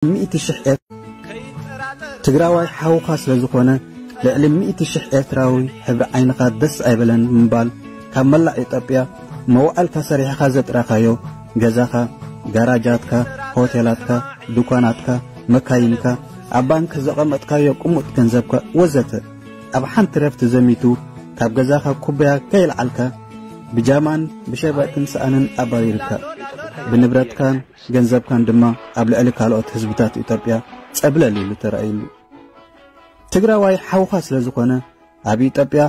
ሚእቲ ሽሕ ኤር- ትግራዋይ ሓውኻ ስለ ዝኾነ፣ ልዕሊ ሚእቲ ሽሕ ኤርትራዊ ሕብሪ ዓይንኻ ደስ ኣይበለን ብምባል፣ ካብ መላእ ኢትዮጵያ መዋዕልካ ሰሪሕኻ ዘጥራኻዮ፣ ገዛኻ፣ ጋራጃትካ፣ ሆቴላትካ፣ ድኳናትካ፣ መካይንካ፣ ኣብ ባንክ ዘቐመጥካዮ ቅሙጥ ገንዘብካ ወዘተ፣ ኣብ ሓንቲ ረፍቲ ዘሚቱ፣ ካብ ገዛኻ ኩባያ ከይልዓልካ፣ ብጃማን ብሸበጥን ሰኣንን ኣባሪርካ፣ ብንብረትካን ገንዘብካን ድማ ኣብ ልዕሊ ካልኦት ህዝብታት ኢትዮጵያ ጸብለል ኢሉ ተራእዩሉ። ትግራዋይ ሓውኻ ስለ ዝኾነ፣ ኣብ ኢትዮጵያ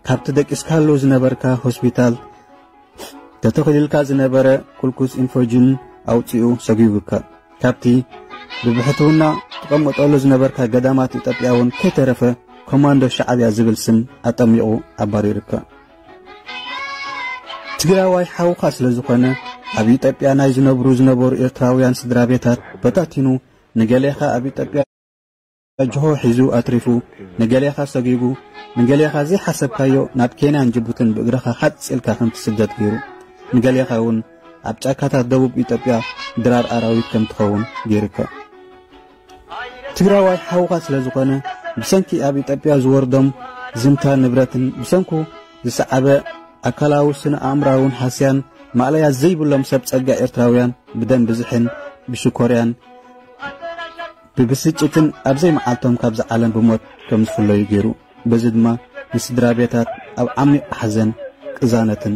ካብቲ ደቂስካሉ ዝነበርካ ሆስፒታል ተተኺሉልካ ዝነበረ ኩልኩስ ኢንፎጅን ኣውፂኡ ሰጒጉካ። ካብቲ ብብሕትውና ትቐመጠሉ ዝነበርካ ገዳማት ኢትዮጵያ እውን ከይተረፈ ኮማንዶ ሻዕብያ ዝብል ስም ኣጠሚቑ ኣባሪሩካ። ትግራዋይ ሓውኻ ስለ ዝኾነ፣ ኣብ ኢትዮጵያ ናይ ዝነብሩ ዝነበሩ ኤርትራውያን ስድራ ቤታት በታቲኑ፣ ንገሌኻ ኣብ ኢትዮጵያ ጅሆ ሒዙ ኣትሪፉ፣ ንገሌኻ ሰጒጉ፣ ንገሌኻ ዘይሓሰብካዮ ናብ ኬንያን ጅቡትን ብእግርኻ ሓጽ ኢልካ ከም ትስደድ ገይሩ፣ ንገሌኻ እውን ኣብ ጫካታት ደቡብ ኢትዮጵያ ድራር ኣራዊት ከም ትኸውን ገይሩካ። ትግራዋይ ሓውኻ ስለ ዝኾነ፣ ብሰንኪ ኣብ ኢትዮጵያ ዝወርዶም ዝምታ ንብረትን ብሰንኩ ዝሰዓበ ኣካላዊ ስነ ኣእምራውን ሃስያን ማእለያ ዘይብሎም ሰብ ጸጋ ኤርትራውያን ብደም ብዝሕን ብሽኮርያን ብብስጭትን ኣብ ዘይመዓልቶም ካብዚ ዓለም ብሞት ከም ዝፍለዩ ገይሩ። በዚ ድማ ንስድራ ቤታት ኣብ ዓሚቕ ሓዘን ቅዛነትን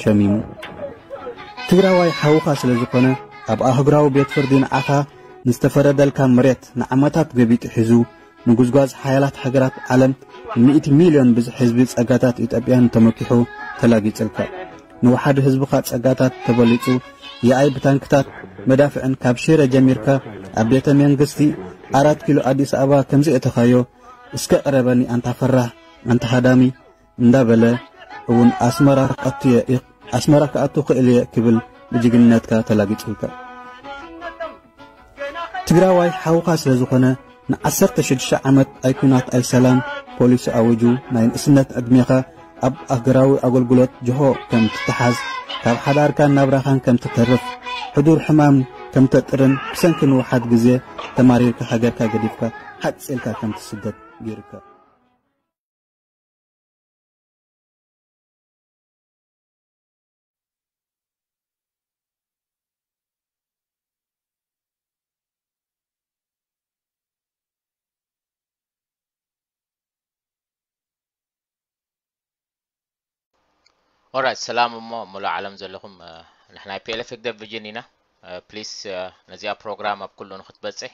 ሸሚሙ። ትግራዋይ ሓውኻ ስለ ዝኾነ፣ ኣብ ኣህጉራዊ ቤት ፍርዲ ንዓኻ ንዝተፈረደልካ መሬት ንዓመታት ገቢጡ ሒዙ፣ ንጉዝጓዝ ሓያላት ሃገራት ዓለም ሚእቲ ሚልዮን ብዝሒ ህዝቢ ጸጋታት ኢትዮጵያን ተመኪሑ ተላጊጽልካ። ንወሓዲ ህዝብኻ ጸጋታት ተበሊጹ፣ የኣይ ብታንክታት መዳፍዕን ካብ ሽረ ጀሚርካ ኣብ ቤተ መንግስቲ ኣራት ኪሎ ኣዲስ ኣበባ ከም ዘእተኻዮ፣ እስከ ቅረበኒ ኣንታ ፈራህ፣ ኣንታ ሃዳሚ እንዳበለ እውን ኣስመራ ክኣቱ እየ፣ ኣስመራ ክኣቱ ክእል እየ ክብል ብጅግንነትካ ተላጊጹልካ። ትግራዋይ ሓውኻ ስለ ዝኾነ ንዓሰርተ ሽዱሽተ ዓመት ኣይ ኩናት ኣይ ሰላም ፖሊሲ ኣዊጁ ናይ ንእስነት ዕድሜኻ ኣብ ሃገራዊ ኣገልግሎት ጅሆ ከም ትተሓዝ፣ ካብ ሓዳርካን ናብራኻን ከም ትተርፍ፣ ሕዱር ሕማም ከም ተጥርን ብሰንኪ ንውሓት ግዜ ተማሪርካ ሃገርካ ገዲፍካ ሓጽ ኢልካ ከም ትስደድ ገይሩካ። ኦራይት፣ ሰላም እሞ ሙሉእ ዓለም ዘለኹም፣ እ፣ ንሕና ናይ ፒ ኤል ኤፍ ህግደፍ ቪዥን ኢና። እ፣ ፕሊስ፣ እ፣ ነዚኣ ፕሮግራም ኣብ ኩሉ ንክትበጽሕ፣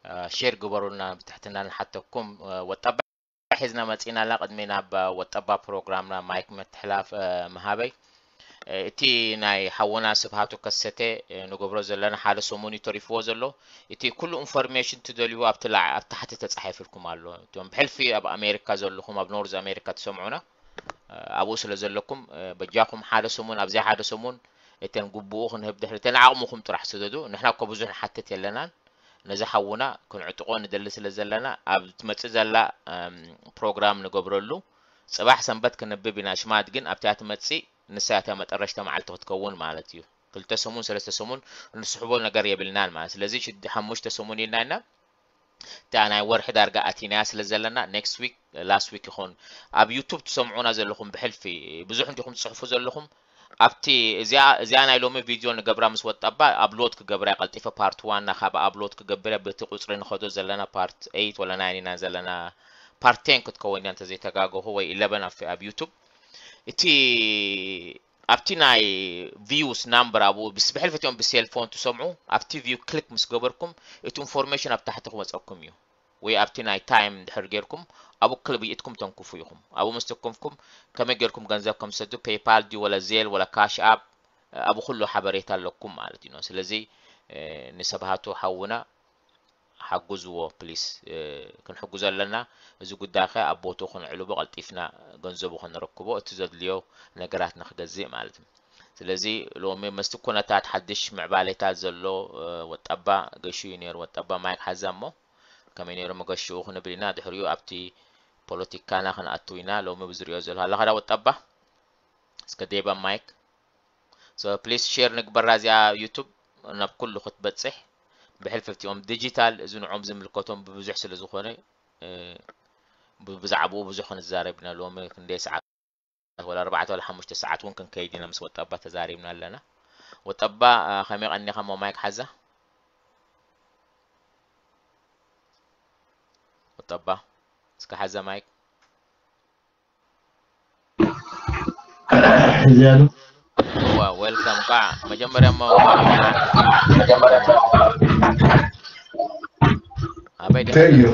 እ፣ ሼር ግበሩልና ብትሕትና ንሓተኩም። እ፣ ወጣባ ሒዝና መጺና ኣላ። ቅድሚ ናብ ወጠባ ፕሮግራምና ማይክ ምትሕላፍ፣ እ፣ ምሃበይ፣ እ፣ እቲ ናይ ሓውና ስብሃቱ ከሰተ፣ እ፣ ንገብሮ ዘለና ሓደ ሰሙን እዩ ተሪፍዎ ዘሎ። እቲ ኩሉ ኢንፎርሜሽን ትደልይዎ ኣብቲ ላዕ-፣ ኣብ ታሕቲ ተጻሒፍልኩም ኣሎ። እቶም ብሕልፊ ኣብ ኣሜሪካ ዘለኹም፣ ኣብ ኖርዝ ኣሜሪካ ትሰምዑና፣ እ፣ ኣብኡ ስለ ዘለኩም፣ እ፣ በጃኹም ሓደ ሰሙን፣ ኣብዚኣ ሓደ ሰሙን እተን ግቡኡ ክንህብ ድሕሪ እተን ዓቕምኹም ጥራሕ ስደዱ። ንሕና እኮ ብዙሕ ንሓትት የለናን። ነዚ ሓውና ክንዕጥቆ ንደሊ ስለ ዘለና፣ ኣብ ትመጽእ ዘላ፣ እም፣ ፕሮግራም ንገብረሉ። ጽባሕ ሰንበት ክንብብ ኢና። ሽማት ግን ኣብታ ትመጽእ፣ ንሳ እያ መጠረሽታ መዓልቲ ክትከውን ማለት እዩ። ክልተ ሰሙን፣ ሰለስተ ሰሙን እንስሕቦ ነገር የብልናን ማለት። ስለዚ ሽድ-፣ ሓሙሽተ ሰሙን ኢልና ኢና። እታ ናይ ወርሒ ዳርጋ ኣቲናያ ስለ ዘለና፣ ኔክስት ዊክ፣ ላስት ዊክ ይኸውን። ኣብ ዩቱብ ትሰምዑና ዘለኹም ብሕልፊ፣ ብዙሕ እንዲኹም ትጽሕፉ ዘለኹም። ኣብቲ፣ እዚኣ፣ እዚኣ ናይ ሎሚ ቪድዮ ንገብራ ምስ ወጣባ፣ ኣፕሎድ ክገብራ እየ ቀልጢፈ፣ ፓርት ዋን ና ካብ ኣፕሎድ ክገብር እየ። በቲ ቁጽሪ ንኸዶ ዘለና ፓርት ኤይት ወላ ናይን ኢና ዘለና፣ ፓርት ቴን ክትከውን እያ እንተዘይተጋገኹ፣ ወይ ኢለቨን ኣብ፣ ኣብ ዩቱብ። እቲ፣ ኣብቲ ናይ ቪውስ ናምበር ኣብኡ ብስ-፣ ብሕልፊ እቲኦም ብሴልፎን ትሰምዑ፣ ኣብቲ ቪው ክሊክ ምስ ገበርኩም፣ እቲ ኢንፎርሜሽን ኣብ ታሕቲ ክመጸኩም እዩ። ወይ ኣብቲ ናይ ታይም እንድሕር ጌርኩም፣ ኣብኡ ክሊክ ብኢድኩም ተንክፉ ኢኹም። ኣብኡ ምስ ተከፍኩም፣ ከመይ ጌርኩም ገንዘብ ከም ትሰዱ፣ ፔይፓል ድዩ፣ ወላ ዜል፣ ወላ ካሽ ኣፕ፣ ኣብኡ ኩሉ ሓበሬታ ኣለኩም ማለት እዩ። ስለዚ፣ እ፣ ንሰብሃቱ ሓውና ሓግዝዎ ፕሊስ። እ፣ ክንሕግዞ ኣለና። እዚ ጉዳይ ከ ኣብ ቦትኡ ክንዕልቦ፣ ቀልጢፍና ገንዘቡ ክንረክቦ፣ እቲ ዘድልዮ ነገራት ንክገዝእ ማለት እዩ። ስለዚ ሎሚ ምስቲ ኩነታት ሓድሽ ምዕባሌታት ዘሎ፣ እ፣ ወጠባ ገሹ እዩ ነይሩ። ወጠባ ማይክ ሓዛ እሞ፣ ከመይ ነይሩ መገሽኡ ክንብል ኢና። ድሕሪኡ ኣብቲ ፖለቲካና ክንኣቱ ኢና። ሎሚ ብዝሪኦ ዘለኹ ኣለኻ ዳ ወጠባ? እስከ ዴባ ማይክ። So ፕሊስ ሼር ንግበራ እዚኣ ዩቱብ ናብ ኩሉ ክትበጽሕ። ብሕልፍቲ እዮም ዲጂታል፣ እዚ ንዖም ዝምልከቶም ብብዙሕ ስለ ዝኾነ፣ እ፣ ብ-፣ ብዛዕባኡ ብዙሕ ክንዛረብ ኢና። ሎሚ ክንደይ ሰዓት፣ ወላ ኣርባዕተ ወላ ሓሙሽተ ሰዓት እውን ክንከይድ ኢና፣ ምስ ወጠባ ተዛሪብና ኣለና። ወጠባ፣ እ፣ ከመይ ቀኒኻ? እሞ ማይክ ሓዛ። ወጠባ፣ እስከ ሓዛ ማይክ። ሕዚ ኣሎ። እዋ፣ ዌልካም። ቃ መጀመርያ እሞ ኣበይ ዲኻ? Thank you።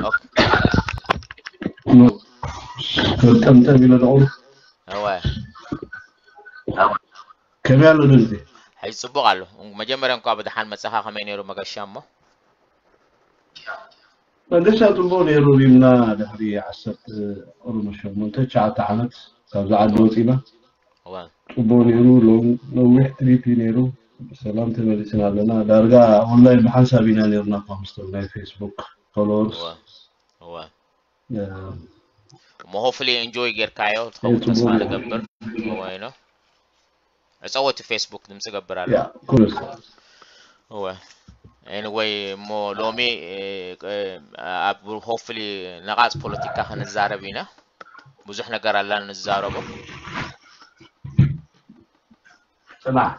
ኦኬ። ጠምጠም ኢለ ደቑ። እወ። ከመይ ኣሎ ድምፂ? ሕጂ ጽቡቕ ኣሎ። መጀመርያ እንኳ ብደሓን መጻኻ። ከመይ ነይሩ መገሻ እሞ? መገሻ ጽቡቕ ነይሩ። ሪምና ድሕሪ ዓሰርተ ኦሮሞ ሸሞንተ ትሽዓተ ዓመት ካብዛ ዓዲ ወፂና። እወ። ጽቡቕ ነይሩ። ሎም-፣ ነዊሕ ትሪፕ እዩ ነይሩ። ብሰላም ተመሊስና ኣለና። ዳርጋ ኦንላይን ብሓንሳብ ኢና ነይርና እኳ ምስቶም ናይ ፌስቡክ ፎሎወርስ። እወ። እወ። እ፣ እሞ ሆፍሊ ኢንጆይ ጌርካዮ ትኸውን ጽቡቕ ተስፋ ነይሩ። ንገብር። እወ፣ you know። ዕጸወቱ ፌስቡክ ድምፂ ገብር ኣሎ። ያ፣ ኩሉስ። እወ። ኤኒወይ፣ እሞ ሎሚ፣ እ፣ እ፣ ኣብ ሆፍሊ ነቓጽ ፖለቲካ ክንዛረብ ኢና። ብዙሕ ነገር ኣላ ንዛረቦ። ጽናሕ።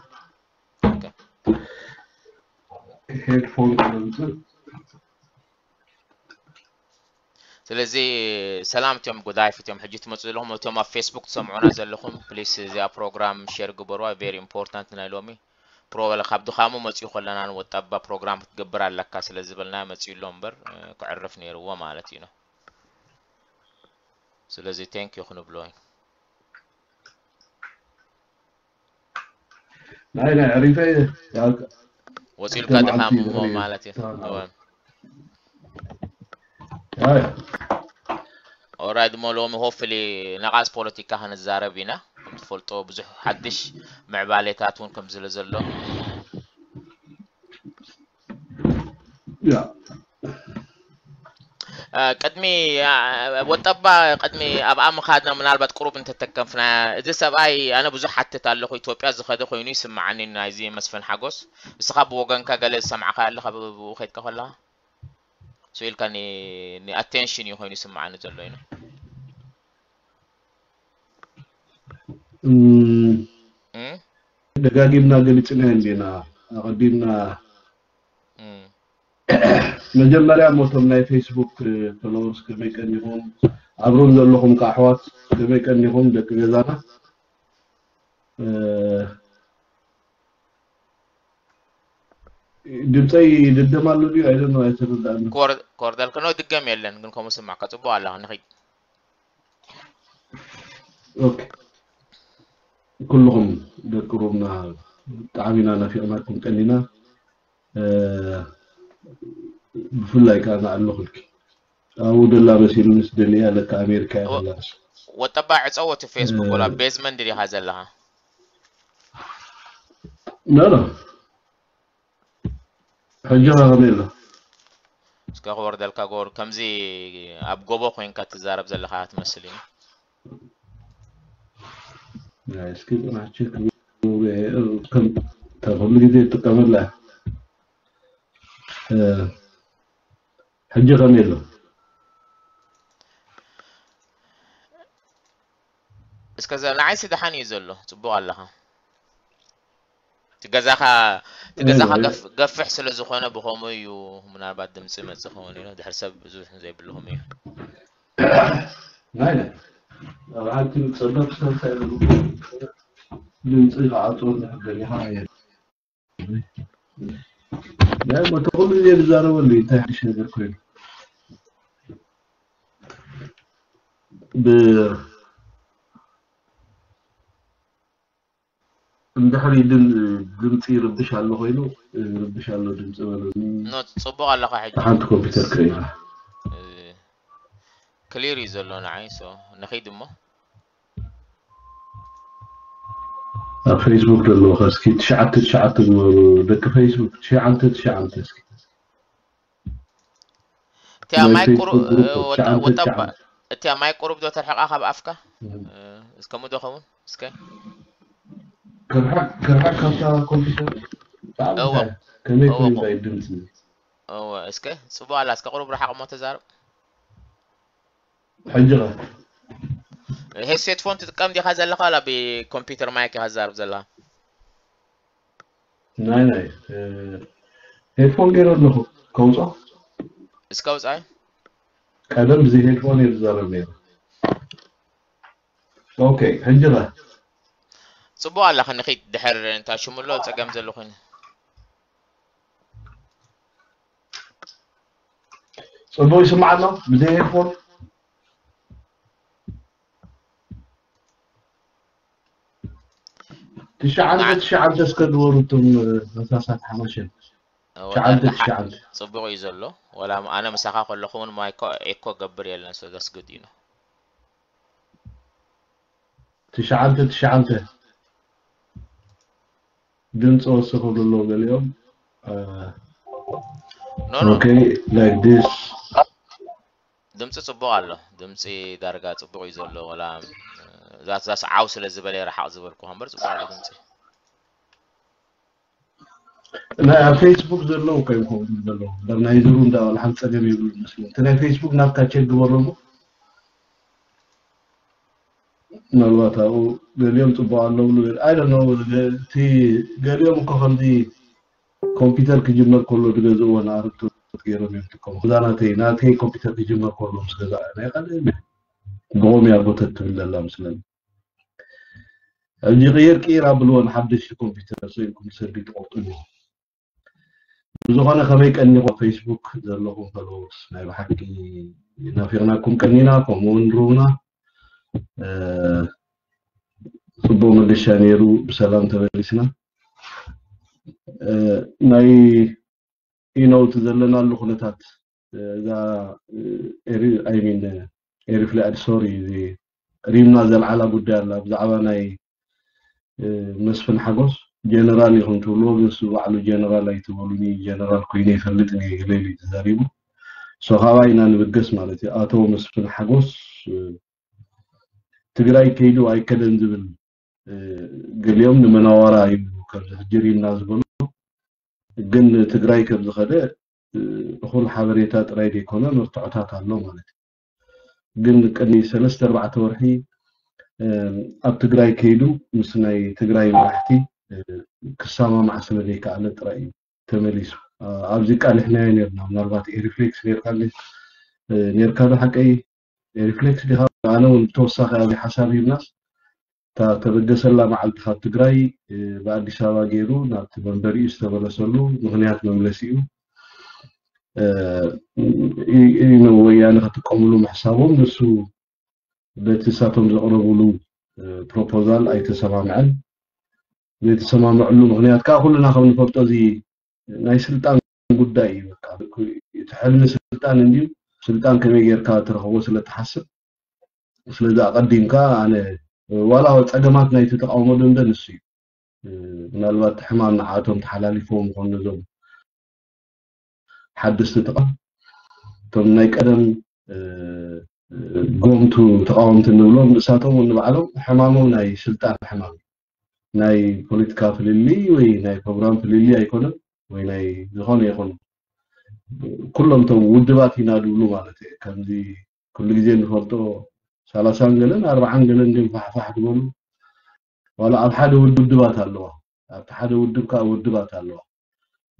ኦኬ። ሄድፎን ክነምጽእ። ስለዚ ሰላም እቶም ጎዳይፍ፣ እቶም ሕጂ ትመጹ ዘለኹም፣ እቶም ኣብ ፌስቡክ ትሰምዑና ዘለኹም፣ ፕሊስ እዚኣ ፕሮግራም ሼር ግበሩዋ። ቬሪ ኢምፖርታንት ናይ ሎሚ ፕሮበለ ካብ ድኻሙ መጺኡ ከለና ንወጣባ ፕሮግራም ክትገብር ኣለካ ስለ ዝበልና መጺኡ ኣሎ እምበር፣ እ፣ ክዕርፍ ነይርዎ ማለት እዩ ነው። ስለዚ ቴንክ ዩ ክንብሎ እዩ። ናይ፣ ናይ ዕሪፈ እየ። ያው ወጺኡልካ ክልተ ድኻም መዓልቲ እሞ ድሕሪ ማለት እዩ። ተሃናወ። እወ። ያው ኦራይት፣ እሞ ሎሚ ሆፍሊ ነቓጽ ፖለቲካ ክንዛረብ ኢና። ከም ትፈልጦ ብዙሕ ሓድሽ ምዕባሌታት እውን ከም ዝለ ዘሎ። ያ። እ፣ ቅድሚ፣ እ፣ ወጠባ ቅድሚ ኣብኣ ምኻድና ምናልባት ቁሩብ እንተተከፍና፣ እዚ ሰብኣይ ኣነ ብዙሕ ሓትት ኣለኹ፣ ኢትዮጵያ ዝኸደ ኮይኑ ይስምዓኒ ናይዚ መስፍን ሓጎስ። ንስኻ ብወገንካ ገለ ዝሰማዕካ ኣለኻ ብ-፣ ብኡ ከድካ ከለኻ? ስኢልካ ኒ-፣ ኒ ኣቴንሽን እዩ ኮይኑ ይስምዓኒ ዘሎ እዩ። እም፣ እም? ደጋጊምና ገሊጽና እንዲና። ኣቐዲምና እም። መጀመርያ እሞ እቶም ናይ ፌስቡክ ፎሎወርስ ከመይ ቀኒኹም፣ ኣብ ሩም ዘለኹም ከኣ ኣሕዋት ከመይ ቀኒኹም ደቂ ገዛና። እ፣ ድምፀይ ድደም ኣሎ ድዩ? ኣይደኖ ኣይተረዳእን። ክወር-፣ ክወርደልክ ነው ድገም የለን ግን ከምኡ ስማዕካ ጽቡቕ ኣለኻ ንኺድ። ኦኬ። ኩልኹም ደቂ ሩምና ብጣዕሚ ኢና ናፊቕናኩም ቀኒና። እ፣ ብፍላይ ከዓ ንኣለኹልኪ ኣብኡ ደላ መሲሉንስ ደሊያ ለካ ኣሜሪካ እያ ወ-፣ ዘላ ንሳ። ወጠባ ዕጸው እቲ ፌስቡክ እ፣ ወላ ቤዝመንት ዲኻ ዘለኻ? ኖ፣ ኖ። ሕጂ ኸ ከመይ ኣሎ? እስከ ክወርደልካ ጎር፣ ከምዚ ኣብ ጎቦ ኮይንካ ትዛረብ ዘለኻ ትመስል እዩ። ናይ እስኪ ጽናሕ ቼክ ክገብሮ እየ። ከም፣ እታ ኩሉ ግዜ እጥቀመላ። እ፣ ሕጂ ከመይ ኣሎ? እስከ ዘ-፣ ንዓይሲ ደሓን እዩ ዘሎ፣ ጽቡቕ ኣለኻ። እቲ ገዛኻ፣ እቲ ገዛኻ እም። ገፍ-፣ ገፍሕ ስለ ዝኾነ ብኸምኡ እዩ ምናልባት ድምፂ ይመጽእ ክኸውን እዩ። ድሕሪ ሰብ ብዙሕ ዘይብልኹም እዩ። ናይ፣ ናይ። ኣብ ሓንቲ ጸበብ ስለ እንታይ ድምፂ ክዓጽወኒ ደሊኻ እየ። ናይ፣ እቲ ኩሉ ግዜ ዝዛረበሉ እዩ፣ እንታይ ሓድሽ ነገር ኮይኑ? ብ-፣ እንድሕሪ ድም-፣ ድምፂ ይርብሽ ኣሎ ኮይኑ፣ ይርብሽ ኣሎ ድምፂ በሉኒ። ኖ፣ ጽቡቕ ኣለኻ ሕጂ። ሓንቲ ኮምፒውተር ክርእያ። እ፣ ክሊር እዩ ዘሎ ንዓይ፣ ሶ ንኺድ እሞ። ኣብ ፌስቡክ ዘለዉ ኸ እስኪ ትሽዓተ ትሽዓተ ግበሩ፣ ደቂ ፌስቡክ፣ ትሽዓተ ትሽዓተ እስኪ። እቲኣ ናይ ማይ ቁሩ-፣ ፌስቡክ ግሩፕ እ፣ ወጣ-፣ ትሽዓተ ወጣባ፣ ትሽዓተ። እቲኣ ማይ ቁሩብ ዶ ተርሕቓ ካብ ኣፍካ? እም። እ፣ እስከ ምዶ ኸውን፣ እስከ። ከርሓቅ፣ ከርሓቅ ካብታ ኮምፒውተር። ብኣምንታይ ከመይ ኮይኑ እንታይ ድምፂ? እወ፣ እስከ ጽቡቕ ኣላ፣ እስከ ቁሩብ ረሓቕ እሞ ተዛረብ። ሕጂ ኸ? ሄድሴት ፎን ትጥቀም ዲኻ ዘለኻ፣ ዋላ ብኮምፒውተር ማይክ ኢኻ ትዛረብ ዘለኻ? ናይ ናይ ሄድፎን ገይረ ኣለኹ። ከውፃ? እስከ ውፃ። ቀደም ብዚ ሄድፎን እየ ዝዛረብ ነይረ። ኦኬ፣ ሕጂ ኸ? ጽቡቕ ኣላ፣ ክንኺድ ድሕር እንታ ሽሙሎ ጸገም ዘሎ ኮይኑ። ጽቡቕ ይስማዕ ኣሎ ብዘይ ሄድፎን? ትሽዓንተ ትሽዓንተ እስከ ግበሩ እቶም መሳሳት ሓማሸን። ትሽዓንተ ትሽዓንተ። ጽቡቕ እዩ ዘሎ። ወላ ኣነ ምሳኻ ከለኹ እውን ማይኮ ኤኮ ገብር የለን፣ so that's good, you know። ትሽዓንተ ትሽዓንተ ድምፂ ወስኹ ብሎ ገሊኦም። No, no. Okay, like this. ድምፂ ፅቡቅ ኣሎ። ድምፂ ዳርጋ ፅቡቅ እዩ ዘሎ። ወላ ዛት ዛስ ዓው ስለ ዝበለ ረሓቅ ዝበልኩ እምበር ፅቡቅ ኣሎ ድምፂ። ናይ ኣብ ፌስቡክ ዘለዉ ከይኮኑ ዘለዉ እምበር ናይ ዝሩ እንዳ ሓንቲ ፀገም የብሉ መስሎ። እቲ ናይ ፌስቡክ ናትካ ቸክ ግበሮ እሞ ምናልባት ኣብኡ ገሊኦም ፅቡቅ ኣለዉ ዝብል፣ I don't know። እቲ ገሊኦም እኮ ከምዚ ኮምፒውተር ክጅመር ከሎ ዝገዝእዎ ንኣረግቶት ገይሮም እዮም ዝጥቀሙ። ክዛ ናተይ ናተይ ኮምፒውተር ክጅመር ከሎ ምስ ገዛ ናይ ካልእ ብቆም እያ ጎተት ትብል ዘላ ምስለኒ። ሕጂ ቅይር ቅይር ኣብልዎ ንሓደሽቲ ኮምፒውተር ሰኢልኩም ሰልዲ ትቆርጡ ኣለኹም። ብዝኾነ ከመይ ቀኒኹም ፌስቡክ ዘለኹም ፎሎወርስ ናይ ብሓቂ ናፊቕናኩም ቀኒና። ከምኡ እውን ሩና ጽቡቅ መገሻ ነይሩ። ብሰላም ተመሊስና። ናይ ኢኖውት ዘለናሉ ኩነታት እዛ I mean ኤሪፍሌክስ ሶሪ ሪምና ዘልዓላ ጉዳይ ኣላ ብዛዕባ ናይ መስፍን ሓጎስ ጀነራል ኢኹም ትብልዎ፣ ግን እሱ ባዕሉ ጀነራል ኣይትበሉኒ፣ ጀነራል ኮይነ ይፈልጥ እየ ኢለ ኢሉ ተዛሪቡ። So ካባይ ኢና ንብገስ ማለት እዩ። ኣቶ መስፍን ሓጎስ ትግራይ ከይዱ ኣይከደን ዝብል ገሊኦም ንመናዋራ እዩ ከምዚ ሕጂ ሪምና ዝበሎ፣ ግን ትግራይ ከም ዝኸደ እኹል ሓበሬታ ጥራይ ዘይኮነ መርትዖታት ኣሎ ማለት እዩ። ግን ቅድሚ ሰለስተ ኣርባዕተ ወርሒ ኣብ ትግራይ ከይዱ ምስ ናይ ትግራይ መራሕቲ ክሰማማዕ ስለ ዘይከኣለ ጥራይ እዩ ተመሊሱ። ኣብዚ ቃሊሕናዮ ነርና። ምናልባት ኤሪፍሌክስ ነርካ ነርካ ዶ ሓቀይ ኤሪፍሌክስ ዲኻ? ኣነ እውን ተወሳኺ ኣብዚ ሓሳብ ሂብናስ እታ ተበገሰላ መዓልቲ ካብ ትግራይ ብኣዲስ ኣበባ ገይሩ ናብቲ መንበሪኡ ዝተመለሰሉ ምኽንያት መምለሲኡ ወያነ ክጥቀምሉ ምሕሳቦም ንሱ በቲ እሳቶም ዘቕረብሉ ፕሮፖዛል ኣይተሰማምዐን። ዘይተሰማምዐሉ ምኽንያት ከዓ ኩልና ከም ንፈልጦ እዚ ናይ ስልጣን ጉዳይ እዩ። በቃ እቲ ሕልሚ ስልጣን እንድዩ። ስልጣን ከመይ ጌርካ ትረኽቦ ስለ ትሓስብ ስለዚ ኣቐዲምካ ኣነ ዋላ ፀገማት ናይቲ ተቃውሞ ደንበ ንሱ እዩ። ምናልባት ሕማም ንዓቶም ተሓላሊፎም ይኾኑ ነዞም ሓደስቲ ተቃ እቶም ናይ ቀደም ጎምቱ ተቃወምቲ ንብሎም ንሳቶም ንባዕሎም ሕማሞም ናይ ስልጣን ሕማም ናይ ፖለቲካ ፍልልይ ወይ ናይ ፕሮግራም ፍልልይ ኣይኮነን ወይ ናይ ዝኾነ ይኹን ኩሎም እቶም ውድባት ኢና ድብሉ ማለት እየ። ከምዚ ኩሉ ግዜ እንፈልጦ ሰላሳን ገለን ኣርባዓን ገለን ድም ፋሕፋሕ ዝበሉ ዋላ ኣብ ሓደ ውድብ ውድባት ኣለዋ። ኣብቲ ሓደ ውድብ ከዓ ውድባት ኣለዋ።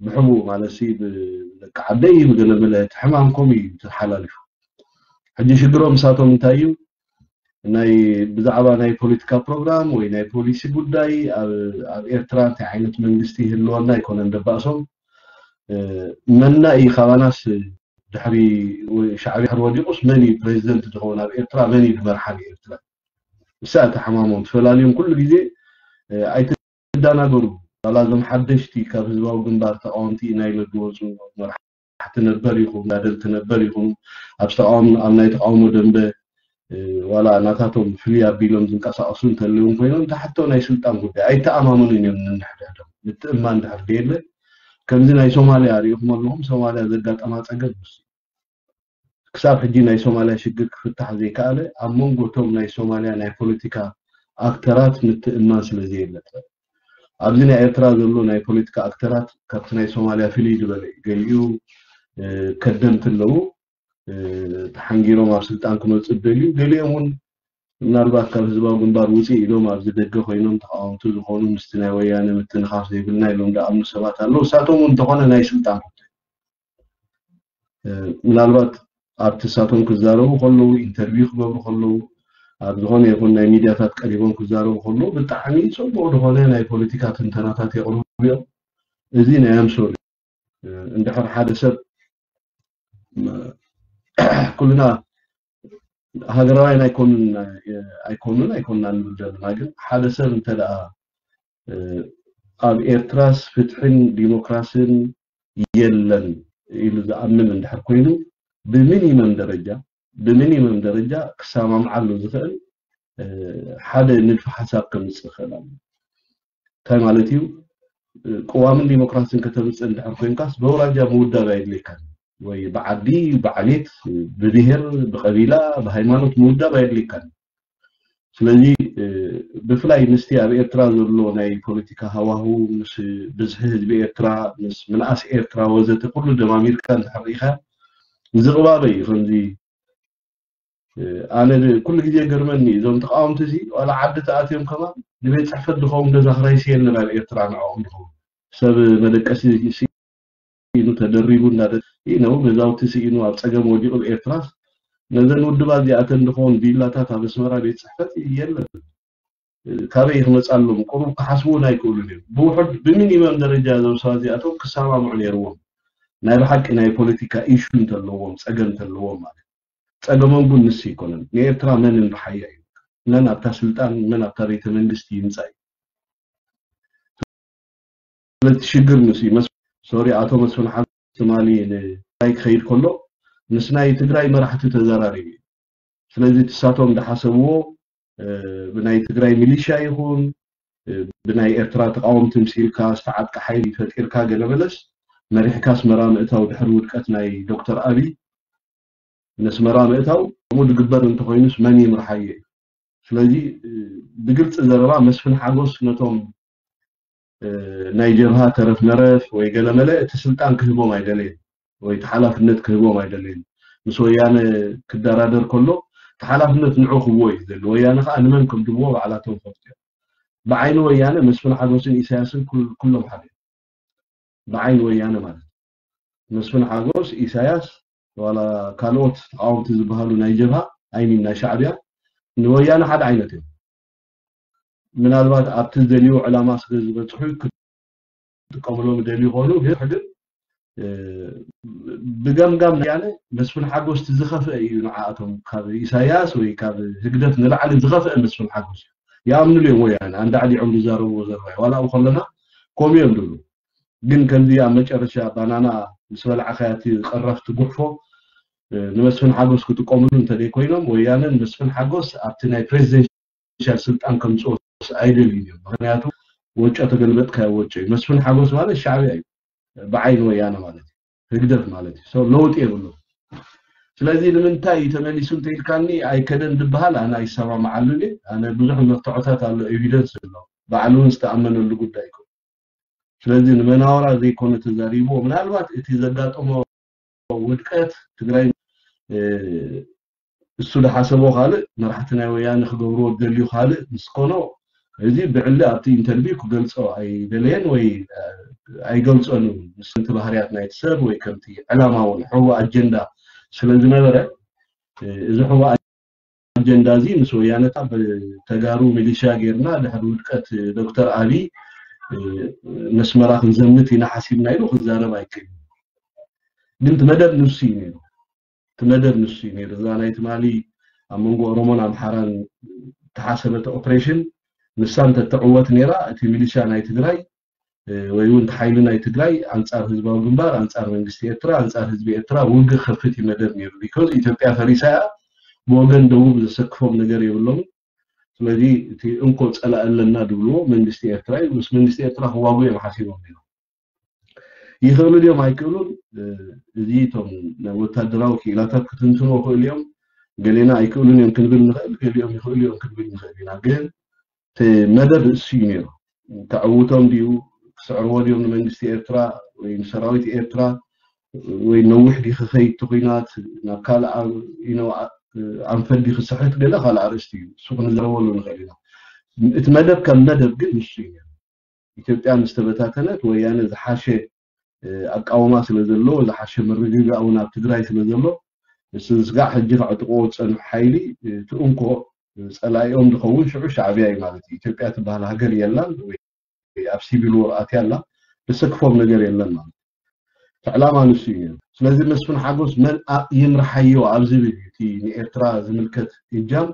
ብሕቡእ ማለት ሲ ብደቂ ዓደይ ብገለመለ እቲ ሕማም ከምኡ እዩ ተሓላሊፉ። ሕጂ ሽግሮም ንሳቶም እንታይ እዩ? ናይ ብዛዕባ ናይ ፖለቲካ ፕሮግራም ወይ ናይ ፖሊሲ ጉዳይ ኣብ ኤርትራ እንታይ ዓይነት መንግስቲ ይህልወና ኣይኮነን ደባእሶም። መና እዩ ካባናስ ድሕሪ ሻዕብያ ድሕሪ ወዲቁስ መን እዩ ፕሬዚደንት ዝኸውን ኣብ ኤርትራ? መን እዩ ዝመርሓ ንኤርትራ? እሳ እቲ ሕማሞም ትፈላልዮም ኩሉ ግዜ ኣይትዳናገሩ። ዋላ እዞም ሓደሽቲ ካብ ህዝባዊ ግንባር ተቃወምቲ ኢና ኢለ ዝወፁ መራሕቲ ነበር ይኹኑ፣ ተጋደልቲ ነበር ይኹኑ፣ ኣብ ተቃውሞ ኣብ ናይ ተቃውሞ ደንበ ዋላ ናታቶም ፍልይ ኣቢሎም ዝንቀሳቀሱ እንተለውን ኮይኖም ተሓቶ ናይ ስልጣን ጉዳይ ኣይተኣማመኑን እዮም። ንንሕድሕዶም ምትእማን ድሕር ደየለ ከምዚ ናይ ሶማልያ ሪኢኹም ኣለኹም። ሶማልያ ዘጋጠማ ፀገም ንሱ ክሳብ ሕጂ ናይ ሶማልያ ሽግር ክፍታሕ ዘይከኣለ ኣብ መንጎ እቶም ናይ ሶማልያ ናይ ፖለቲካ ኣክተራት ምትእማን ስለ ዘየለ ጥራይ። ኣብዚ ናይ ኤርትራ ዘሎ ናይ ፖለቲካ ኣክተራት ካብቲ ናይ ሶማልያ ፍልይ ዝበለ እዩ። ገሊኡ ከደምቲ ኣለዉ፣ ተሓንጊሮም ኣብ ስልጣን ክመፁ ደልዩ፣ ገሊኦም እውን ምናልባት ካብ ህዝባዊ ግንባር ውፅእ ኢሎም ኣብዚ ደገ ኮይኖም ተቃወምቲ ዝኾኑ ምስቲ ናይ ወያነ ምትንኻፍ ዘይብልና ኢሎም ደኣምኑ ሰባት ኣለዉ። እሳቶም እውን እንተኾነ ናይ ስልጣን ምናልባት ኣብቲ እሳቶም ክዛረቡ ከለዉ፣ ኢንተርቪው ክገብሩ ከለዉ፣ ኣብ ዝኾነ ይኹን ናይ ሚድያታት ቀሪቦም ክዛረቡ ከለዉ ብጣዕሚ ፅቡቕ ዝኾነ ናይ ፖለቲካ ትንተናታት የቕርቡ እዮም። እዚ ናይ ኣምሶል እንድሕር ሓደ ሰብ ኩልና ሃገራውያን ኣይኮኑን ኣይኮኑን ኣይኮንና ንብል ዘለና፣ ግን ሓደ ሰብ እንተ ደኣ ኣብ ኤርትራስ ፍትሕን ዲሞክራስን የለን ኢሉ ዝኣምን እንድሕር ኮይኑ፣ ብሚኒመም ደረጃ ብሚኒመም ደረጃ ክሰማምዓሉ ዝኽእል ሓደ ንድፊ ሓሳብ ከምፅእ ይኽእል ኣሎ። እንታይ ማለት እዩ? ቅዋምን ዲሞክራሲን ከተምፅእ እንድሕር ኮይንካስ በውራጃ ምውዳብ ኣየድልየካን፣ ወይ ብዓዲ፣ ብዓሌት፣ ብብሄር፣ ብቀቢላ፣ ብሃይማኖት ምውዳብ ኣየድልየካን። ስለዚ ብፍላይ ምስቲ ኣብ ኤርትራ ዘሎ ናይ ፖለቲካ ሃዋሁ፣ ምስ ብዝሒ ህዝቢ ኤርትራ፣ ምስ ምንኣስ ኤርትራ ወዘተ ኩሉ ደማሚርካ እንድሕር ርኢኻ ዝቕባበ እዩ። ከምዚ ኣነ ኩሉ ግዜ ገርመኒ እዞም ተቃወምቲ እዚ ዋላ ዓዲ ተኣትዮም ከማን ንቤት ፅሕፈት ዝኸውን ገዛ ክራይ የለን ኣብ ኤርትራ ንዕኦም ዝኸውን ሰብ መደቀሲ ስኢኑ ተደሪቡ እንዳደ ነው ገዛውቲ ስኢኑ ኣብ ፀገም ወዲቑ ኤርትራስ ነዘን ውድባት እዚኣተን ዝኸውን ቪላታት ኣብ ኣስመራ ቤት ፅሕፈት የለን። ካበይ ክመፃሎም ቁሩብ ክሓስቡ እውን ኣይክእሉን እዮም። ብውሕድ ብሚኒመም ደረጃ እዞም ሰባት እዚኣቶም ክሰማምዑ ነይርዎም። ናይ ብሓቂ ናይ ፖለቲካ ኢሹ እንተለዎም ፀገም እንተለዎም ማለት ጸገሞም ግን ንሱ ኣይኮነን። ንኤርትራ መን እንርሓያ እዩ፣ መን ኣብታ ስልጣን፣ መን ኣብታ ቤተ መንግስቲ ይምጻእ እዩ። ስለዚ ሽግር ንሱ እዩ። መስ- ሶሪ፣ ኣቶ መስፍን ሓጎስ ትማሊ ንትግራይ ክኸይድ ከሎ ምስ ናይ ትግራይ መራሕቲ ተዘራሪቡ እዩ። ስለዚ ትሳቶም ዝሓሰብዎ ብናይ ትግራይ ሚሊሻ ይኹን ብናይ ኤርትራ ተቃወምቲ ምሲልካ ዝተዓጥቀ ሓይሊ ፈጢርካ ገለመለስ መሪሕካ ኣስመራ ምእታው ድሕሪ ውድቀት ናይ ዶክተር ኣብይ ነስመራ ምእታው ከምኡ ዝግበር እንተኮይኑስ መን ይምርሓዮ እዩ? ስለዚ ብግልፂ ዘረባ መስፍን ሓጎስ ነቶም ናይ ጀብሃ ተረፍ መረፍ ወይ ገለመለ እቲ ስልጣን ክህቦም ኣይደለየን ወይ እቲ ሓላፍነት ክህቦም ኣይደለየን። ምስ ወያነ ክደራደር ከሎ እቲ ሓላፍነት ንዑ ክብዎ እዩ ዝደሊ። ወያነ ከዓ ንመን ከም ድብዎ ባዕላቶም ፈልጡ እዮም። ብዓይኒ ወያነ መስፍን ሓጎስን ኢሳያስን ኩሎም ሓደ እዮም። ብዓይኒ ወያነ ማለት መስፍን ሓጎስ፣ ኢሳያስ ዋላ ካልኦት ተቃወምቲ ዝበሃሉ ናይ ጀብሃ ኣይሚን ናይ ሻዕብያ ንወያነ ሓደ ዓይነት እዮም። ምናልባት ኣብቲ ዝደልዩ ዕላማ ስለ ዝበፅሑ ክጥቀምሎም ይደልዩ ይኾኑ፣ ግን ግን ብገምጋም ወያነ መስፍን ሓጎስ እቲ ዝኸፍአ እዩ ንዓኣቶም ካብ ኢሳያስ ወይ ካብ ህግደፍ ንላዕሊ ዝኸፍአ መስፍን ሓጎስ እዩ። ይኣምንሉ እዮም ወያነ ኣንዳዕዲዖም ዝዛረብዎ ዘረባ እዩ። ዋላ ኣብኡ ከለና ከምኡ እዮም ዝብሉ። ግን ከምዚ ኣብ መጨረሻ ባናና ምስ በላዕካያ እቲ ቀረፍቲ ጉሕፎ ንመስፍን ሓጎስ ክጥቀምሉ እንተደይ ኮይኖም ወያነን መስፍን ሓጎስ ኣብቲ ናይ ፕሬዚደንሻል ስልጣን ከምፅኦስ ኣይደልዩ እዮም። ምክንያቱ ወጮ ተገልበጥካዮ ወጮ እዩ። መስፍን ሓጎስ ማለት ሻዕብያ እዩ ብዓይኒ ወያነ ማለት እዩ፣ ህግደፍ ማለት እዩ። ለውጢ የብሉ። ስለዚ ንምንታይ እዩ ተመሊሱ እንተኢልካኒ ኣይከደን ዝበሃል ኣነ ኣይሰማምዓሉን እየ። ኣነ ብዙሕ መርትዖታት ኣሎ፣ ኤቪደንስ ኣሎ፣ ባዕሉ እውን ዝተኣመነሉ ጉዳይ እዩ። ስለዚ ንመናወራ ዘይኮነ ተዛሪብዎ፣ ምናልባት እቲ ዘጋጠሞ ውድቀት ትግራይ እሱ ዝሓሰቦ ካልእ፣ መራሕቲ ናይ ወያነ ክገብርዎ ዝደልዩ ካልእ ምስ ኮኖ፣ እዚ ብዕሊ ኣብቲ ኢንተርቪው ክገልጾ ኣይደለየን ወይ ኣይገልጾን እዩ። ምስ ከምቲ ባህርያት ናይቲ ሰብ ወይ ከምቲ ዕላማ እውን ሕቡእ ኣጀንዳ ስለ ዝነበረ፣ እዚ ሕቡእ ኣጀንዳ እዚ ምስ ወያነታ ብተጋሩ ሚሊሻ ጌርና ድሕሪ ውድቀት ዶክተር ኣብይ ነስመራ ክንዘምት ኢና ሓሲብና ኢሉ ክዛረብ ኣይክእልን። ግን እቲ መደብ ንሱ እዩ ነይሩ። እቲ መደብ ንሱ እዩ ነይሩ። እዛ ናይ ትማሊ ኣብ መንጎ ኦሮሞን ኣምሓራን ተሓሰበት ኦፕሬሽን ንሳ እንተተዕወት ነይራ፣ እቲ ሚሊሻ ናይ ትግራይ ወይ እውን ሓይሊ ናይ ትግራይ ኣንፃር ህዝባዊ ግንባር፣ ኣንፃር መንግስቲ ኤርትራ፣ ኣንፃር ህዝቢ ኤርትራ ውግእ ከፍት እዩ መደብ ነይሩ። ቢኮዝ ኢትዮጵያ ፈሪሳ እያ፣ ብወገን ደቡብ ዘሰክፎም ነገር የብሎም። ስለዚ እቲ እንኮ ፀላእ ኣለና ድብልዎ መንግስቲ ኤርትራ እዩ። ምስ መንግስቲ ኤርትራ ክዋጉ እዮም ሓሲቦም ነይሮም። ይኽእሉ ድዮም ኣይክእሉን? እዚ እቶም ወታደራዊ ክኢላታት ክትንትንዎ ክእሉ እዮም። ገሌና ኣይክእሉን እዮም ክንብል ንኽእል፣ ገሊኦም ይኽእሉ እዮም ክንብል ንኽእል ኢና። ግን እቲ መደብ እሱ እዩ ነይሩ። ተዕውቶም ድዩ፣ ክስዕርዎ ድዮም ንመንግስቲ ኤርትራ ወይ ንሰራዊት ኤርትራ፣ ወይ ነዊሕ ድዩ ክኸይድ እቲ ኲናት፣ ናብ ካልእ ኣንፈት ድዩ ክስሕት፣ ገለ ካልእ ኣርእስቲ እዩ። እሱ ክንዛረበሉ ንኽእል ኢና። እቲ መደብ ከም መደብ ግን ንሱ እዩ። ኢትዮጵያ ምስ ተበታተነት ወያነ ዝሓሸ ኣቃውማ ስለ ዘለዎ፣ ዝሓሸ ምርግጋእ እውን ኣብ ትግራይ ስለ ዘሎ፣ ንሱ ዝስጋዕ ሕጂ ከዕጥቕዎ ዝፀንሑ ሓይሊ እቲ እንኮ ፀላኢኦም ዝኸውን ሽዑ ሻዕብያ እዩ ማለት እዩ። ኢትዮጵያ ትበሃል ሃገር የላን ወይ ኣብ ሲቪል ወር ኣትያ ኣላ፣ ዘሰክፎም ነገር የለን ማለት እዩ። እቲ ዕላማ ንሱ እዩ ነይሩ። ስለዚ መስፍን ሓጎስ መን ይምርሓዮ ኣብ ዝብል እዩ እቲ ንኤርትራ ዝምልከት እጃም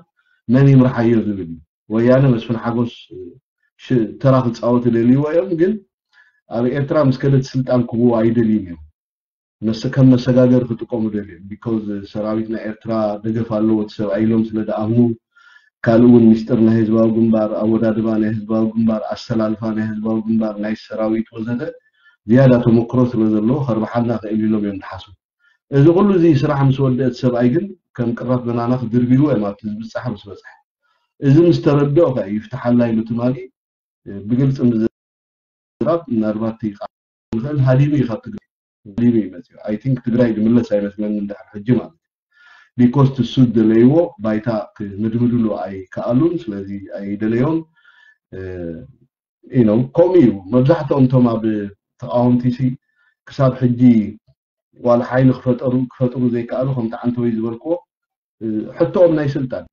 መን ይምርሓዮ ዝብል እዩ። ወያነ መስፍን ሓጎስ ተራ ክፃወት ይደልይዎ እዮም፣ ግን ኣብ ኤርትራ ምስ ከደት ስልጣን ክብዎ ኣይደልዩን እዮም። ከም መሰጋገር ክጥቀሙ ደልዮም። ቢኮዝ ሰራዊት ናይ ኤርትራ ደገፍ ኣለዎ እቲ ሰብኣይ ኢሎም ስለ ደኣምኑ፣ ካልእ እውን ሚስጥር ናይ ህዝባዊ ግንባር፣ ኣወዳድባ ናይ ህዝባዊ ግንባር፣ ኣሰላልፋ ናይ ህዝባዊ ግንባር፣ ናይ ሰራዊት ወዘተ ዝያዳ ተመክሮ ስለ ዘለዎ ከርብሓና ክእል ኢሎም እዮም ዝሓስቡ። እዚ ኩሉ እዚ ስራሕ ምስ ወደእ እቲ ሰብኣይ ግን ከም ቅራፍ በናና ክድርብይዎ እዮም ኣብቲ ዝብፃሕ ምስ በፅሐ። እዚ ምስ ተረድኦ ከ ይፍትሓላ ኢሉ ትማሊ ብግልፂ ምዝራብ ምናልባት ይቃ ንኽእል ሃዲሙ እዩ ካብ ትግራይ ሃዲሙ እዩ መፅኡ። I think ትግራይ ዝምለስ ኣይመስለኒ እንድሕር ሕጂ ማለት እዩ። ቢኮዝ ትሱ ዝደለይዎ ባይታ ክምድምድሉ ኣይከኣሉን። ስለዚ ኣይደለዮን። ነው ከምኡ እዩ። መብዛሕትኦም እቶም ኣብ ተቃወምቲ ሲ ክሳብ ሕጂ ዋላ ሓይሊ ክፈጠሩ ክፈጥሩ ዘይከኣሉ ከምቲ ዓንተወይ ዝበልክዎ ሕቶኦም ናይ ስልጣን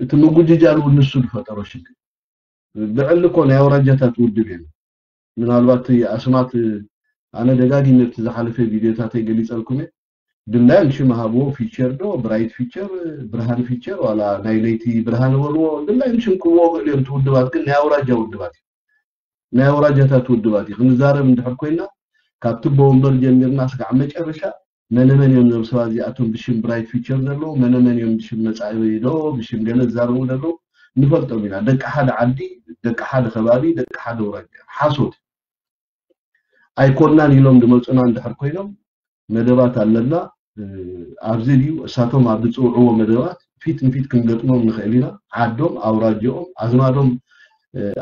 እቲ ምጉጅጃል እውን ንሱ ዝፈጠሮ ሽግር። ብዕሊ እኮ ናይ ኣውራጃታት ውድብ እዮም። ምናልባት ኣስማት ኣነ ደጋጊመ እቲ ዝሓለፈ ቪድዮታተይ ገሊፀልኩም እየ። ድላዮም ሽም ሃብዎ፣ ፊቸር ዶ ብራይት ፊቸር፣ ብርሃን ፊቸር ዋላ ናይ ለይቲ ብርሃን በልዎ፣ ድላዮም ሽም ክብዎ ክእል እዮም። እቲ ውድባት ግን ናይ ኣውራጃ ውድባት እዩ። ናይ ኣውራጃታት ውድባት እዩ። ክንዛረብ እንድሕር ኮይና ካብ ትቦ ወንበር ጀሚርና ስጋዕ መጨረሻ መነመን እዮም እዞም ሰባት እዚኣቶም ብሽም ብራይት ፊቸር ዘለዉ፣ መነመን እዮም ብሽም መጻኢ ዶ ብሽም ገለ ዝዛረቡ ዘለዉ ንፈልጦም ኢና። ደቂ ሓደ ዓዲ፣ ደቂ ሓደ ከባቢ፣ ደቂ ሓደ ኣውራጃ። ሓሶት ኣይኮናን ኢሎም ዝመፁና እንድሕር ኮይኖም መደባት ኣለና። ኣብዚ ድዩ እሳቶም ኣብ ዝፅውዕዎ መደባት ፊት ንፊት ክንገጥሞም ንኽእል ኢና። ዓዶም፣ ኣውራጃኦም፣ ኣዝማዶም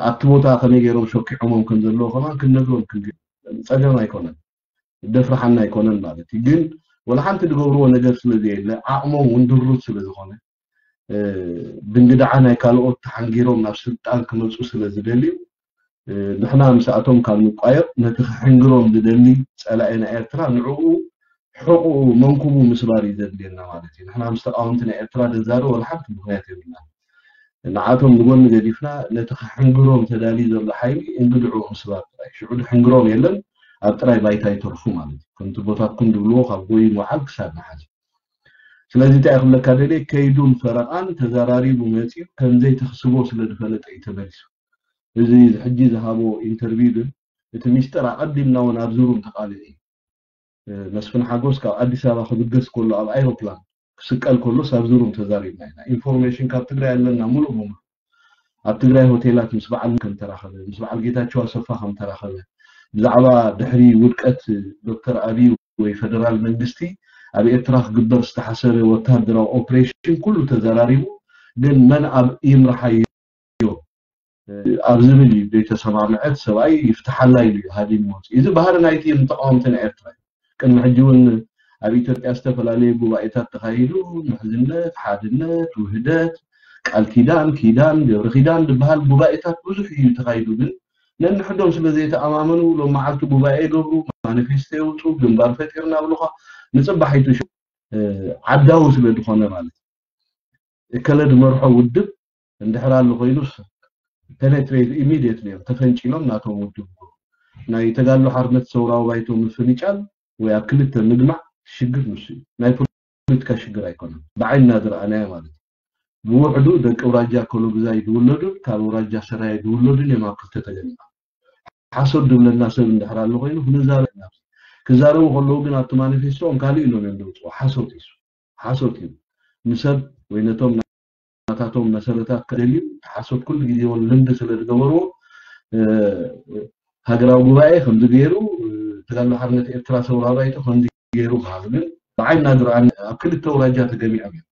ኣብቲ ቦታ ከመይ ገይሮም ሸኪዖሞም ከም ዘለዉ ከማን ክንነግሮም ክንግል ጸገም ኣይኮነን። ደፍርሓና ኣይኮነን ማለት እዩ። ግን ወላ ሓንቲ ዝገብርዎ ነገር ስለ ዘየለ ዓቕሞም እውን ድሩት ስለ ዝኾነ ድንግዳዓ ናይ ካልኦት ተሓንጊሮም ናብ ስልጣን ክመፁ ስለ ዝደልዩ ንሕና ምስኣቶም ካብ ንቋየቕ ነቲ ክሕንግሮም ዝደሊ ጸላኢ ናይ ኤርትራ ንዕኡ ሕቑኡ መንኩቡ ምስባር እዩ ዘድልየና ማለት እዩ። ንሕና ምስ ተቃወምቲ ናይ ኤርትራ ደዛረብ ወላ ሓንቲ ምኽንያት የብልና። ንዓቶም ንጎኒ ገዲፍና ነቲ ክሕንግሮም ተዳልዩ ዘሎ ሓይሊ እንግድዕኡ ምስባር ጥራይ። ሽዑ ድሕንግሮም የለን ኣብ ጥራይ ባይታ ይተርፉ ማለት እዩ። ከምቲ ቦታትኩም ድብልዎ ካብ ጎይ ምውዓል ክሳድ ንሓዚ። ስለዚ እንታይ ክብለካ ደልየ ከይዱን ፈረቓን ተዘራሪቡ መፂኡ ከምዘይተኽስቦ ስለ ዝፈለጠ እዩ ተመሊሱ። እዚ ሕጂ ዝሃቦ ኢንተርቪው ግን እቲ ሚስጥር ኣቐዲምና እውን ኣብዚ ሩም ተቃሊዑ እዩ። መስፍን ሓጎስ ካብ ኣዲስ ኣበባ ክብገስ ከሎ ኣብ ኣይሮፕላን ክስቀል ከሎስ ኣብዚ ሩም ተዛሪብና ኢና። ኢንፎርሜሽን ካብ ትግራይ ኣለና ሙሉእ ብሙሉእ። ኣብ ትግራይ ሆቴላት ምስ በዓል ከም ተራኸበ፣ ምስ በዓል ጌታቸው ኣሰፋ ከም ተራኸበ፣ ብዛዕባ ድሕሪ ውድቀት ዶክተር ኣብይ ወይ ፈደራል መንግስቲ ኣብ ኤርትራ ክግበር ዝተሓሰበ ወታደራዊ ኦፕሬሽን ኩሉ ተዘራሪቡ፣ ግን መን ኣብ ይምርሓዮ ኣብ ዝብል እዩ ዘይተሰማምዐት ሰብኣይ ይፍትሓላ ኢሉ እዩ ሃዲሙ ወፂኡ። እዚ ባህሪ ናይቲ ተቃወምቲ ናይ ኤርትራ እዩ። ቅድሚ ሕጂ እውን ኣብ ኢትዮጵያ ዝተፈላለዩ ጉባኤታት ተኻይዱ፣ ምሕዝነት፣ ሓድነት፣ ውህደት፣ ቃል ኪዳን፣ ኪዳን፣ ገብረ ኪዳን ዝበሃል ጉባኤታት ብዙሕ እዩ ተኻይዱ። ግን ነንሕዶም ስለ ዘይተኣማመኑ ሎም መዓልቲ ጉባኤ ይገብሩ፣ ማኒፌስቶ የውፁ፣ ግንባር ፈጢርና ብሉኻ ንፅባሕ ይትሹ ዓዳዊ ስለ ዝኾነ ማለት እዩ። እከለ ዝመርሖ ውድብ እንድሕር ኣሎ ኮይኑስ ፔኔትሬት ኢሚድየትሊ እዮም ተፈንጪሎም ናቶም ውድብ ናይ ተጋድሎ ሓርነት ሰውራዊ ባይቶ ምፍንጫል ወይ ኣብ ክልተ ምግማዕ ሽግር ንሱ እዩ። ናይ ፖለቲካ ሽግር ኣይኮነን። ብዓይንና ዝረኣናዮ ማለት እዩ። ብውሕዱ ደቂ ኣውራጃ ኮሎግዛይ ዝውለዱን ካብ ኣውራጃ ሰራየ ዝውለዱን እዮም ኣብ ክልተ ተገሚዖም። ሓሶት ዝብለና ሰብ እንድሕር ኣሎ ኮይኑ ክንዛረብ ኢና። ክዛረቡ ከለዉ ግን ኣብቲ ማኒፌስቶኦም ካልእ ኢሎም እዮም ዘውፅኡ። ሓሶት እዩ። ሓሶት እዩ። ንሰብ ወይ ነቶም ናታቶም መሰረታት ከደልዩ ሓሶት ኩሉ ግዜ እውን ልምዲ ስለ ዝገበርዎ ሃገራዊ ጉባኤ ከምዚ ገይሩ ተጋድሎ ሓርነት ኤርትራ ሰውራ ባይቶ ከምዚ ገይሩ ክሃሉ ግን ብዓይና ዝረኣኒ ኣብ ክልተ ኣውራጃ ተገሚዖም እዮም።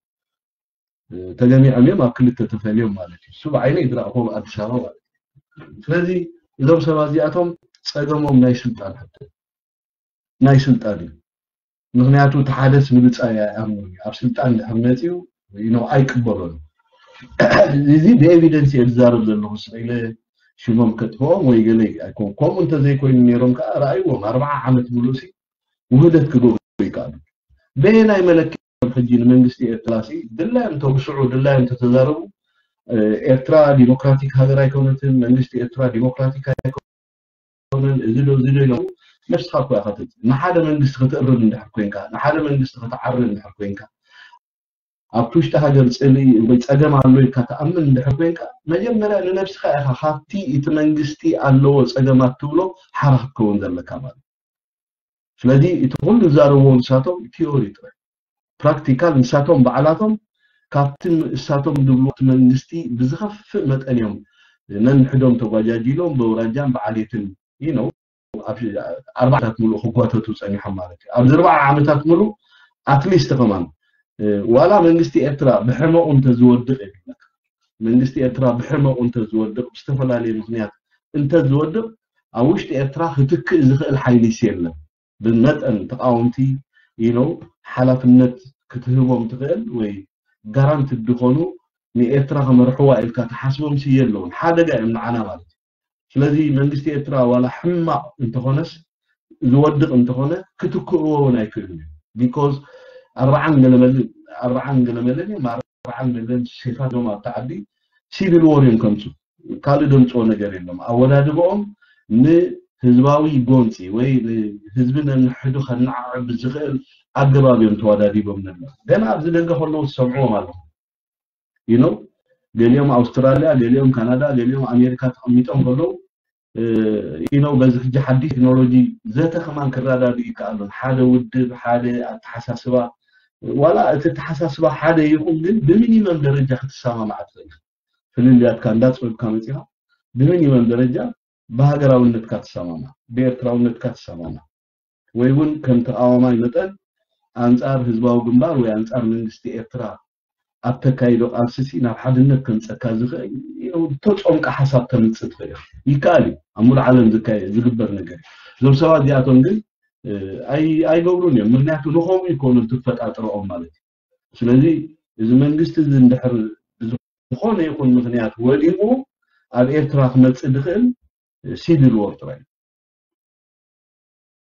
ተገሚዖም እዮም ኣብ ክልተ ተፈልዮም ማለት እዩ። እሱ ብዓይነይ ዝረኣኹዎ ኣብ ኣዲስ ኣበባ ማለት እዩ። ስለዚ እዞም ሰባት እዚኣቶም ጸገሞም ናይ ስልጣን ሕቶ ናይ ስልጣን እዩ። ምክንያቱ እቲ ሓደስ ንብጻይ ኣይኣምኑን እዩ። ኣብ ስልጣን ድሕር መጺኡ you know ኣይቅበሎን። እዚ ብኤቪደንስ እየ ዝዛረብ ዘለኹ። ስለ ሽሞም ከጥፍኦም ወይ ገለ ኣይኮን። ከምኡ እንተዘይኮይኑ ነይሮም ከዓ ረኣይዎም ኣርባዓ ዓመት ሙሉእ ሲ ውህደት ክገብሩ ይከኣሉ። በየናይ መለክዮም ሕጂ ንመንግስቲ ኤርትራ ሲ ድላዮም ተውስዑ ድላዮም ተተዛረቡ ኤርትራ ዲሞክራቲክ ሃገር ኣይኮነትን፣ መንግስቲ ኤርትራ ዲሞክራቲክ ኣይኮነን፣ እዚ ዶ እዚ ዶ ኢሎም ነብስኻ እኮ ኢኻ ተት ንሓደ መንግስቲ ክትእርም እንድሕር ኮንካ፣ ንሓደ መንግስቲ ክትዓርም እንድሕር ኮንካ፣ ኣብቲ ውሽጢ ሃገር ጽልኢ ወይ ጸገም ኣሎ ኢልካ ትኣምን እንድሕር ኮንካ፣ መጀመርያ ንነብስኻ ኢኻ ካብቲ እቲ መንግስቲ ኣለዎ ጸገማት ትብሎ ሓራ ክትከውን ዘለካ ማለት። ስለዚ እቲ ኩሉ ዝዛረብዎ ንሳቶም ቲዮሪ ጥራይ፣ ፕራክቲካል ንሳቶም ባዕላቶም ካብቲ እሳቶም ዝብልዎ እቲ መንግስቲ ብዝኸፍእ መጠን እዮም ነንሕዶም ተጓጃጂሎም ብኣውራጃን ብዓሌትን you know ኣብ ኣርባዓታት ሙሉእ ክጓተቱ ጸኒሖም ማለት እዩ። ኣብዚ ኣርባዓ ዓመታት ሙሉእ ኣትሊስት ከማን ዋላ መንግስቲ ኤርትራ ብሕመቑ እንተዝወድቕ የብለካ መንግስቲ ኤርትራ ብሕመቑ እንተዝወድቕ ብዝተፈላለየ ምክንያት እንተዝወድቕ ኣብ ውሽጢ ኤርትራ ክትክእ ዝኽእል ሓይሊስ የለን። ብመጠን ተቃወምቲ you know ሓላፍነት ክትህቦም ትኽእል ወይ ጋራንትድ ዝኾኑ ንኤርትራ ክመርሕዋ ኢልካ ትሓስቦም ሲ የለውን። ሓደጋ እዮም ንዓና ማለት እዩ። ስለዚ መንግስቲ ኤርትራ ዋላ ሕማቕ እንተኾነስ ዝወድቕ እንተኾነ ክትክእዎ እውን ኣይክእሉን እዮም። ቢኮዝ ኣርባዓን ገለመልን ኣርባዓን ገለመልን እዮም ኣርባዓን ገለን ሴፋት እዮም ኣብቲ ዓዲ ሲቪል ዎር እዮም ከምፁ ካልእ ደምፅዎ ነገር የሎም። ኣወዳድበኦም ንህዝባዊ ጎንፂ ወይ ንህዝቢ ነንሕዱ ከነዓዕብ ዝኽእል ኣገባብ እዮም ተወዳዲቦም ነሎ። ገና ኣብዚ ደገ ከለዉ ትሰምዕዎም ኣለኹም። you know ገሊኦም ኣውስትራልያ፣ ገሊኦም ካናዳ፣ ገሊኦም ኣሜሪካ ተቐሚጦም ከለዉ you know በዚ ሕጂ ሓዲሽ ቴክኖሎጂ ዘተ ከማን ክረዳድኡ ይከኣሉን። ሓደ ውድብ፣ ሓደ ኣተሓሳስባ ዋላ እቲ ኣተሓሳስባ ሓደ ይኹን ግን ብሚኒመም ደረጃ ክትሰማማዕ ትኽእል። ፍልልያትካ እንዳፅበብካ መፂኻ ብሚኒመም ደረጃ ብሃገራውነትካ ትሰማማዕ፣ ብኤርትራውነትካ ትሰማማዕ ወይ እውን ከም ተቃዋማይ መጠን ኣንፃር ህዝባዊ ግንባር ወይ ኣንፃር መንግስቲ ኤርትራ ኣብ ተካይዶ ቃልሲ ሲ ናብ ሓድነት ከምፀካ ዝኽእል ተፆምቃ ሓሳብ ተምፅእ ትኽእል ኢኻ። ይከኣል እዩ። ኣብ ሙሉእ ዓለም ዝካየ- ዝግበር ነገር እዩ። እዞም ሰባት እዚኣቶም ግን እ፣ ኣይ- ኣይገብሩን እዮም። ምክንያቱ ንኸምኡ ይኮኑ ትፈጣጥረኦም ማለት እዩ። ስለዚ እዚ መንግስቲ እዚ እንድሕር ብዝኾነ ይኹን ምክንያት ወዲቑ ኣብ ኤርትራ ክመፅእ ዝኽእል ሲቪል ዎር ጥራይ እዩ።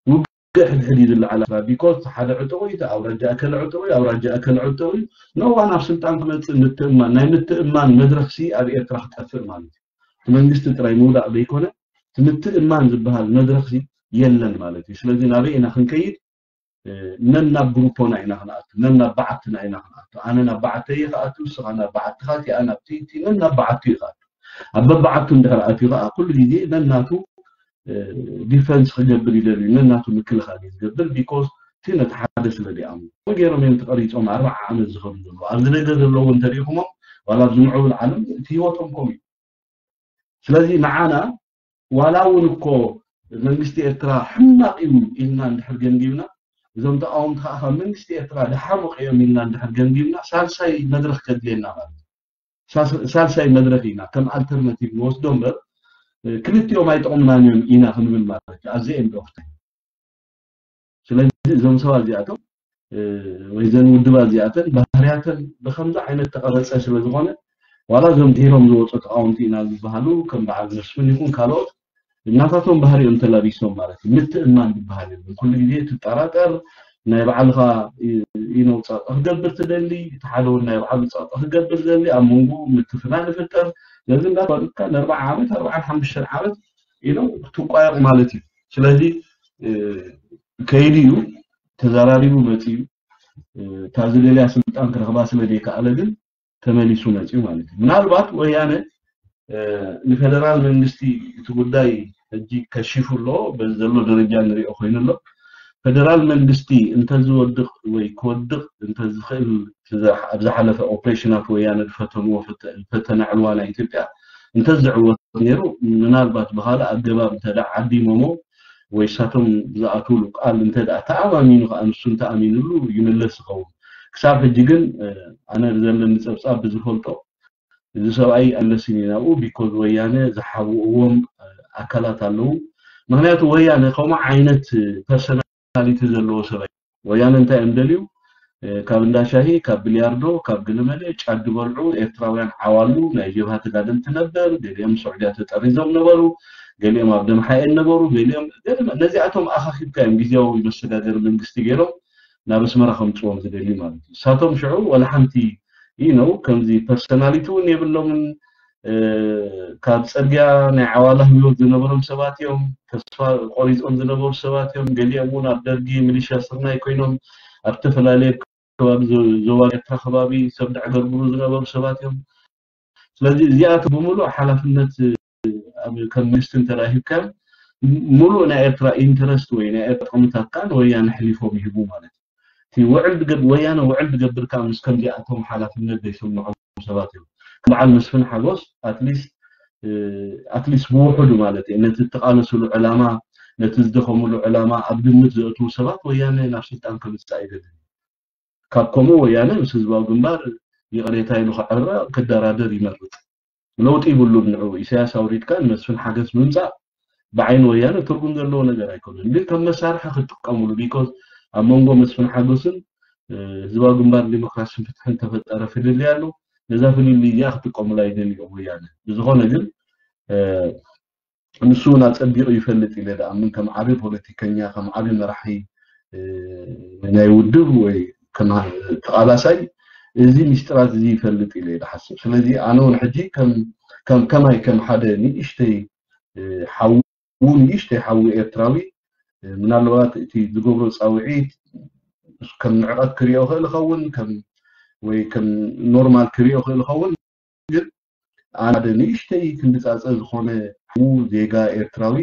ውግእ ሕድሕድ እዩ ዝለዓል። ቢኮዝ ሓደ ዕጡቕ እዩ፣ ኣውራጃ እከለ ዕጡቕ እዩ፣ ኣውራጃ እከለ ዕጡቕ እዩ። ኖዋን ኣብ ስልጣን ክመፅእ ምትእማን ናይ ምትእማን መድረኽሲ ኣብ ኤርትራ ክጠፍእ ማለት እዩ። እቲ መንግስቲ ጥራይ ምውዳቕ ዘይኮነ እቲ ምትእማን ዝበሃል መድረኽሲ የለን ማለት እዩ። ስለዚ ናበይ ኢና ክንከይድ? ነናብ ግሩፖና ኢና ክንኣቱ፣ ነናብ በዓትና ኢና ክንኣቱ። ኣነ ናብ በዓተይ እየ ክኣቱ፣ ንስኻ ናብ በዓትኻ፣ እቲኣ ናብ እቲ፣ እቲ ነናብ በዓቱ እዩ ክኣቱ። ኣብ በበዓቱ እንድሕር ኣትዩ ከዓ ኩሉ ግዜ ነናቱ ዲፈንስ ክገብር ይደልዩ፣ ነናቱ ምክልኻል እዩ ዝገብር። ቢኮዝ እቲ ነቲ ሓደ ስለ ዲኣም ገይሮም እዮም ተቐሪፆም ኣርባዓ ዓመት ዝኸዱ ዘለዉ። ኣብዚ ደገ ዘለዉ እንተሪኢኹሞም ዋላ ኣብዚ ምዕቡል ዓለም እቲ ህይወቶም ከምኡ እዩ። ስለዚ ንዓና ዋላ እውን እኮ መንግስቲ ኤርትራ ሕማቕ እዩ ኢልና እንድሕር ገምጊምና፣ እዞም ተቃወምቲ ከዓ ካብ መንግስቲ ኤርትራ ድሓሙቕ እዮም ኢልና እንድሕር ገምጊምና ሳልሳይ መድረኽ ከድልየና ማለት እዩ። ሳልሳይ መድረኽ ኢና ከም ኣልተርናቲቭ ንወስዶ እምበር ክልቲኦም ኣይጠቕሙናን እዮም ኢና ክንብል ማለት እዩ። ኣዚ ኤንድ ኦፍ ታይም ስለዚ እዞም ሰባት እዚኣቶም ወይ ዘን ውድባት እዚኣተን ባህርያተን ብከምዚ ዓይነት ተቐረፀ ስለዝኾነ ዋላ እዞም ድሒሮም ዝወፁ ተቃወምቲ ኢና ዝበሃሉ ከም በዓል መስፍን ይኹን ካልኦት እናታቶም ባህሪኦም ተላቢሶም ማለት እዩ። ምትእማን ዝበሃል የለን። ኩሉ ግዜ ትጠራጠር፣ ናይ ባዕልኻ ኢኖ ፃጣ ክገብር ትደሊ፣ እቲ ሓደ እውን ናይ ባዕሉ ፃጣ ክገብር ዝደሊ፣ ኣብ መንጎ ምትፍናን ይፍጠር። ስለዚ እንዳተባልካ ንኣርባዓ ዓመት ኣርባዓን ሓሙሽተን ዓመት ኢኖ ክትቋየቕ ማለት እዩ። ስለዚ ከይዲ እዩ፣ ተዘራሪቡ መፂኡ። እታ ዝደልያ ስልጣን ክረኽባ ስለ ዘይከኣለ ግን ተመሊሱ መፂኡ ማለት እዩ። ምናልባት ወያነ ንፌደራል መንግስቲ እቲ ጉዳይ ሕጂ ከሺፉ ኣሎ፣ በዚ ዘሎ ደረጃ ንሪኦ ኮይኑ ኣሎ። ፌደራል መንግስቲ እንተዝወድቕ ወይ ክወድቕ እንተዝኽእል ኣብ ዝሓለፈ ኦፕሬሽናት ወያነ ዝፈተንዎ ፈተ- ፈተነ ዕልዋ ናይ ኢትዮጵያ እንተዝዕወት ነይሩ ምናልባት ብኻልእ ኣገባብ እንተ ደኣ ዓዲሞሞ ወይ እሳቶም ዝኣትውሉ ቃል እንተ ደኣ ተኣማሚኑ ከዓ ንሱ እንተኣሚንሉ ይምለስ ይኸውን። ክሳብ ሕጂ ግን ኣነ ብዘለኒ ፀብፃብ ብዝፈልጦ እዚ ሰብኣይ ኣለስን እዩ ናብኡ because ወያነ ዝሓብእዎም ኣካላት ኣለዉ። ምክንያቱ ወያነ ከምኡ ዓይነት ፐርሰናሊቲ ዘለዎ ሰብኣይ። ወያነ እንታይ እዮም ደልዩ? ካብ እንዳሻሂ፣ ካብ ብልያርዶ፣ ካብ ገለመለ ጫት ዝበልዑ ኤርትራውያን ዓዋሉ ናይ ጀብሃ ተጋደልቲ ነበር። ገሊኦም ስዑድያ ተጠሪዞም ነበሩ፣ ገሊኦም ኣብ ደምሓኤን ነበሩ፣ ገሊኦም ነዚኣቶም ኣኻኺብካ እዮም ግዜያዊ መሰጋገሪ መንግስቲ ገይሮም ናብ ኣስመራ ከምፅዎም ዝደልዩ ማለት እዩ። እሳቶም ሽዑ ወላ ሓንቲ you know ከምዚ ፐርሰናሊቲ እውን የብሎምን። ካብ ፅርግያ ናይ ዓዋላ ህይወት ዝነበሮም ሰባት እዮም። ተስፋ ቆሪፆም ዝነበሩ ሰባት እዮም። ገሊኦም እውን ኣብ ደርጊ ሚሊሻ ስርናይ ኮይኖም ኣብ ዝተፈላለየ ከባቢ ዞባ ኤርትራ ከባቢ ሰብ ደዕገርግሩ ዝነበሩ ሰባት እዮም። ስለዚ እዚኣቶም ብምሉእ ሓላፍነት ከም መንግስቲ እንተረሂብካዮም ሙሉእ ናይ ኤርትራ ኢንተረስት ወይ ናይ ኤርትራ ጥቕምታት ከዓ ንወያነ ሕሊፎም ይህቡ ማለት እዩ። እቲ ውዕል ወያነ ውዕል ዝገብር ከዓ ምስ ከምዚኣቶም ሓላፍነት ዘይስምዖም ሰባት እዮም። በዓል መስፍን ሓጎስ ኣትሊስት ኣትሊስት ብውሕዱ ማለት እዩ ነቲ እተቃለስሉ ዕላማ ነቲ ዝደኸምሉ ዕላማ ኣብ ግምት ዘእትዉ ሰባት ወያነ ናብ ስልጣን ከምፅእ ኣይደልን። ካብ ከምኡ ወያነ ምስ ህዝባዊ ግንባር ይቕሬታ ኢሉ ክዕረ ክደራደር ይመርፅ። ለውጢ ይብሉን ንዑ ኢሳያስ ኣውሪድካ ንመስፍን ሓገስ ምምፃእ ብዓይኒ ወያነ ትርጉም ዘለዎ ነገር ኣይኮነን። ግን ከም መሳርሒ ክጥቀምሉ because ኣብ መንጎ መስፍን ሓጎስን ህዝባዊ ግንባር ዲሞክራሲን ፍትሕን ተፈጠረ ፍልልይ ኣሎ። ነዛ ፍልልይ እዚኣ ክጥቀሙላ ይደልዮም ወያነ። ብዝኾነ ግን ንሱ እውን ኣፀቢቑ ይፈልጥ ኢለ ደኣምን ከም ዓብዪ ፖለቲከኛ ከም ዓብዪ መራሒ ናይ ውድብ ወይ ከም ተቓላሳይ እዚ ሚስጥራት እዚ ይፈልጥ ኢለ ይሓስብ። ስለዚ ኣነ እውን ሕጂ ከም ከማይ ከም ሓደ ንእሽተይ ሓዉ ንእሽተይ ሓዊ ኤርትራዊ ምናልባት እቲ ዝገብሮ ፃውዒት ከም ንዕቐት ክሪኦ ክእል ይኸውን ወይ ከም ኖርማል ክሪኦ ክእል ይኸውን። ግን ሓደ ንእሽተይ ክንድፃፀ ዝኾነ ሓዉ ዜጋ ኤርትራዊ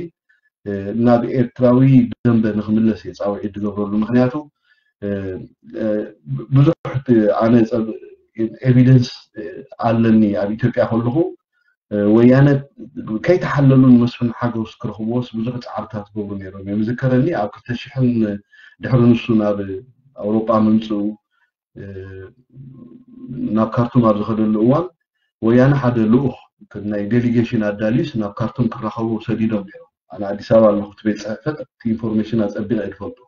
ናብ ኤርትራዊ ደንበ ንክምለስ እየ ፃውዒት ዝገብረሉ። ምክንያቱ ብዙሕ ኣነ ኤቪደንስ ኣለኒ ኣብ ኢትዮጵያ ከለኹ ወያነ ከይተሓለሉ ንመስፍን ሓጎስ ክረኽብዎስ ብዙሕ ፃዕርታት ዝገብሩ ነይሮም እዮም። ዝከረኒ ኣብ ክልተ ሽሕን ድሕሪ ንሱ ናብ ኣውሮጳ ምምፅኡ ናብ ካርቱም ኣብ ዝኸደሉ እዋን ወያነ ሓደ ልኡኽ ናይ ዴሊጌሽን ኣዳልዩስ ናብ ካርቱም ክራኸቡ ሰዲዶም ነይሮም። ኣነ ኣዲስ ኣበባ ኣለኹ እቲ ቤት ፅሕፈት እቲ ኢንፎርሜሽን ኣፀቢቐ እየ ዝፈልጦ።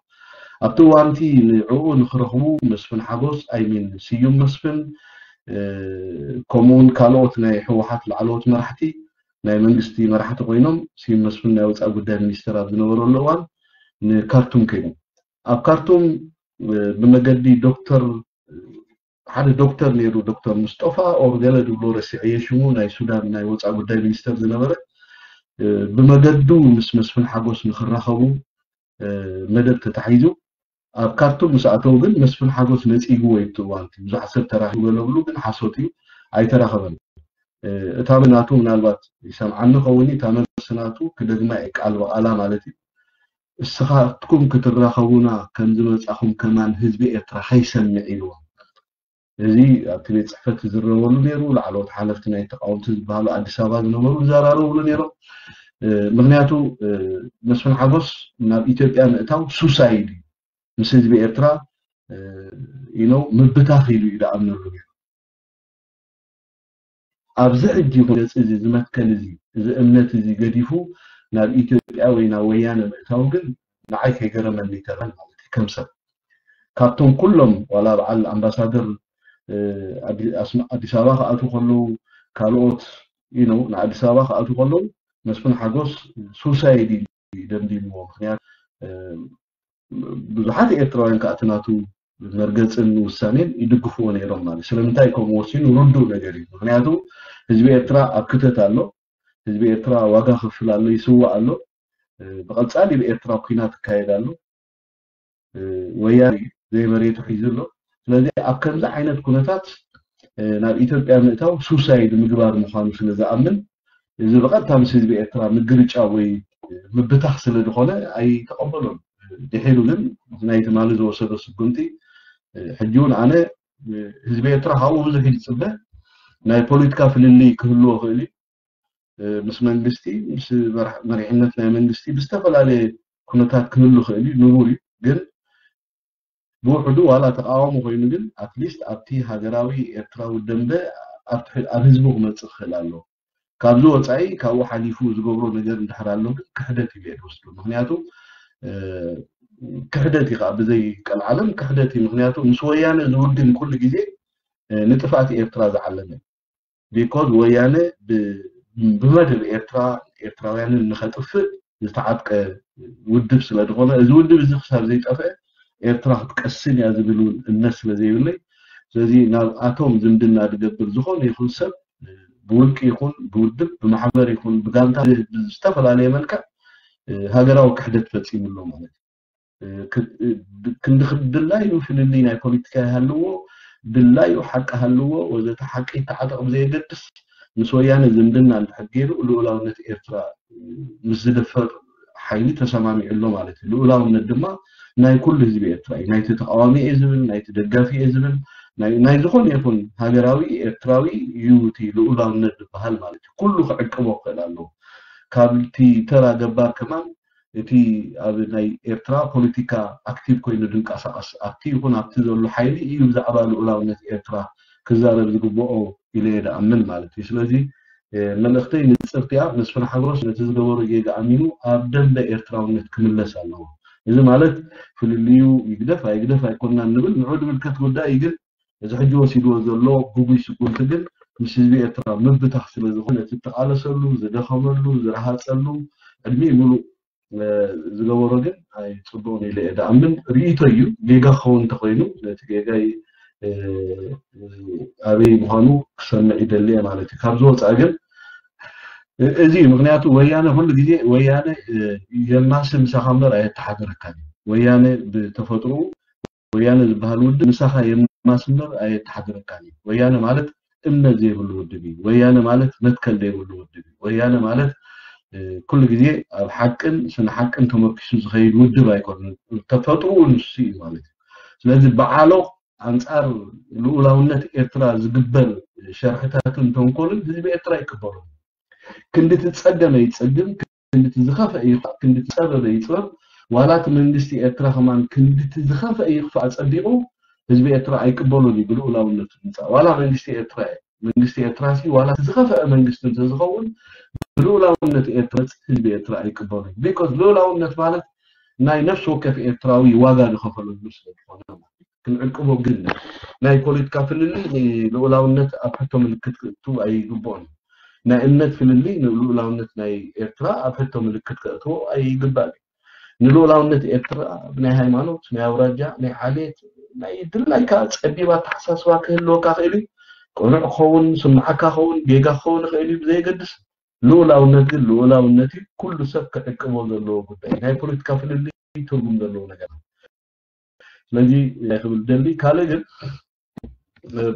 ኣብቲ እዋንቲ ንዕኡ ንክረኽቡ መስፍን ሓጎስ ኣይሚን ስዩም መስፍን ከምኡውን ካልኦት ናይ ህወሓት ላዕለዎት መራሕቲ ናይ መንግስቲ መራሕቲ ኮይኖም ስዩም መስፍን ናይ ወፃኢ ጉዳይ ሚኒስተር ኣብ ዝነበረሉ እዋን ንካርቱም ከይዶም ኣብ ካርቱም ብመገዲ ዶክተር ሓደ ዶክተር ነይሩ ዶክተር ሙስጠፋ ኦር ገለ ዝብሎ ረሲዐየ ሽሙ ናይ ሱዳን ናይ ወፃኢ ጉዳይ ሚኒስተር ዝነበረ ብመገዱ ምስ መስፍን ሓጎስ ንክራኸቡ መደብ ተታሒዙ ኣብ ካርቱም ምስ ኣተው ግን መስፍን ሓጎስ ነፂግዎ እዩ እቲ እዋን ብዙሕ ሰብ ተራኺቡ ገለብሉ ግን ሓሶት እዩ ኣይተራኸበን እታ ናቱ ምናልባት ይሰምዓኒ ከውን እታ መልሲ ናቱ ክደግማ እየ ቃል ብቓላ ማለት እዩ እስኻትኩም ክትራኸቡና ከም ዝመጻኹም ከማን ህዝቢ ኤርትራ ከይሰምዕ ኢልዎም። እዚ ኣብቲ ቤት ጽሕፈት ዝዝረበሉ ነይሩ። ላዕለዎት ሓለፍቲ ናይ ተቃወምቲ ዝበሃሉ ኣዲስ ኣበባ ዝነበሩ ይዘራረብሉ ነይሮም። ምክንያቱ መስፍን ሓጎስ ናብ ኢትዮጵያ ምእታው ሱሳይድ እዩ። ምስ ህዝቢ ኤርትራ ኢኖ ምብታኽ ኢሉ እዩ ዝኣምነሉ ነይሩ። ኣብዚ ሕጂ ኩነፂ እዚ ዝመትከል እዚ እዚ እምነት እዚ ገዲፉ ናብ ኢትዮጵያ ወይ ናብ ወያነ ምእታው ግን ንዓይ ከይገረመኒ ይተርፍ ማለት እዩ ከም ሰብ ካብቶም ኩሎም ዋላ በዓል ኣምባሳደር ኣዲስ ኣበባ ክኣትዉ ከለዉ ካልኦት you know ንኣዲስ ኣበባ ክኣትዉ ከለዉ መስፍን ሓጎስ ሱሳይድ እዩ ደምዲምዎ ምክንያቱ ብዙሓት ኤርትራውያን ከዓ እቲ ናቱ መርገፅን ውሳኔን ይድግፍዎ ነይሮም ማለት ስለምንታይ ከምኡ ወሲኑ ርዱእ ነገር እዩ ምክንያቱ ህዝቢ ኤርትራ ኣብ ክተት ኣሎ ህዝቢ ኤርትራ ዋጋ ከፍል ኣሎ ይስዋእ ኣሎ ብቐፃሊ ብኤርትራ ኩናት ይካየድ ኣሎ ወያነ ዘይመሬቱ ሒዙ ኣሎ ስለዚ ኣብ ከምዚ ዓይነት ኩነታት ናብ ኢትዮጵያ ምእታው ሱሳይድ ምግባር ምዃኑ ስለ ዝኣምን እዚ ብቐጥታ ምስ ህዝቢ ኤርትራ ምግርጫ ወይ ምብታኽ ስለ ዝኾነ ኣይተቐበሎን ድሒሩ ግን ናይ ትማሊ ዝወሰዶ ስጉምቲ ሕጂ እውን ኣነ ህዝቢ ኤርትራ ካብኡ ብዙሕ ይፅበ ናይ ፖለቲካ ፍልልይ ክህልዎ ክእል እዩ ምስ መንግስቲ ምስ መሪሕነት ናይ መንግስቲ ብዝተፈላለየ ኩነታት ክህሉ ክእል እዩ ንቡር እዩ ግን ብውሕዱ ዋላ ተቃዋሞ ኮይኑ ግን ኣትሊስት ኣብቲ ሃገራዊ ኤርትራዊ ደንበ ኣብ ትሕ- ኣብ ህዝቡ ክመፅእ ክኽእል ኣለዎ። ካብዚ ወፃኢ ካብኡ ሓሊፉ ዝገብሮ ነገር እንድሕር ኣሎ ግን ክሕደት እዩ ዝወስዱ። ምክንያቱ እ፣ ክሕደት እዩ ከዓ ብዘይ ቀልዓለም ክሕደት እዩ። ምክንያቱ ምስ ወያነ ዝውግን ኩሉ ግዜ እ፣ ንጥፍኣት ኤርትራ ዝዓለመ እዩ። ቢኮዝ ወያነ ብ- ብመደብ ኤርትራ ኤርትራውያንን ንኸጥፍእ ዝተዓጥቀ ውድብ ስለ ዝኾነ እዚ ውድብ እዚ ክሳብ ዘይጠፍአ ኤርትራ ክትቀስን እያ ዝብል እውን እምነት ስለ ዘይብለይ ስለዚ ናብ ኣቶም ዝምድና ዝገብር ዝኾነ ይኹን ሰብ ብውልቂ ይኹን ብውድብ ብማሕበር ይኹን ብጋንታ ብዝተፈላለየ መልክዕ ሃገራዊ ክሕደት ፈፂሙ ኣሎ ማለት እዩ። ክንዲ ድላዩ ፍልልይ ናይ ፖለቲካ ይሃልዎ ድላዩ ሓቂ ሃልዎ ወዘተ ሓቂ ይተዓጠቕ ብዘየገድስ ምስ ወያነ ዝምድና እንድሕር ገይሩ ልኡላውነት ኤርትራ ምስ ዝደፈር ሓይሊ ተሰማሚዑ ኣሎ ማለት እዩ። ልኡላውነት ድማ ናይ ኩሉ ህዝቢ ኤርትራ እዩ። ናይቲ ተቃዋሚ እየ ዝብል፣ ናይቲ ደጋፊ እየ ዝብል፣ ናይ ዝኾነ ይኹን ሃገራዊ ኤርትራዊ እዩ እቲ ልኡላውነት ዝበሃል ማለት እዩ። ኩሉ ክዕቅቦ ክኽእል ኣለዎ። ካብቲ ተራ ገባር ከማን እቲ ኣብ ናይ ኤርትራ ፖለቲካ ኣክቲቭ ኮይኑ ድንቀሳቀስ ኣብቲ ይኹን ኣብቲ ዘሎ ሓይሊ እዩ ብዛዕባ ልኡላውነት ኤርትራ ክዛረብ ዝግብኦ ኢለ እየ ድኣምን ማለት እዩ። ስለዚ መልእኽተይ ንጽርቲያ መስፍን ሓጎስ ነቲ ዝገበሮ ጌጋ ኣሚኑ ኣብ ደንበ ኤርትራውነት ክምለስ ኣለዎ። እዚ ማለት ፍልልዩ ይግደፍ ኣይግደፍ ኣይኮንናን ንብል ንዑ ዝምልከት ጉዳይ እዩ። ግን እዚ ሕጂ ወሲድዎ ዘሎ ግጉይ ስጉምቲ ግን ምስ ህዝቢ ኤርትራ ምብታኽ ስለ ዝኾነ እቲ እተቓለሰሉ ዝደኸመሉ ዝረሃፀሉ ዕድሚኡ ሙሉእ ዝገበሮ ግን ኣይፅቡቕን ኢለ እየ ድኣምን። ርእይቶ እዩ። ጌጋ ክኸውን እንተኮይኑ ነቲ ጌጋይ ኣበይ ምዃኑ ክሰምዕ ይደሊ እየ ማለት እዩ። ካብዚ ወፃኢ ግን እዚ እዩ። ምክንያቱ ወያነ ኩሉ ግዜ ወያነ የማሲ ምሳኻ እምበር ኣየተሓድረካን እዩ። ወያነ ብተፈጥሮኡ ወያነ ዝበሃል ውድብ ምሳኻ የማሲ እምበር ኣየተሓድረካን እዩ። ወያነ ማለት እምነት ዘይብሉ ውድብ እዩ። ወያነ ማለት መትከል ዘይብሉ ውድብ እዩ። ወያነ ማለት ኩሉ ግዜ ኣብ ሓቅን ስነ ሓቅን ተመርኪሱ ዝኸይድ ውድብ ኣይኮነን። ተፈጥሮኡ ንሱ እዩ ማለት እዩ። ስለዚ በዓሎ ኣንፃር ልኡላውነት ኤርትራ ዝግበር ሸርሕታትን ተንኮልን ህዝቢ ኤርትራ ይቅበሎ። ክንዲ እቲ ፀገመ ይፀግም፣ ክንዲ እቲ ዝኸፍአ ይኽፋእ፣ ክንዲ እቲ ፀበበ ይፅበብ። ዋላ እቲ መንግስቲ ኤርትራ ከማን ክንዲ እቲ ዝኸፍአ ይኽፋእ ፀቢቑ ህዝቢ ኤርትራ ኣይቅበሎን እዩ ብልኡላውነቱ ምፃእ። ዋላ መንግስቲ ኤርትራ እዩ። መንግስቲ ኤርትራ ሲ ዋላ እቲ ዝኸፍአ መንግስቲ እንተዝኸውን ብልኡላውነት ኤርትራ ህዝቢ ኤርትራ ኣይቅበሎን። ቢኮዝ ልኡላውነት ማለት ናይ ነፍሲ ወከፍ ኤርትራዊ ዋጋ ዝኸፈለሉ ስለ ዝኾነ ማለት እዩ። ክንዕቅቦ ግን ናይ ፖለቲካ ፍልልይ ንልኡላውነት ኣብ ሕቶ ምልክት ክእቱ ኣይግብኦን። ናይ እምነት ፍልልይ ንልኡላውነት ናይ ኤርትራ ኣብ ሕቶ ምልክት ከእትዎ ኣይግባእን እዩ። ንልኡላውነት ኤርትራ ብናይ ሃይማኖት፣ ናይ ኣውራጃ፣ ናይ ዓሌት፣ ናይ ድላይካ ጸቢብ ኣተሓሳስባ ክህልወካ ክእል እዩ። ቅኑዕ ክኸውን፣ ስምዓካ ክኸውን፣ ጌጋ ክኸውን ይኽእል እዩ፣ ብዘየገድስ ልኡላውነት ግን ልኡላውነት እዩ። ኩሉ ሰብ ክዕቅቦ ዘለዎ ጉዳይ እዩ። ናይ ፖለቲካ ፍልልይ ትርጉም ዘለዎ ነገር ስለዚ እንታይ ክብል ደሊ ካልእ ግን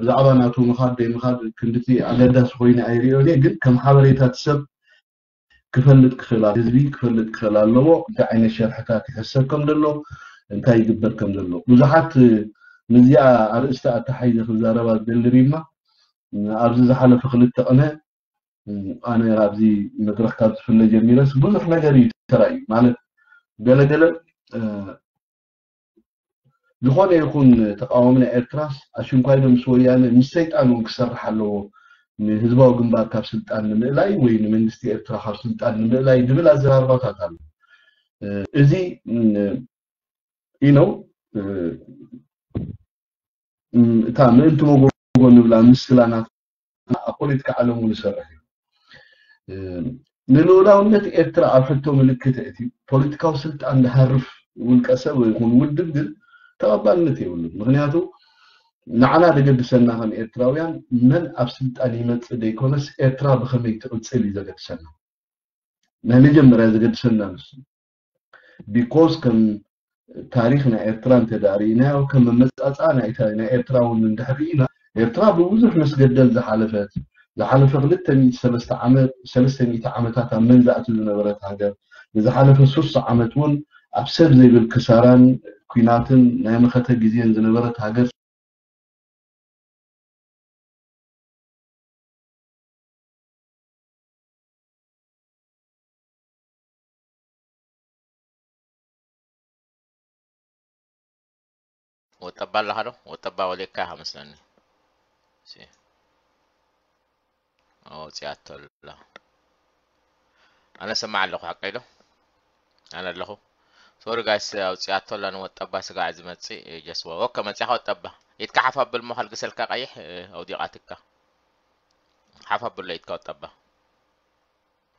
ብዛዕባ ናቱ ምኻድ ደይ ምኻድ ክንድቲ ኣገዳሲ ኮይኑ ኣይሪኦን እየ ግን ከም ሓበሬታ እቲ ሰብ ክፈልጥ ክኽእል ህዝቢ ክፈልጥ ክኽእል ኣለዎ እንታይ ዓይነት ሸርሕታት ይሕሰብ ከም ዘሎ እንታይ ይግበር ከም ዘሎ ብዙሓት ምስዚኣ ኣርእስቲ ኣተሓይዘ ክዛረባ ዝደሊ ሪማ ኣብዚ ዝሓለፈ ክልተ ቅነ ኣነ ኣብዚ መድረኽ ካብ ዝፍለ ጀሚረስ ብዙሕ ነገር እዩ ተራእዩ ማለት ገለገለ ዝኾነ ይኹን ተቃዋሚ ናይ ኤርትራስ ኣሽንኳይ ዶ ምስ ወያነ ምስ ሰይጣን እውን ክሰርሕ ኣለዎ ንህዝባዊ ግንባር ካብ ስልጣን ንምእላይ ወይ ንመንግስቲ ኤርትራ ካብ ስልጣን ንምእላይ ዝብል ኣዘራርባታት ኣሎ እዚ ኢነው እታ ምእንቲ መጎጎ ንብላ ምስላ ናት ኣብ ፖለቲካ ዓለም እውን ይሰርሕ እዩ። ንልኡላውነት ኤርትራ ኣብ ሕቶ ምልክት እቲ ፖለቲካዊ ስልጣን ዝሃርፍ ውልቀ ሰብ ይኹን ውድብ ግን ተቐባልነት የብሉን። ምክንያቱ ንዓና ዘገድሰና ከም ኤርትራውያን መን ኣብ ስልጣን ይመፅእ ዘይኮነስ ኤርትራ ብኸመይ ትቕፅል እዩ ዘገድሰና። ናይ መጀመርያ ዘገድሰና ንሱ ቢኮዝ ከም ታሪክ ናይ ኤርትራ እንተዳርኢናዮ ከም መመፃፃ ናይ ኤርትራ እውን እንድሕር ርኢና ኤርትራ ብብዙሕ መስገደል ዝሓለፈት ዝሓለፈ ክልተ ሚእቲ ሰለስተ ዓመት ሰለስተ ሚእቲ ዓመታት ኣብ መግዛእቲ ዝነበረት ሃገር ንዝሓለፈ ሱሳ ዓመት እውን ኣብ ሰብ ዘይብል ክሳራን ኲናትን ናይ መኸተ ግዜን ዝነበረት ሃገር ወጠባ ኣለኻ ዶ? ወጠባ ወሌካ ኢኻ መስለኒ። እሺ። ኣውፂኣቶ ኣላ። ኣነ ሰማዕ ኣለኹ፣ ሓቀይ ዶ? ኣነ ኣለኹ። ሶሪ ጋይስ፣ ኣውፂኣቶ ኣላ። ንወጠባ ስጋዕ ዝመፅእ ጀስዋ። ኦከ፣ መፂኻ ወጠባ። ኢድካ ሓፍ ኣብል እሞ ከልግሰልካ ቀይሕ፣ እ፣ ኣውዲቓትካ። ሓፍ ኣብሎ ኢድካ ወጠባ።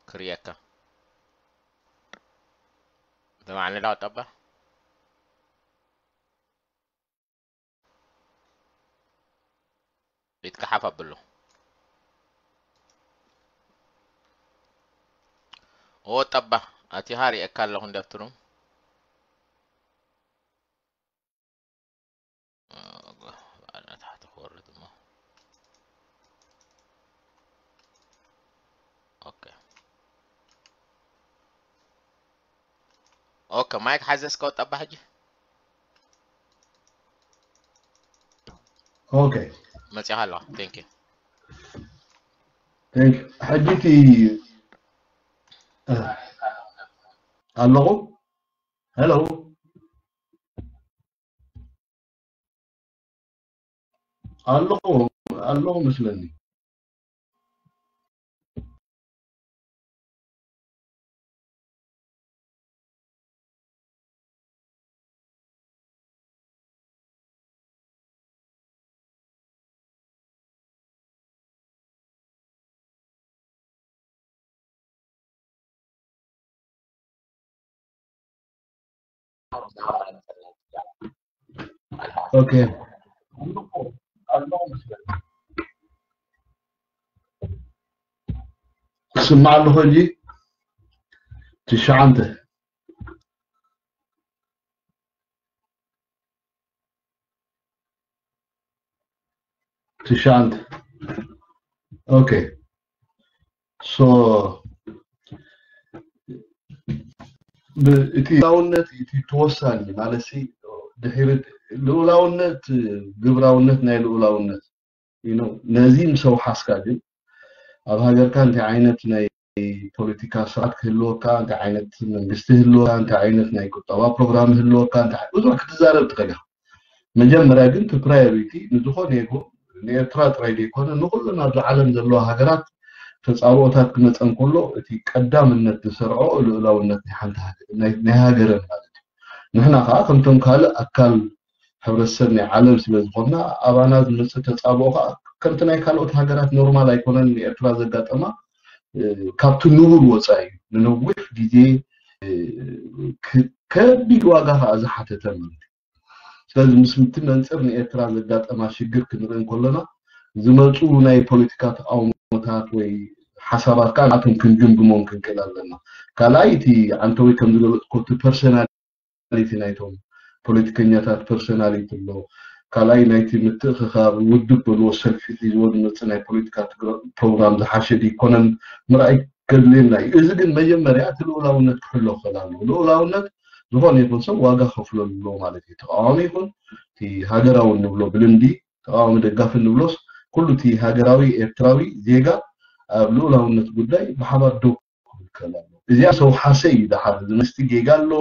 ክርየካ። ሰማዕኒ ዳ ወጠባ? ኢድካ ሓፍ ኣብሎ። ኦ ጠባ፣ ኣቲኻ ሪኤካ ኣለኹ እንደ ኣብቲ ሩም። ኦ፣ ባዕላ ታሕቲ ክወርድ እሞ። ኦኬ። ኦኬ፣ ማይክ ሓዘ እስከ ወጣባ ሕጂ። ኦኬ። መጺኻ ኣለኻ። Thank you። Thank you። ሕጂ እቲ፣ እ፣ ኣለኹ? ሄሎ? ኣለኹ፣ ኣለኹ መስለኒ። ኦኬ። ክስማዕ ኣለኹ ሕጂ? ትሽዓንተ። ትሽዓንተ። ኦኬ። ሶ፣ ብ-፣ እቲ ልኡላውነት እቲ ተወሳኒ ማለት ሲ፣ ድሕሪ ልኡላውነት፣ ግብራውነት ናይ ልኡላውነት፣ you know፣ ነዚ ምስ ኣውሓስካ ግን ኣብ ሃገርካ እንታይ ዓይነት ናይ ፖለቲካ ስርዓት ክህልወካ፣ እንታይ ዓይነት መንግስቲ ህልወካ፣ እንታይ ዓይነት ናይ ቁጠባ ፕሮግራም ህልወካ፣ እንታይ ብዙሕ ክትዛረብ ትኽእል ኢኻ። መጀመርያ ግን እቲ ፕራዮሪቲ ንዝኾነ ይኹን ንኤርትራ ጥራይ ዘይኮነ ንኹለን ኣብዚ ዓለም ዘለዋ ሃገራት ተጻብኦታት ክመጸን ከሎ እቲ ቀዳምነት ዝሰርዖ ልኡላውነት ናይ ሓንቲ ሃገር፣ ናይ፣ ናይ ሃገረን ማለት እዩ። ንሕና ከኣ ከምቶም ካልእ ኣካል ሕብረተሰብ ናይ ዓለም ስለ ዝኾንና ኣባና ዝመጽእ ተጻብኦ ከኣ ከምቲ ናይ ካልኦት ሃገራት ኖርማል ኣይኮነን። ንኤርትራ ዘጋጠማ፣ እ፣ ካብቲ ንቡር ወጻኢ እዩ። ንነዊሕ ግዜ፣ እ፣ ክ-፣ ከቢድ ዋጋ ከኣ ዝሓተተ ማለት እዩ። ስለዚ ምስ ምቲ መንጽር ንኤርትራ ዘጋጠማ ሽግር ክንርኢ እንከለና ዝመጹ ናይ ፖለቲካ ተቃውሞታት ወይ ሓሳባት ከኣ ንኣቶም ክንግምግሞም ክንክእል ኣለና። ካልኣይ እቲ ዓንተወይ ከም ዝገለጽኮ እቲ ፐርሰናሊቲ ናይቶም ፖለቲከኛታት ፐርሰናሊቲ ኣሎ። ካልኣይ ናይቲ ምትእኽኻብ ውድብ በልዎ ሰልፊ ሒዝዎ ዝመጽእ ናይ ፖለቲካ ትግረ-፣ ፕሮግራም ዝሓሸ ድይኮነን ምርኣይ ከድልየና እዩ። እዚ ግን መጀመርያ እቲ ልኡላውነት ክሕሎ ክኽእል ኣለዎ። ልኡላውነት ዝኾነ ይኹን ሰብ ዋጋ ከፍለሉ ኣለዎ ማለት እዩ። ተቃዋሚ ይኹን እቲ ሃገራዊ እንብሎ ብልምዲ ተቃዋሚ ደጋፊ እንብሎስ ኩሉ እቲ ሃገራዊ ኤርትራዊ ዜጋ ኣብ ልኡላውነት ጉዳይ ብሓባር ደው ክብል ክኽእል ኣለዎ። እዚኣ ሰው ሓሰ እዩ። ደሓር እዚ መንግስቲ ጌጋ ኣሎ፣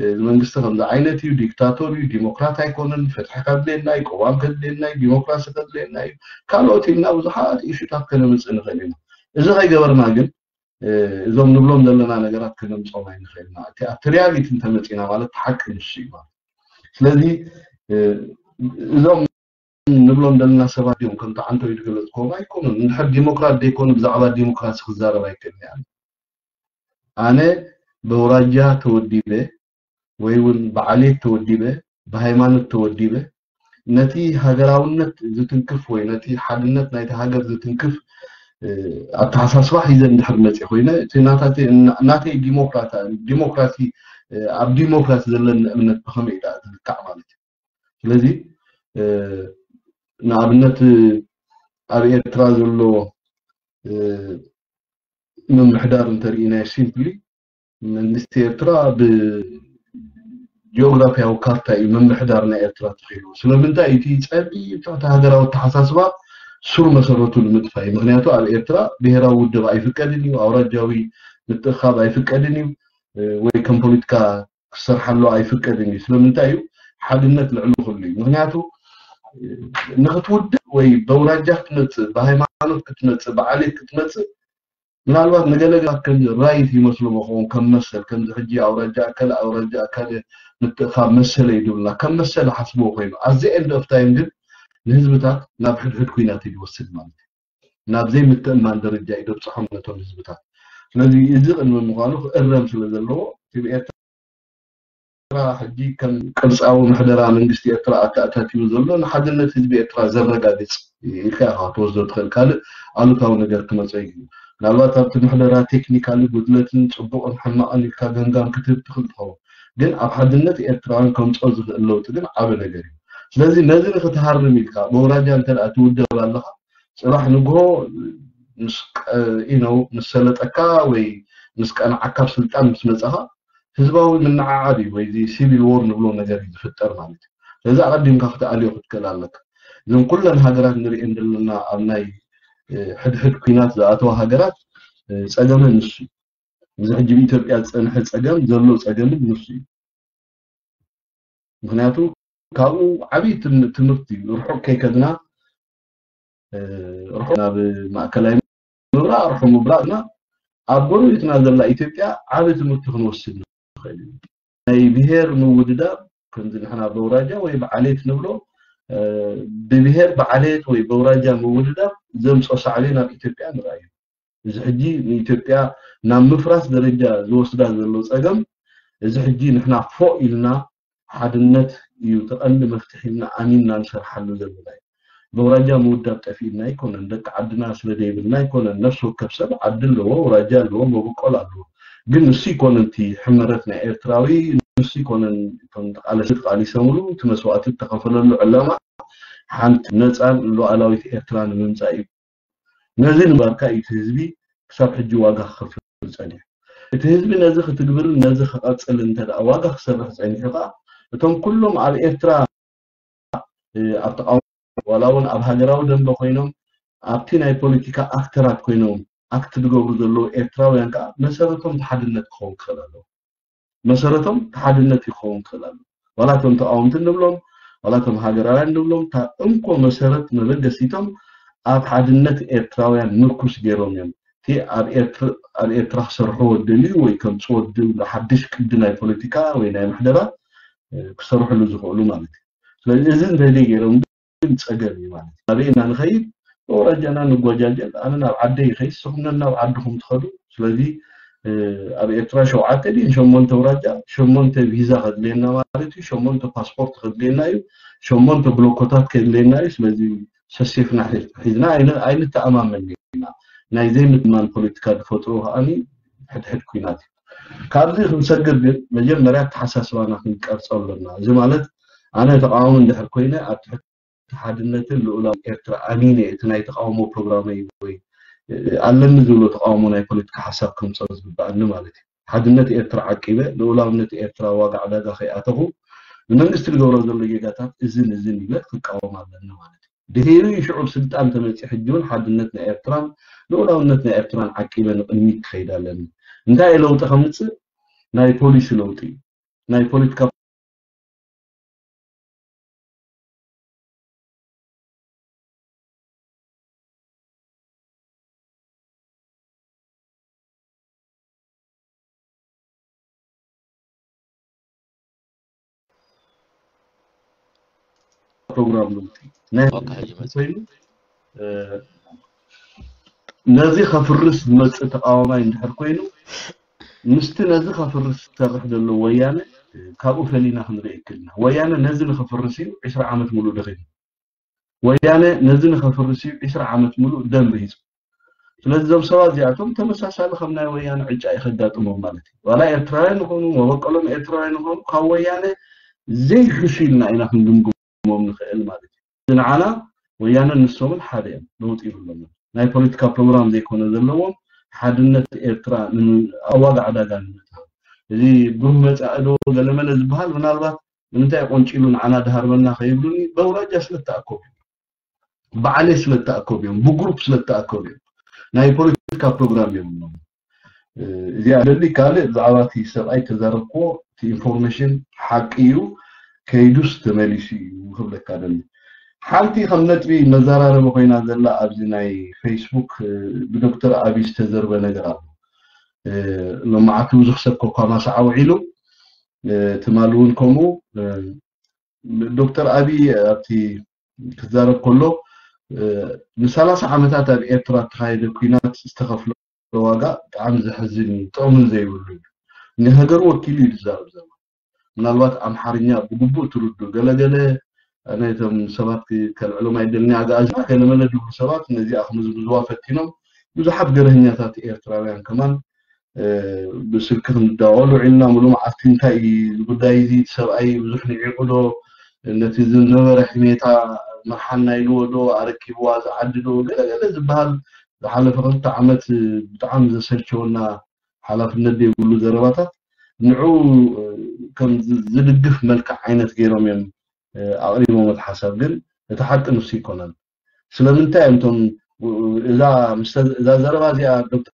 እዚ መንግስቲ ከምዚ ዓይነት እዩ፣ ዲክታቶር እዩ፣ ዲሞክራት ኣይኮነን፣ ፍትሒ ከድልየና እዩ፣ ቅዋም ከድልየና እዩ፣ ዲሞክራሲ ከድልየና እዩ፣ ካልኦት ኢልና ብዙሓት ኢሹታት ከነምጽእ ንኽእል ኢና። እዚ ከይገበርና ግን፣ እ፣ እዞም ንብሎም ዘለና ነገራት ከነምጾም ኣይንኽእልና። እቲ ኣብቲ ሪያሊቲ እንተመጺና ማለት ሓቂ ንሱ እዩ ማለት። ስለዚ፣ እ፣ እዞም ንብሎም ዘለና ሰባት እዮም ከምቲ ዓንተው ዝገለጽክዎም ኣይኮኑን። እንድሕር ዲሞክራት ዘይኮኑ ብዛዕባ ዲሞክራሲ ክዛረብ ኣይክእልን እየ። ኣነ በውራጃ ተወዲበ ወይ እውን ብዓሌት ተወዲበ፣ ብሃይማኖት ተወዲበ፣ ነቲ ሃገራውነት ዝትንክፍ ወይ ነቲ ሓድነት ናይቲ ሃገር ዝትንክፍ፣ እ፣ ኣተሓሳስባ ሒዘ እንድሕር መጽየ ኮይነ፣ እቲ ናታተ-፣ ናተይ ዲሞክራታ-፣ ዲሞክራሲ፣ እ፣ ኣብ ዲሞክራሲ ዘለኒ እምነት ብኸመይ እዩ ደኣ ዝልካዕ ማለት እዩ? ስለዚ፣ እ፣ ንኣብነት ኣብ ኤርትራ ዘሎ፣ እ፣ ምምሕዳር እንተርኢናዮ ሲምፕሊ መንግስቲ ኤርትራ ብጂኦግራፊያዊ ካርታ እዩ ምምሕዳር ናይ ኤርትራ ተኺሉ። ስለምንታይ? እቲ ጸቢብ ትሕቲ ሃገራዊ ኣተሓሳስባ ሱር መሰረቱ ንምጥፋእ እዩ። ምኽንያቱ ኣብ ኤርትራ ብሄራዊ ውድብ ኣይፍቀድን እዩ፣ ኣውራጃዊ ምትእኻብ ኣይፍቀድን እዩ፣ እ፣ ወይ ከም ፖለቲካ ክሰርሓሉ ኣይፍቀድን እዩ። ስለምንታይ እዩ? ሓድነት ልዕሊ ኩሉ እዩ። ምኽንያቱ ንክትውድብ ወይ በውራጃ ክትመፅእ፣ ብሃይማኖት ክትመፅእ፣ ብዓሌት ክትመፅእ፣ ምናልባት ንገለገለ ከም ራይት ይመስሉ መኸውን ከም መሰል፣ ከምዚ ሕጂ ኣውራጃ ኣከለ ኣውራጃ ኣከለ ምትእኻብ መሰለ ይድብልና ከም መሰለ ሓስብዎ ኮይኑ ኣዚ ኤንድ ኦፍ ታይም ግን ንህዝብታት ናብ ሕድሕድ ኩናት እዩ ዝወስድ ማለት እዩ። ናብ ዘይምትእማን ደረጃ እዩ ደብፅሖም ነቶም ህዝብታት። ስለዚ እዚ ቅድሚ ምዃኑ ክእረም ስለ ዘለዎ እቲ ብኤርትራ ሕጂ ከም ቅርፃዊ ምሕደራ መንግስቲ ኤርትራ ኣተኣታትዩ ዘሎ ንሓድነት ህዝቢ ኤርትራ ዘረጋግፅ ኢልካ ኢኻ ክትወስዶ ትኽእል። ካልእ ኣሉታዊ ነገር ክመፀ እዩ። ምናልባት ኣብቲ ምሕደራ ቴክኒካሊ ጉድለትን ፅቡቕን ሕማቕን ኢልካ ገምጋም ክትህብ ትኽእል ትኸውን፣ ግን ኣብ ሓድነት ኤርትራውያን ከምፅኦ ዝኽእል ለውጢ ግን ዓቢ ነገር እዩ። ስለዚ ነዚ ንክትሃርም ኢልካ መውራጃ እንተ ትውደብ ኣለኻ፣ ፅባሕ ንግሆ ምስ ቀ- you know፣ ምስ ሰለጠካ ወይ ምስ ቀንዓካ ኣብ ስልጣን ምስ መፃኻ ህዝባዊ ምንዓዓብ እዩ ወይ እዚ ሲቪል ዎር ንብሎ ነገር እዩ ዝፍጠር ማለት እዩ። ስለዚ ኣቐዲምካ ክትኣልዮ ክትክእል ኣለካ። እዘን ኩለን ሃገራት ንሪኤን ዘለና ኣብ ናይ ሕድሕድ ኩናት ዝኣተዋ ሃገራት ፀገመን ንሱ እዩ። እዚ ሕጂ ብኢትዮጵያ ዝፀንሐ ፀገም ዘሎ ፀገምን ንሱ እዩ። ምክንያቱ ካብኡ ዓብዪ ትምህርቲ እዩ። ርሑቕ ከይከድና ርሑቕ ናብ ማእከላይ ምብራቕ ርሑቕ ምብራቕና ኣብ ጎረቤትና ዘላ ኢትዮጵያ ዓቢ ትምህርቲ ክንወስድ ንኽእል ኢና። ናይ ብሄር ምውድዳብ ከምዚ ንሕና በውራጃ ወይ ብዓሌት ንብሎ ብብሄር ብዓሌት ወይ በውራጃ ምውድዳብ ዘምፅኦ ሳዕቤን ኣብ ኢትዮጵያ ንርኣዮ። እዚ ሕጂ ንኢትዮጵያ ናብ ምፍራስ ደረጃ ዝወስዳ ዘሎ ፀገም እዚ ሕጂ ንሕና ፎእ ኢልና ሓድነት እዩ እቲ ቀንዲ መፍትሒ ኢልና ኣሚንና ንሰርሓሉ ዘለና እዩ። በውራጃ ምውዳብ ጠፊእና ኣይኮነን፣ ደቂ ዓድና ስለ ዘይብልና ኣይኮነን። ነፍሲ ወከፍ ሰብ ዓዲ ኣለዎ፣ ውራጃ ኣለዎ፣ መበቆል ኣለዎ። ግን ንሱ ይኮነን እቲ ሕመረት ናይ ኤርትራዊ፣ ንሱ ይኮነን እቶም ተቃለስቲ ተቃሊሰምሉ እቲ መስዋእቲ ዝተኸፈለሉ ዕላማ ሓንቲ ነፃን ሉዓላዊት ኤርትራ ንምምፃእ እዩ። ነዚ ንምግባርካ እዩ እቲ ህዝቢ ክሳብ ሕጂ ዋጋ ክኸፍል ጸኒሑ። እቲ ህዝቢ ነዚ ክትግብርን ነዚ ክቐጽል እንተ ደኣ ዋጋ ክሰርሕ ጸኒሑ ከኣ እቶም ኩሎም ኣብ ኤርትራ ኣብ ተቃውሞ ዋላ እውን ኣብ ሃገራዊ ደንበ ኮይኖም ኣብቲ ናይ ፖለቲካ ኣክተራት ኮይኖም ኣክት ዝገብሩ ዘለዉ ኤርትራውያን ከኣ መሰረቶም እቲ ሓድነት ክኸውን ክኽእል ኣለዎ። መሰረቶም እቲ ሓድነት ክኸውን ክኽእል ኣለዎ። ዋላ እቶም ተቃወምቲ ንብሎም ዋላ እቶም ሃገራውያን ንብሎም እታ እንኮ መሰረት መበገሲቶም ኣብ ሓድነት ኤርትራውያን ምርኩስ ገይሮም እዮም። እቲ ኣብ ኤርትራ ክሰርሕዎ ዝደልዩ ወይ ከምፅዎ ዝደልዩ ሓድሽ ቅዲ ናይ ፖለቲካ ወይ ናይ ምሕደራ ክሰርሕሉ ዝኽእሉ ማለት እዩ። ስለዚ እዚ እንተዘይ ገይሮም ግን ፀገም እዩ ማለት እዩ። ኣበይ ኢና ንኸይድ? በውራጃና ንጓጃጀል። ኣነ ናብ ዓደይ ይኸይድ፣ ንስኹም ነናብ ዓድኹም ትኸዱ። ስለዚ ኣብ ኤርትራ ሸውዓተ ድን ሸሞንተ ውራጃ ሸሞንተ ቪዛ ከድልየና ማለት እዩ። ሸሞንተ ፓስፖርት ከድልየና እዩ። ሸሞንተ ብሎኮታት ከድልየና እዩ። ስለዚ ሰሴፍና ሒዝና ኣይንተኣማመን ኢና። ናይ ዘይምትማን ፖለቲካ ዝፈጥሮ ከዓኒ ሕድሕድ ኩናት እዩ። ካብዚ ክንሰግር ግን መጀመርያ ኣተሓሳስባና ክንቀርፆ ኣለና። እዚ ማለት ኣነ ተቃዋሚ እንድሕር ኮይነ ኣብ ትሕቲ ሓድነትን ልኡላዊ ኤርትራ ኣሚነ እቲ ናይ ተቃውሞ ፕሮግራመይ ወይ ኣለኒ ዝብሎ ተቃውሞ ናይ ፖለቲካ ሓሳብ ከምፀ ዝግበኣኒ ማለት እዩ። ሓድነት ኤርትራ ዓቂበ ልኡላውነት ኤርትራ ዋጋ ዕዳጋ ከይኣተኹ ንመንግስቲ ዝገብሮ ዘሎ ጌጋታት እዝን እዝን ይበል ክቃወም ኣለኒ ማለት እዩ። ድሒሩ ሽዑ ስልጣን ተመፂ ሕጂ እውን ሓድነት ናይ ኤርትራን ልኡላውነት ናይ ኤርትራን ዓቂበ ንቅድሚት ክኸይድ ኣለኒ። እንታይ ለውጢ ከምፅእ ናይ ፖሊሲ ለውጢ እዩ። ናይ ፖለቲካ ፕሮግራም ለውጢ ናይ ኮይኑ ነዚ ከፍርስ ዝመፅእ ተቃዋማይ እንድሕር ኮይኑ ምስቲ ነዚ ከፍርስ ዝሰርሕ ዘሎ ወያነ ካብኡ ፈሊና ክንርኢ ይክልና። ወያነ ነዚ ንከፍርስ እዩ ዕስራ ዓመት ሙሉእ ደኺሙ። ወያነ ነዚ ንከፍርስ እዩ ዕስራ ዓመት ሙሉእ ደም ርሂፁ። ስለዚ እዞም ሰባት እዚኣቶም ተመሳሳሊ ከም ናይ ወያነ ዕጫ እዩ ከጋጥሞም ማለት እዩ። ዋላ ኤርትራውያን ይኾኑ መበቀሎም ኤርትራውያን ይኾኑ ካብ ወያነ ዘይሕሹ ኢልና ኢና ክንግምግሞም ንኽእል ማለት እዩ። ንዓና ወያነን ንሶምን ሓደ እዮም፣ ለውጢ የብሎምን። ናይ ፖለቲካ ፕሮግራም ዘይኮነ ዘለዎም ሓድነት ኤርትራ ኣብ ዋጋ ዕዳጋ ንምእታው እዚ ብሩህ መፃኢ ዶ ገለመለ ዝበሃል ምናልባት ንምንታይ ቆንጪሉ ንዓና ድሃርበና ከይብሉኒ በውራጃ ስለተኣከቡ እዮም። ብዓሌት ስለተኣከቡ እዮም፣ ብግሩፕ ስለተኣከቡ እዮም። ናይ ፖለቲካ ፕሮግራም የብሎም። እዚኣ ደሊ ካልእ ብዛዕባ እቲ ሰብኣይ ተዛረብክዎ እቲ ኢንፎርሜሽን ሓቂ እዩ፣ ከይዱስ ተመሊሱ እዩ ክብለካ ደሊ። ሓንቲ ከም ነጥቢ መዘራረቢ ኮይና ዘላ ኣብዚ ናይ ፌስቡክ ብዶክተር ኣቢ ዝተዘርበ ነገር ኣሎ። ሎማዓቲ ብዙሕ ሰብ ኮኳማሳዓ ውዒሉ፣ ትማሊ እውን ከምኡ። ዶክተር ኣቢ ኣብቲ ክዛረብ ከሎ ንሰላሳ ዓመታት ኣብ ኤርትራ እተኻየደ ኩናት ዝተኸፍሎ ዋጋ ብጣዕሚ ዘሕዝን እዩ፣ ጥቕምን ዘይብሉ እዩ። ንሃገሩ ወኪሉ እዩ ዝዛረብ ዘሎ። ምናልባት ኣምሓርኛ ብግቡእ ትርዱ ገለገለ ነቶም ሰባት ከልዕሎም ኣይደልን ኣጋኣዝና ገለመለ ዝብሉ ሰባት ነዚኣ ክምዝምዝዋ ፈቲኖም። ብዙሓት ገርህኛታት ኤርትራውያን ከማን ብስልኪ ክንዳወሉ ውዒልና፣ ሙሉ መዓልቲ እንታይ እዩ እዚ ጉዳይ እዚ፣ እቲ ሰብኣይ ብዙሕ ንዒቑ ዶ፣ ነቲ ዝነበረ ሕሜታ መርሓና ኢልዎ ዶ፣ ኣረኪብዋ ዝዓዲ ዶ፣ ገለገለ ዝበሃል ዝሓለፈ ክልተ ዓመት ብጣዕሚ ዘሰልቸወና ሓላፍነት ዘይብሉ ዘረባታት ንዑ ከም ዝድግፍ መልክዕ ዓይነት ገይሮም እዮም ኣቕሪቦም። እቲ ሓሳብ ግን እቲ ሓቂ ንሱ ይኮነን። ስለምንታይ እዮም እቶም እዛ እዛ ዘረባ እዚኣ ዶክተር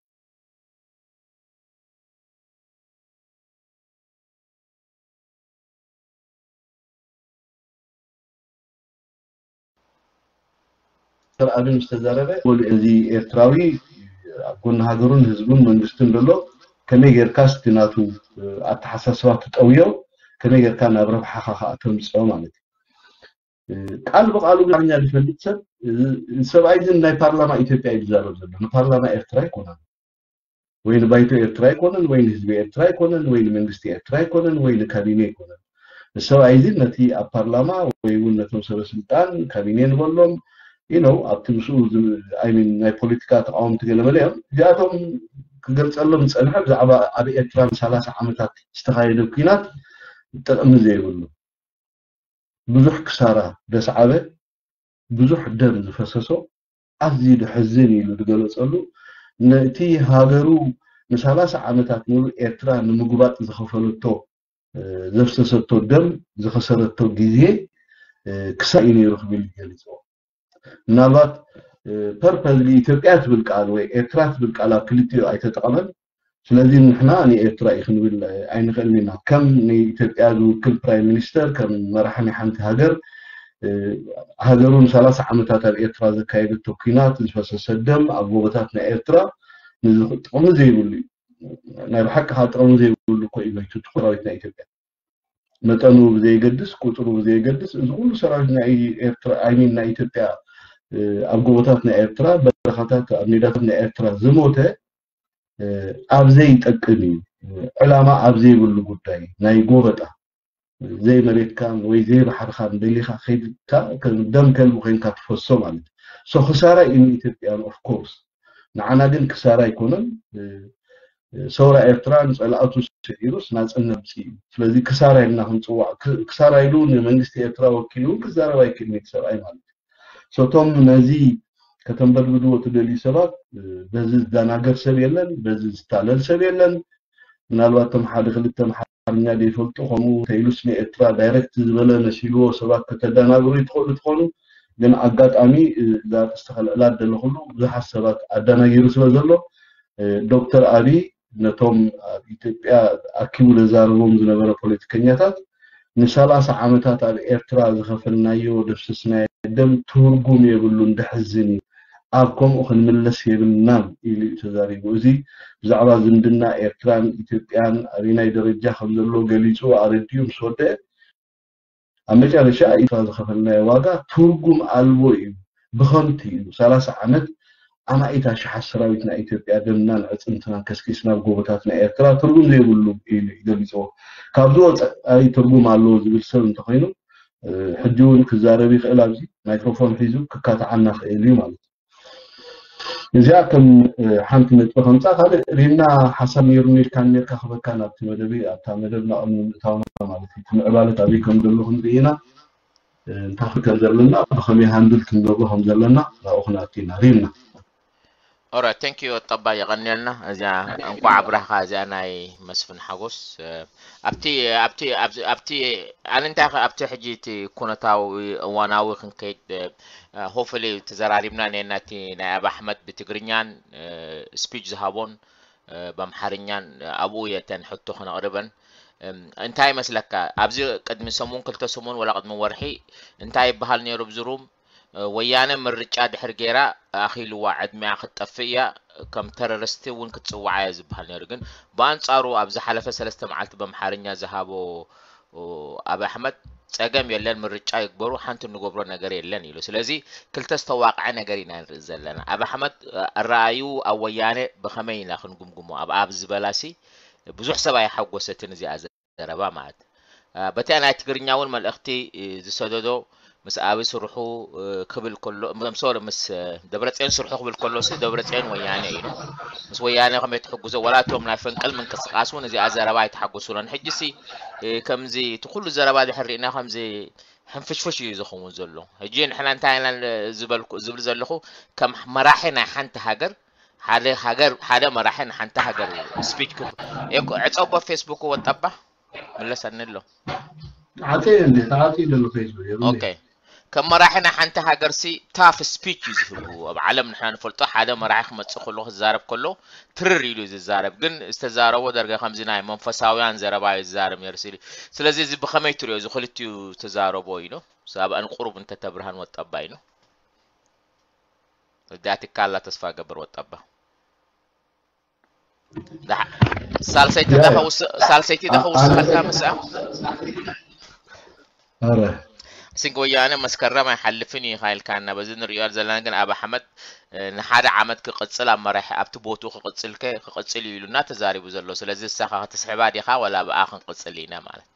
ዶክተር ኣቢ ምስ ተዛረበ፣ እዚ ኤርትራዊ ኣብ ጎኒ ሃገሩን ህዝቡን መንግስትን ዘሎ፣ ከመይ ጌርካ ስቲ ናቱ ኣተሓሳስባ ትጠውዮ፣ ከመይ ጌርካ ናብ ረብሓኻ ከዓ ተምፅኦ ማለት እዩ። ቃል ብቃሉ ግን ኣማርኛ ዝፈልጥ ሰብ፣ ሰብኣይ ግን ናይ ፓርላማ ኢትዮጵያ እዩ ዝዛረብ ዘሎ፣ ንፓርላማ ኤርትራ ኣይኮነን። ወይ ንባይቶ ኤርትራ ኣይኮነን፣ ወይ ንህዝቢ ኤርትራ ኣይኮነን፣ ወይ ንመንግስቲ ኤርትራ ኣይኮነን፣ ወይ ንካቢኔ ኣይኮነን። ንሰብኣይ እዚ ነቲ ኣብ ፓርላማ ወይ እውን ነቶም ሰበ ስልጣን ካቢኔ ንበሎም ኢኖው ኣብቲ ምስኡ ናይ ፖለቲካ ተቃወምቲ ገለመለ እዮም። እዚኣቶም ክገልፀሎም ዝፀንሐ ብዛዕባ ኣብ ኤርትራ ንሰላሳ ዓመታት ዝተኻየደ ኩናት ጥቕሚ ዘይብሉ ብዙሕ ክሳራ ደስዓበ፣ ብዙሕ ደም ዝፈሰሶ፣ ኣዝዩ ደሕዝን ኢሉ ዝገለጸሉ፣ ነቲ ሃገሩ ንሰላሳ ዓመታት ሙሉእ ኤርትራ ንምጉባጥ ዝኸፈለቶ ዘፍሰሰቶ ደም ዝኸሰረቶ ግዜ ክሳይ እዩ ነይሩ ክብል ይገልጽዎ። ምናልባት ፐርፐዝሊ ኢትዮጵያ ትብል ቃል ወይ ኤርትራ ትብል ቃል ኣብ ክልቲኡ ኣይተጠቐመን። ስለዚ ንሕና ንኤርትራ እዩ ክንብል ኣይንኽእልን ኢና። ከም ንኢትዮጵያ ዝውክል ፕራይም ሚኒስተር፣ ከም መራሒ ናይ ሓንቲ ሃገር ሃገሩ ንሰላሳ ዓመታት ኣብ ኤርትራ ዘካየደቶ ኲናት፣ ዝፈሰሰ ደም ኣብ ጎቦታት ናይ ኤርትራ ጥቕሚ ዘይብሉ እዩ። ናይ ብሓቂ ከዓ ጥቕሚ ዘይብሉ እኮ እዩ መይቱ እቲ ሰራዊት ናይ ኢትዮጵያ። መጠኑ ብዘይገድስ፣ ቁፅሩ ብዘይገድስ፣ እዚ ኩሉ ሰራዊት ናይ ኤርትራ፣ ኣይሚን ናይ ኢትዮጵያ ኣብ ጎቦታት ናይ ኤርትራ፣ በረኻታት፣ ኣብ ሜዳታት ናይ ኤርትራ ዝሞተ ኣብ ዘይጠቅም እዩ። ዕላማ ኣብ ዘይብሉ ጉዳይ ናይ ጎበጣ፣ ዘይመሬትካን ወይ ዘይባሕርኻን ደሊኻ ከይድካ ደም ከልቢ ኮይንካ ትፈሶ ማለት እዩ። ሶ ክሳራ እዩ ንኢትዮጵያን ኦፍኮርስ፣ ንዓና ግን ክሳራ ኣይኮነን። ሰውራ ኤርትራ ንፀላእቱ ስዒሩስ ናፅነት ምፅእ እዩ። ስለዚ ክሳራ ኢልና ክንፅዋዕ፣ ክሳራ ኢሉ ንመንግስቲ ኤርትራ ወኪሉ እውን ክዛረብ ኣይክእልን እቲ ሰብኣይ ማለት እዩ። ሶቶም ነዚ ከተንበድብድዎ ትደልዩ ሰባት በዚ ዝደናገር ሰብ የለን፣ በዚ ዝታለል ሰብ የለን። ምናልባት እቶም ሓደ ክልተ ኣምሓርኛ ዘይፈልጡ ከምኡ ተይሉስ ንኤርትራ ዳይረክት ዝበለ መሲልዎ ሰባት ከተደናግሩ ይትኽእሉ ትኾኑ፣ ግን ኣጋጣሚ እዛ ጥስቲ ከልዕላ ደለኹሉ ብዙሓት ሰባት ኣደናጊሩ ስለ ዘሎ ዶክተር ኣብይ ነቶም ኣብ ኢትዮጵያ ኣኪቡ ዘዛርቦም ዝነበረ ፖለቲከኛታት ንሰላሳ ዓመታት ኣብ ኤርትራ ዝኸፈልናዮ ደፍስስናዮ ደም ትርጉም የብሉን፣ ደሕዝን እዩ፣ ኣብ ከምኡ ክንምለስ የብልናን ኢሉ እዩ ተዛሪቡ። እዚ ብዛዕባ ዝምድና ኤርትራን ኢትዮጵያን ኣበየናይ ደረጃ ከም ዘሎ ገሊጹ ኣረዲኡ ምስ ወደአ ኣብ መጨረሻ ኤርትራ ዝኸፈልናዮ ዋጋ ትርጉም ኣልቦ እዩ፣ ብኸንቱ እዩ። ሰላሳ ዓመት ኣማኢት ኣሽሓት ሰራዊት ናይ ኢትዮጵያ ደምናን ዕፅምትናን ከስኪስና ኣብ ጎቦታት ናይ ኤርትራ ትርጉም ዘይብሉ ኢሉ እዩ ገሊፅዎ። ካብዚ ወፃኢ ትርጉም ኣለዎ ዝብል ሰብ እንተኮይኑ ሕጂ እውን ክዛረብ ይኽእል፣ ኣብዚ ማይክሮፎን ሒዙ ክካትዓና ክእል እዩ ማለት እዩ። እዚኣ ከም ሓንቲ ነጥቢ ከምፃ ካልእ ሪምና ሓሳብ ነይሩ ነርካ ነርካ ክበካ ናብቲ መደብ ኣብታ መደብ ናቕም ንምእታውና ማለት እዩ። እቲ ምዕባለት ኣበይ ከም ዘሎ ክንርኢ ኢና። እንታይ ከም ዘለና ብኸመይ ሃንድል ክንገብሮ ከም ዘለና ናብኡ ክንኣቱ ኢና። ሪምና ኦራይት፣ ቴንክ ዩ ጠባ፣ የቐንየልና። እዚኣ እንቋዕ ኣብራህኻ፣ እዚኣ ናይ መስፍን ሓጎስ። ኣብቲ ኣብቲ ኣብቲ ኣብቲ ኣነ እንታይ ከ ኣብቲ ሕጂ እቲ ኩነታዊ እዋናዊ ክንከይድ ሆፍሊ ተዘራሪብና ነና እቲ ናይ ኣብ ኣሕመድ ብትግርኛን ስፒች ዝሃቦን ብኣምሓርኛን ኣብኡ የተን ሕቶ ክነቕርበን እንታይ ይመስለካ? ኣብዚ ቅድሚ ሰሙን ክልተ ሰሙን ወላ ቅድሚ ወርሒ እንታይ ይበሃል ነይሩ ኣብዚ ሩም ወያነ ምርጫ ድሕር ገይራ ኣኺልዋ ዕድሚኣ ክትጠፍእ እያ፣ ከም ተረርስቲ እውን ክትፅዋዓ እያ ዝበሃል ነይሩ። ግን ብኣንፃሩ ኣብ ዝሓለፈ ሰለስተ መዓልቲ በምሓርኛ ዝሃቦ ኣብ ኣሕመድ፣ ጸገም የለን፣ ምርጫ ይግበሩ፣ ሓንቲ እንገብሮ ነገር የለን ኢሉ። ስለዚ ክልተ ዝተዋቕዐ ነገር ኢና ንርኢ ዘለና። ኣብ ኣሕመድ ኣረኣዩ ኣብ ወያነ ብኸመይ ኢና ክንግምግሞ? ኣብ ኣብ ዝበላሲ ብዙሕ ሰብ ኣይሓጎሰትን እዚኣ ዘረባ ማለት። በቲያ ናይ ትግርኛ እውን መልእኽቲ ዝሰደዶ ምስ ኣብ ስርሑ ክብል ከሎ፣ ሶሪ፣ ምስ ደብረፅዮን ስርሑ ክብል ከሎ ሲ ደብረፅዮን ወያነ እዩ። ምስ ወያነ ከመይ ትሕግዞ? ወላ እቶም ናይ ፈንቅል ምንቅስቃስ እውን እዚኣ ዘረባ ኣይተሓጎሱሎን። ሕጂ ሲ ከምዚ እቲ ኩሉ ዘረባ ድሕር ርኢና ከምዚ ሕንፍሽፍሽ እዩ ዝኸውን ዘሎ። ሕጂ ንሕና እንታይ ኢና ዝበልኩ ዝብል ዘለኹ ከም መራሒ ናይ ሓንቲ ሃገር ሓደ ሃገር ሓደ መራሒ ንሓንቲ ሃገር ስፒች ዕፀቦ ፌስቡክ ወጣባ ምለሰኒ ኣሎ። ተዓፀየ እንዴ? ተዓፅዩ ዘሎ ፌስቡክ የብለይ። ኦኬ ከም መራሒ ናይ ሓንቲ ሃገር ሲ ታፍ ስፒች እዩ ዝህቡ ኣብ ዓለም ንሕና ንፈልጦ ሓደ መራሒ ክመፅእ ከሎ ክዛረብ ከሎ ትርር ኢሉ እዩ ዝዛረብ ግን ዝተዛረቦ ደርገ ከምዚ ናይ መንፈሳውያን ዘረባ እዩ ዝዛረብ ነይሩ ሲሉ ስለዚ እዚ ብኸመይ ትሪኦ እዚ ክልቲኡ ዝተዛረቦ ኢሉ ሳብኣን ቁሩብ እንተተብርሃን ወጣባ ኢሉ እዳትካ ኣላ ተስፋ ገብር ወጣባ ሳልሰይቲ ዳኸውስ ሳልሰይቲ ዳኸውስ ኸልካ ምስኣ ኧረ ሲንግ ወያነ መስከረም ኣይሓልፍን እዩ ኢልካና በዚ ንሪኦ ዘለና ግን ኣብ ኣሕመድ ንሓደ ዓመት ክቕፅል ኣብ መራሒ ኣብቲ ቦትኡ ክቕፅል ከ ክቕፅል እዩ ኢሉና ተዛሪቡ ዘሎ ስለዚ ንሳኻ ክትስሕባ ዲኻ ወላ ብኣ ክንቕፅል ኢና ማለት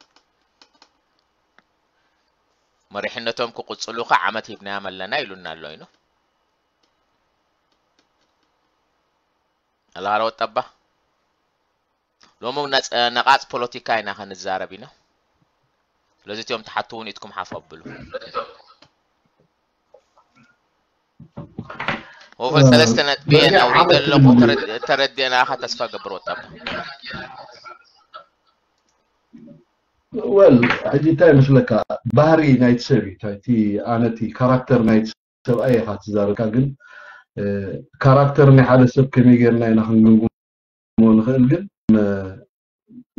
መሪሕነቶም ክቕፅሉ ከ ዓመት ሂብናዮም ኣለና ኢሉና ኣሎ ኢኑ ኣላሃለወ ጠባ ሎሚ እውን ነጽ- ነቓጽ ፖለቲካ ኢና ክንዛረብ ኢና ስለዚ እቲኦም ትሓቱ እውን ኢድኩም ሓፍ ኣብሉ ወፈ ሰለስተ ነጥቢ እየ ናውሪደ ኣለኹ ተረድ- ተረዲእናኻ ተስፋ ገብር ወጣባ ወል ሕጂ እንታይ ይመስለካ ባህሪ ናይቲ ሰብ እዩ እቲ ኣነቲ ካራክተር ናይቲ ሰብኣይ ኢኻ ትዛረብካ ግን ካራክተር ናይ ሓደ ሰብ ከመይ ጌርና ኢና ክንግምግሞ ንኽእል ግን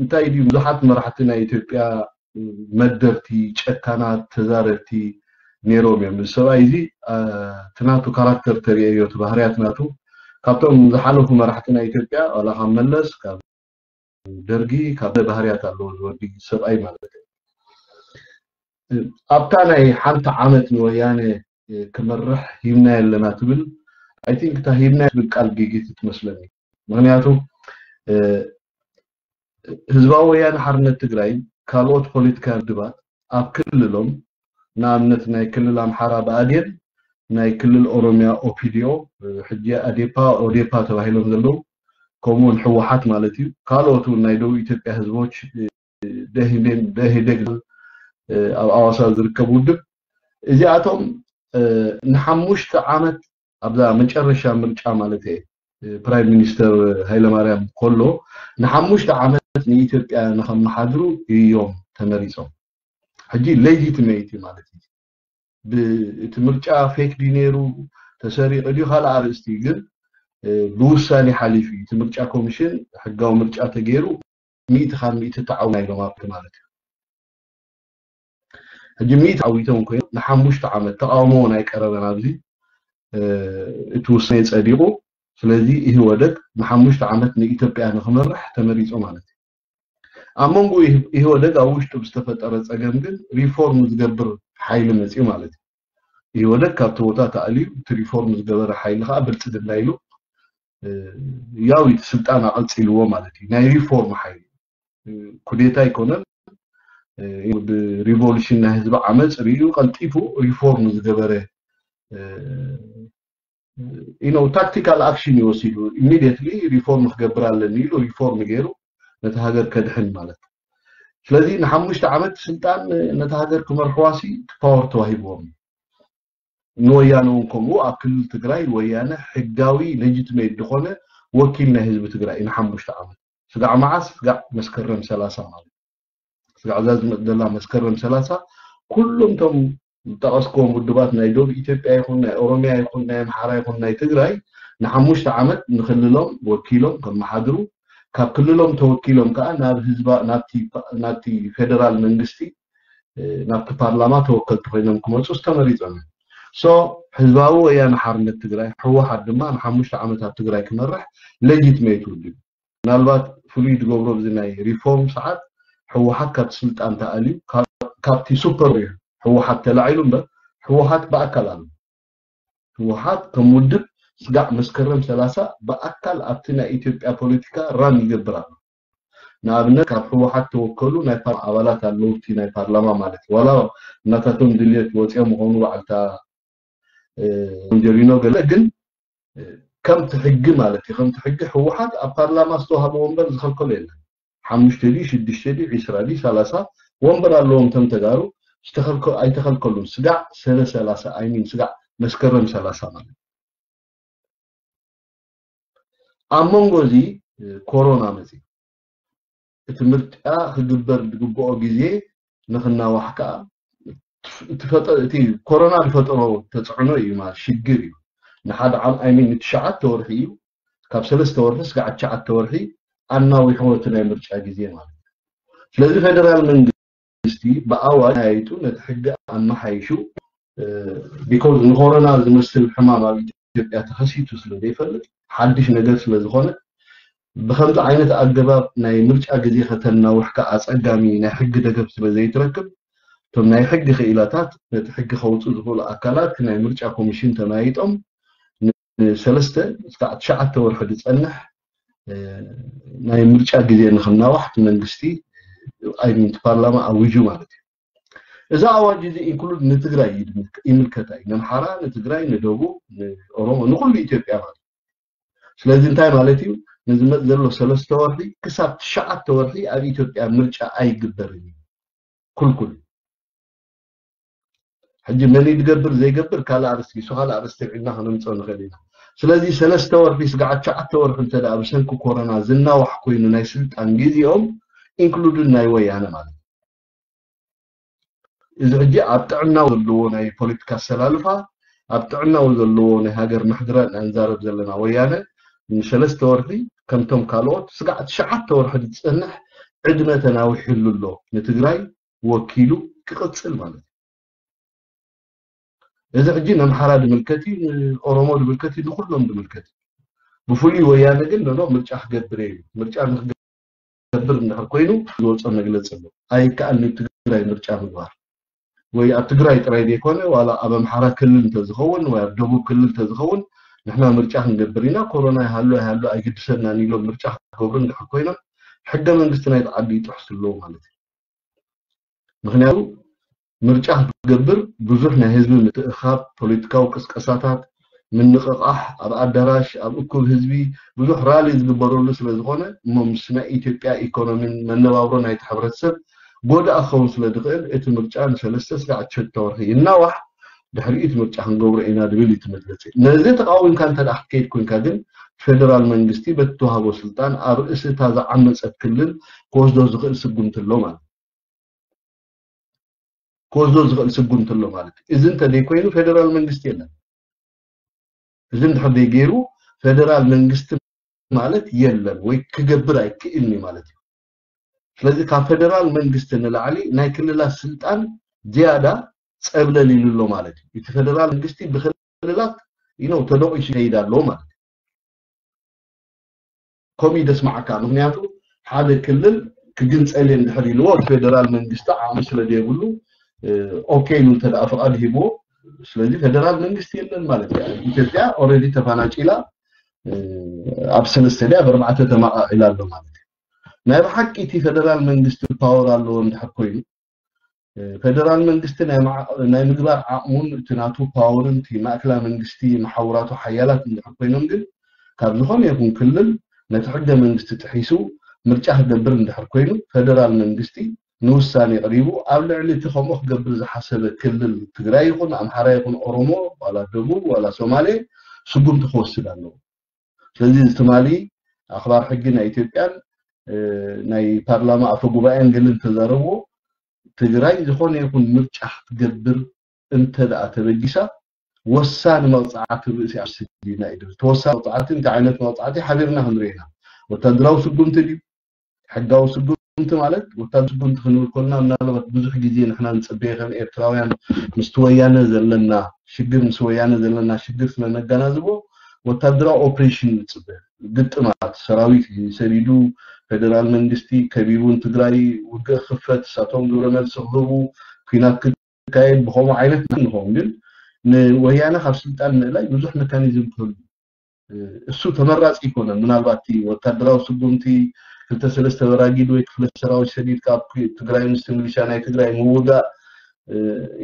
እንታይ ድዩ ብዙሓት መራሕቲ ናይ ኢትዮጵያ መደርቲ ጨካናት ተዛረብቲ ነይሮም እዮም እዚ ሰብኣይ እዚ እቲ ናቱ ካራክተር ተሪእዮ እቲ ባህርያት ናቱ ካብቶም ዝሓለፉ መራሕቲ ናይ ኢትዮጵያ ዋላ ካብ መለስ ካብ ደርጊ ካብ ባህርያት ኣለዎ ዝወዲ ሰብኣይ ማለት እዩ ኣብታ ናይ ሓንቲ ዓመት ንወያነ ክመርሕ ሂብና ኣለና ትብል I think እታ ሂብና ትብል ቃል ጌጌት ትመስለኒ ምክንያቱ ህዝባዊ ወያነ ሓርነት ትግራይ ካልኦት ፖለቲካ ውድባት ኣብ ክልሎም ንኣብነት ናይ ክልል ኣምሓራ ብኣዴን ናይ ክልል ኦሮሚያ ኦፒዲዮ ሕጂ ኣዴፓ ኦዴፓ ተባሂሎም ዘለዉ ከምኡውን ህወሓት ማለት እዩ ካልኦት እውን ናይ ደቡብ ኢትዮጵያ ህዝቦች ደኢህዴግ ኣብ ኣዋሳ ዝርከብ ውድብ እዚኣቶም ንሓሙሽተ ዓመት ኣብዛ መጨረሻ ምርጫ ማለት እየ ፕራይም ሚኒስተር ሃይለማርያም ከሎ ንሓሙሽተ ዓመት ንኢትዮጵያ ንከመሓድሩ እዮም ተመሪፆም ሕጂ ሌጂትሜት ማለት እዩ እቲ ምርጫ ፌክ ድዩ ነይሩ ተሰሪቑ ድዩ ካልእ ኣርእስቲ ግን ብውሳኔ ሓሊፉ እዩ እቲ ምርጫ ኮሚሽን ሕጋዊ ምርጫ ተገይሩ ሚእቲ ካብ ሚእቲ ተዓውና ኢሎም ኣብቲ ማለት እዩ ሕጂ ሚእቲ ዓዊቶም ኮይኑ ንሓሙሽተ ዓመት ተቃውሞ እውን ኣይቀረበን ኣብዚ እቲ ውሳኔ ጸዲቁ ስለዚ ኢህወደግ ንሓሙሽተ ዓመት ንኢትዮጵያ ንክመርሕ ተመሪጹ ማለት እዩ ኣብ መንጎ ኢህወደግ ኣብ ውሽጡ ብዝተፈጠረ ጸገም ግን ሪፎርም ዝገብር ሓይሊ መፅዩ ማለት እዩ ኢህወደግ ካብቲ ቦታ ተኣልዩ እቲ ሪፎርም ዝገበረ ሓይሊ ከዓ ብልፅግና ኢሉ ያው እቲ ስልጣን ኣቐፂልዎ ማለት እዩ ናይ ሪፎርም ሓይሊ ኩዴታ ኣይኮነን ብሪቮሉሽን ናይ ህዝቢ ዓመፅ ርእዩ ቀልጢፉ ሪፎርም ዝገበረ you know tactical action ይወሲዱ immediately reform ክገብር ኣለኒ ኢሉ reform ገይሩ ነቲ ሃገር ከድሕን ማለት ስለዚ ንሓሙሽተ ዓመት ስልጣን ነቲ ሃገር ክመርሕዋሲ ፓወር ተዋሂብዎም ንወያነ እውን ከምኡ ኣብ ክልል ትግራይ ወያነ ሕጋዊ legitimate ዝኾነ ወኪል ናይ ህዝቢ ትግራይ ንሓሙሽተ ዓመት ስጋዕ መዓስ ስጋዕ መስከረም ሰላሳ ማለት ስጋዕ እዛ ዝመፅእ ዘላ መስከረም ሰላሳ ኩሎም እቶም ዝጠቐስክዎም ውድባት ናይ ደቡብ ኢትዮጵያ ይኹን ናይ ኦሮሚያ ይኹን ናይ ኣምሓራ ይኹን ናይ ትግራይ ንሓሙሽተ ዓመት ንክልሎም ወኪሎም ከመሓድሩ ካብ ክልሎም ተወኪሎም ከዓ ናብ ህዝባ ናብቲ ፌደራል መንግስቲ ናብቲ ፓርላማ ተወከልቲ ኮይኖም ክመፁ ዝተመሪፆም እዮም So ህዝባዊ ወያነ ሓርነት ትግራይ፣ ህወሓት ድማ ንሓሙሽተ ዓመታት ትግራይ ክመርሕ ሌጂትሜት ውድብ። ምናልባት ፍሉይ ዝገብሮ ብዚ ናይ ሪፎርም ሰዓት ህወሓት ካብቲ ስልጣን ተኣልዩ፣ ካብ- ካብቲ ሱፐር ህወሓት ተላዒሉ እምበር፣ ህወሓት ብኣካል ኣሎ። ህወሓት ከም ውድብ ስጋዕ መስከረም ሰላሳ ብኣካል ኣብቲ ናይ ኢትዮጵያ ፖለቲካ ራን ይገብር ኣሎ። ንኣብነት ካብ ህወሓት ተወከሉ ናይ ፓር ኣባላት ኣለዉ፣ እቲ ናይ ፓርላማ ማለት እዩ። ዋላ እናታቶም ድልየት ወፂኦም ይኾኑ፣ ባዕልታ ጀሪኖ ገለ፣ ግን ከምቲ ሕጊ ማለት እዩ፣ ከምቲ ሕጊ ህወሓት ኣብ ፓርላማ ዝተዋሃበ ወንበር ዝኸልከሎ የለን። ሓሙሽተ ድዩ ሽዱሽተ ድዩ ዒስራ ድዩ ሰላሳ ወንበር ኣለዎም። እቶም ተጋሩ ዝተኸልከ- ኣይተኸልከሉን። ስጋዕ ሰነ ሰላሳ ኣይሚን ስጋዕ መስከረም ሰላሳ ማለት ኣብ መንጎ እዚ ኮሮና መፂ። እቲ ምርጫ ክግበር ዝግብኦ ግዜ ንክናዋሕ ከዓ እቲ ፈጠ- እቲ ኮሮና ዝፈጠሮ ተፅዕኖ እዩ ማለት ሽግር እዩ። ንሓደ ዓም ኣይሚን ንትሽዓተ ወርሒ እዩ፣ ካብ ሰለስተ ወርሒ ስጋዕ ትሽዓተ ወርሒ ኣናዊሕዎ እቲ ናይ ምርጫ ግዜ ማለት እዩ። ስለዚ ፌደራል መንግስቲ ብኣዋጅ ኣያይጡ ነቲ ሕጊ ኣመሓይሹ፣ ቢኮዝ ንኮሮና ዝመስል ሕማም ኣብ ኢትዮጵያ ተኸሲቱ ስለ ዘይፈልጥ፣ ሓድሽ ነገር ስለ ዝኾነ፣ ብኸምዚ ዓይነት ኣገባብ ናይ ምርጫ ግዜ ከተናውሕካ ኣፀጋሚ ናይ ሕጊ ደገፍ ስለ ዘይትረክብ፣ እቶም ናይ ሕጊ ክኢላታት ነቲ ሕጊ ከውፁ ዝኽእሉ ኣካላት ናይ ምርጫ ኮሚሽን ተማይጦም ንሰለስተ እስካዕ ትሽዓተ ወርሒ ዝፀንሕ ናይ ምርጫ ግዜ ንክናዋሕ እቲ መንግስቲ ኣይሚን ፓርላማ ኣዊጁ ማለት እዩ። እዚ ኣዋጅ እዚ ኢንክሉድ ንትግራይ ይምልከታ እዩ። ነምሓራ፣ ንትግራይ፣ ንደቡብ፣ ንኦሮሞ፣ ንኩሉ ኢትዮጵያ ማለት እዩ። ስለዚ እንታይ ማለት እዩ? ንዝመፅ ዘሎ ሰለስተ ወርሒ ክሳብ ትሽዓተ ወርሒ ኣብ ኢትዮጵያ ምርጫ ኣይግበርን እዩ። ኩልኩል ሕጂ መን ይገብር ዘይገብር ካልእ ኣርስቲ እሱ ካልእ ኣርስቲ ዒድና ከነምፅኦ ንኽእል ኢና። ስለዚ ሰለስተ ወርሒ ስጋዕ ትሽዓተ ወርሒ እንተ ደኣ ብሰንኪ ኮሮና ዝናዋሕ ኮይኑ ናይ ስልጣን ግዜኦም ኢንክሉድድ ናይ ወያነ ማለት እዩ። እዚ ሕጂ ኣብ ጥዕናው ዘለዎ ናይ ፖለቲካ ኣሰላልፋ፣ ኣብ ጥዕናው ዘለዎ ናይ ሃገር ምሕድራ ኢና ንዛረብ ዘለና። ወያነ ንሰለስተ ወርሒ ከምቶም ካልኦት ስጋዕ ትሽዓተ ወርሒ ዝፀንሕ ዕድመ ተናዊሕሉ ኣሎ። ንትግራይ ወኪሉ ክቕፅል ማለት እዩ። እዚ ሕጂ ነምሓራ ዝምልከት እዩ፣ ንኦሮሞ ዝምልከት እዩ፣ ንኩሎም ዝምልከት እዩ። ብፍሉይ ወያነ ግን ኖ ምርጫ ክገብር እዩ። ምርጫ ንክገብር እንድሕር ኮይኑ ዝወፀ መግለፂ ኣሎ። ኣይከኣልን ትግራይ ምርጫ ምግባር ወይ ኣብ ትግራይ ጥራይ ዘይኮነ ዋላ ኣብ ኣምሓራ ክልል እንተዝኸውን ወይ ኣብ ደቡብ ክልል እንተዝኸውን ንሕና ምርጫ ክንገብር ኢና፣ ኮሮና ይሃሉ ኣይሃሉ ኣይግድሰናን ኢሎም ምርጫ ክገብሩ እንድሕር ኮይኖም ሕገ መንግስቲ ናይቲ ዓዲ ይጥሕሱ ኣለዉ ማለት እዩ። ምክንያቱ ምርጫ ክትገብር ብዙሕ ናይ ህዝቢ ምትእኻብ፣ ፖለቲካዊ ቅስቀሳታት፣ ምንቕቓሕ፣ ኣብ ኣዳራሽ ኣብ እኩብ ህዝቢ ብዙሕ ራሊ ዝግበረሉ ስለ ዝኾነ እሞ ምስ ናይ ኢትዮጵያ ኢኮኖሚን መነባብሮ ናይቲ ሕብረተሰብ ጎዳኢ ክኸውን ስለ ዝኽእል እቲ ምርጫ ንሰለስተ ስጋዕ ትሽዓተ ወርሒ ይናዋሕ፣ ድሕሪኡ እቲ ምርጫ ክንገብሮ ኢና ዝብል እዩ እቲ መግለፂ። ነዚ ተቃዊምካ እንተ ደኣ ክትከይድ ኮንካ ግን ፌደራል መንግስቲ በቲ ተዋህቦ ስልጣን ኣብ ርእሲ እታ ዝዓመፀት ክልል ክወስዶ ዝኽእል ስጉምቲ ኣሎ ማለት እዩ። ክወስዶ ዝኽእል ስጉምቲ ኣሎ ማለት እዩ። እዚ እንተዘይኮይኑ ፌደራል መንግስቲ የለን። እዚ እንድሕር ዘይገይሩ ፌደራል መንግስቲ ማለት የለን ወይ ክገብር ኣይክእልን እዩ ማለት እዩ። ስለዚ ካብ ፌደራል መንግስቲ ንላዕሊ ናይ ክልላት ስልጣን ዝያዳ ፀብለል ኢሉ ኣሎ ማለት እዩ። እቲ ፌደራል መንግስቲ ብክልላት you know ተደቂሱ ይኸይድ ኣለዎ ማለት እዩ። ከምኡ እዩ ደስማዓካ። ምክንያቱ ሓደ ክልል ክግንፀል እየ እንድሕር ኢልዎ እቲ ፌደራል መንግስቲ ዓቕሚ ስለ ዘይብሉ ኦኬ ኢሉ እንተ ደኣ ፍቓድ ሂብዎ። ስለዚ ፌደራል መንግስቲ የለን ማለት እዩ። ኢትዮጵያ ኦልሬዲ ተፋናጭላ ኣብ ሰለስተ ድያ ኣብ ኣርባዕተ ተማቓቒላ ኣሎ ማለት እዩ። ናይ ብሓቂ እቲ ፌደራል መንግስቲ ፓወር ኣለዎ እንድሕር ኮይኑ ፌደራል መንግስቲ ናይ ምግባር ዓቕሙን እቲ ናቱ ፓወርን እቲ ማእከላ መንግስቲ መሓውራቱ ሓያላት እንድሕር ኮይኖም ግን ካብ ዝኾነ ይኹን ክልል ነቲ ሕገ መንግስቲ ጥሒሱ ምርጫ ክገብር እንድሕር ኮይኑ ፌደራል መንግስቲ ንውሳኔ ቀሪቡ ኣብ ልዕሊ እቲ ከምኡ ክገብር ዝሓሰበ ክልል ትግራይ ይኹን ኣምሓራ ይኹን ኦሮሞ ዋላ ደቡብ ዋላ ሶማሌ ስጉምቲ ክወስድ ኣለዎ። ስለዚ እዚ ትማሊ ኣኽባር ሕጊ ናይ ኢትዮጵያን ናይ ፓርላማ ኣፈ ጉባኤን ገለ እንተዛረብዎ ትግራይ ዝኾነ ይኹን ምርጫ ክትገብር እንተ ደኣ ተበጊሳ ወሳኒ መቕፃዕቲ ርእሲ ኣስዲና እዩ ዝብል። ተወሳኒ መቕፃዕቲ እንታይ ዓይነት መቕፃዕቲ ሓቢርና ክንርኢ ኢና። ወታደራዊ ስጉምቲ ድዩ? ሕጋዊ ስጉምቲ ስጉምቲ ማለት ወታደር ስጉምቲ ክንብል ከለና ምናልባት ብዙሕ ግዜ ንሕና ንጽበየ ከም ኤርትራውያን ምስቲ ወያነ ዘለና ሽግር ምስ ወያነ ዘለና ሽግር ስለነገናዝቦ ወታደራዊ ኦፕሬሽን ንጽበ ግጥማት ሰራዊት ሰዲዱ ፌደራል መንግስቲ ከቢቡን ትግራይ ውግእ ክፈት እሳቶም ግብረ መልሲ ክህቡ ኩናት ክካየድ ብኸምኡ ዓይነት ንኸውን ግን ንወያነ ካብ ስልጣን ምእላይ ብዙሕ መካኒዝም ክህሉ እሱ ተመራፂ ይኮነ ምናልባት ወታደራዊ ስጉምቲ ክልተ ሰለስተ በራጊድ ወይ ክፍለ ሰራዊት ሰዲድ ካብ ትግራይ ምስ ሚሊሻ ናይ ትግራይ ምውጋእ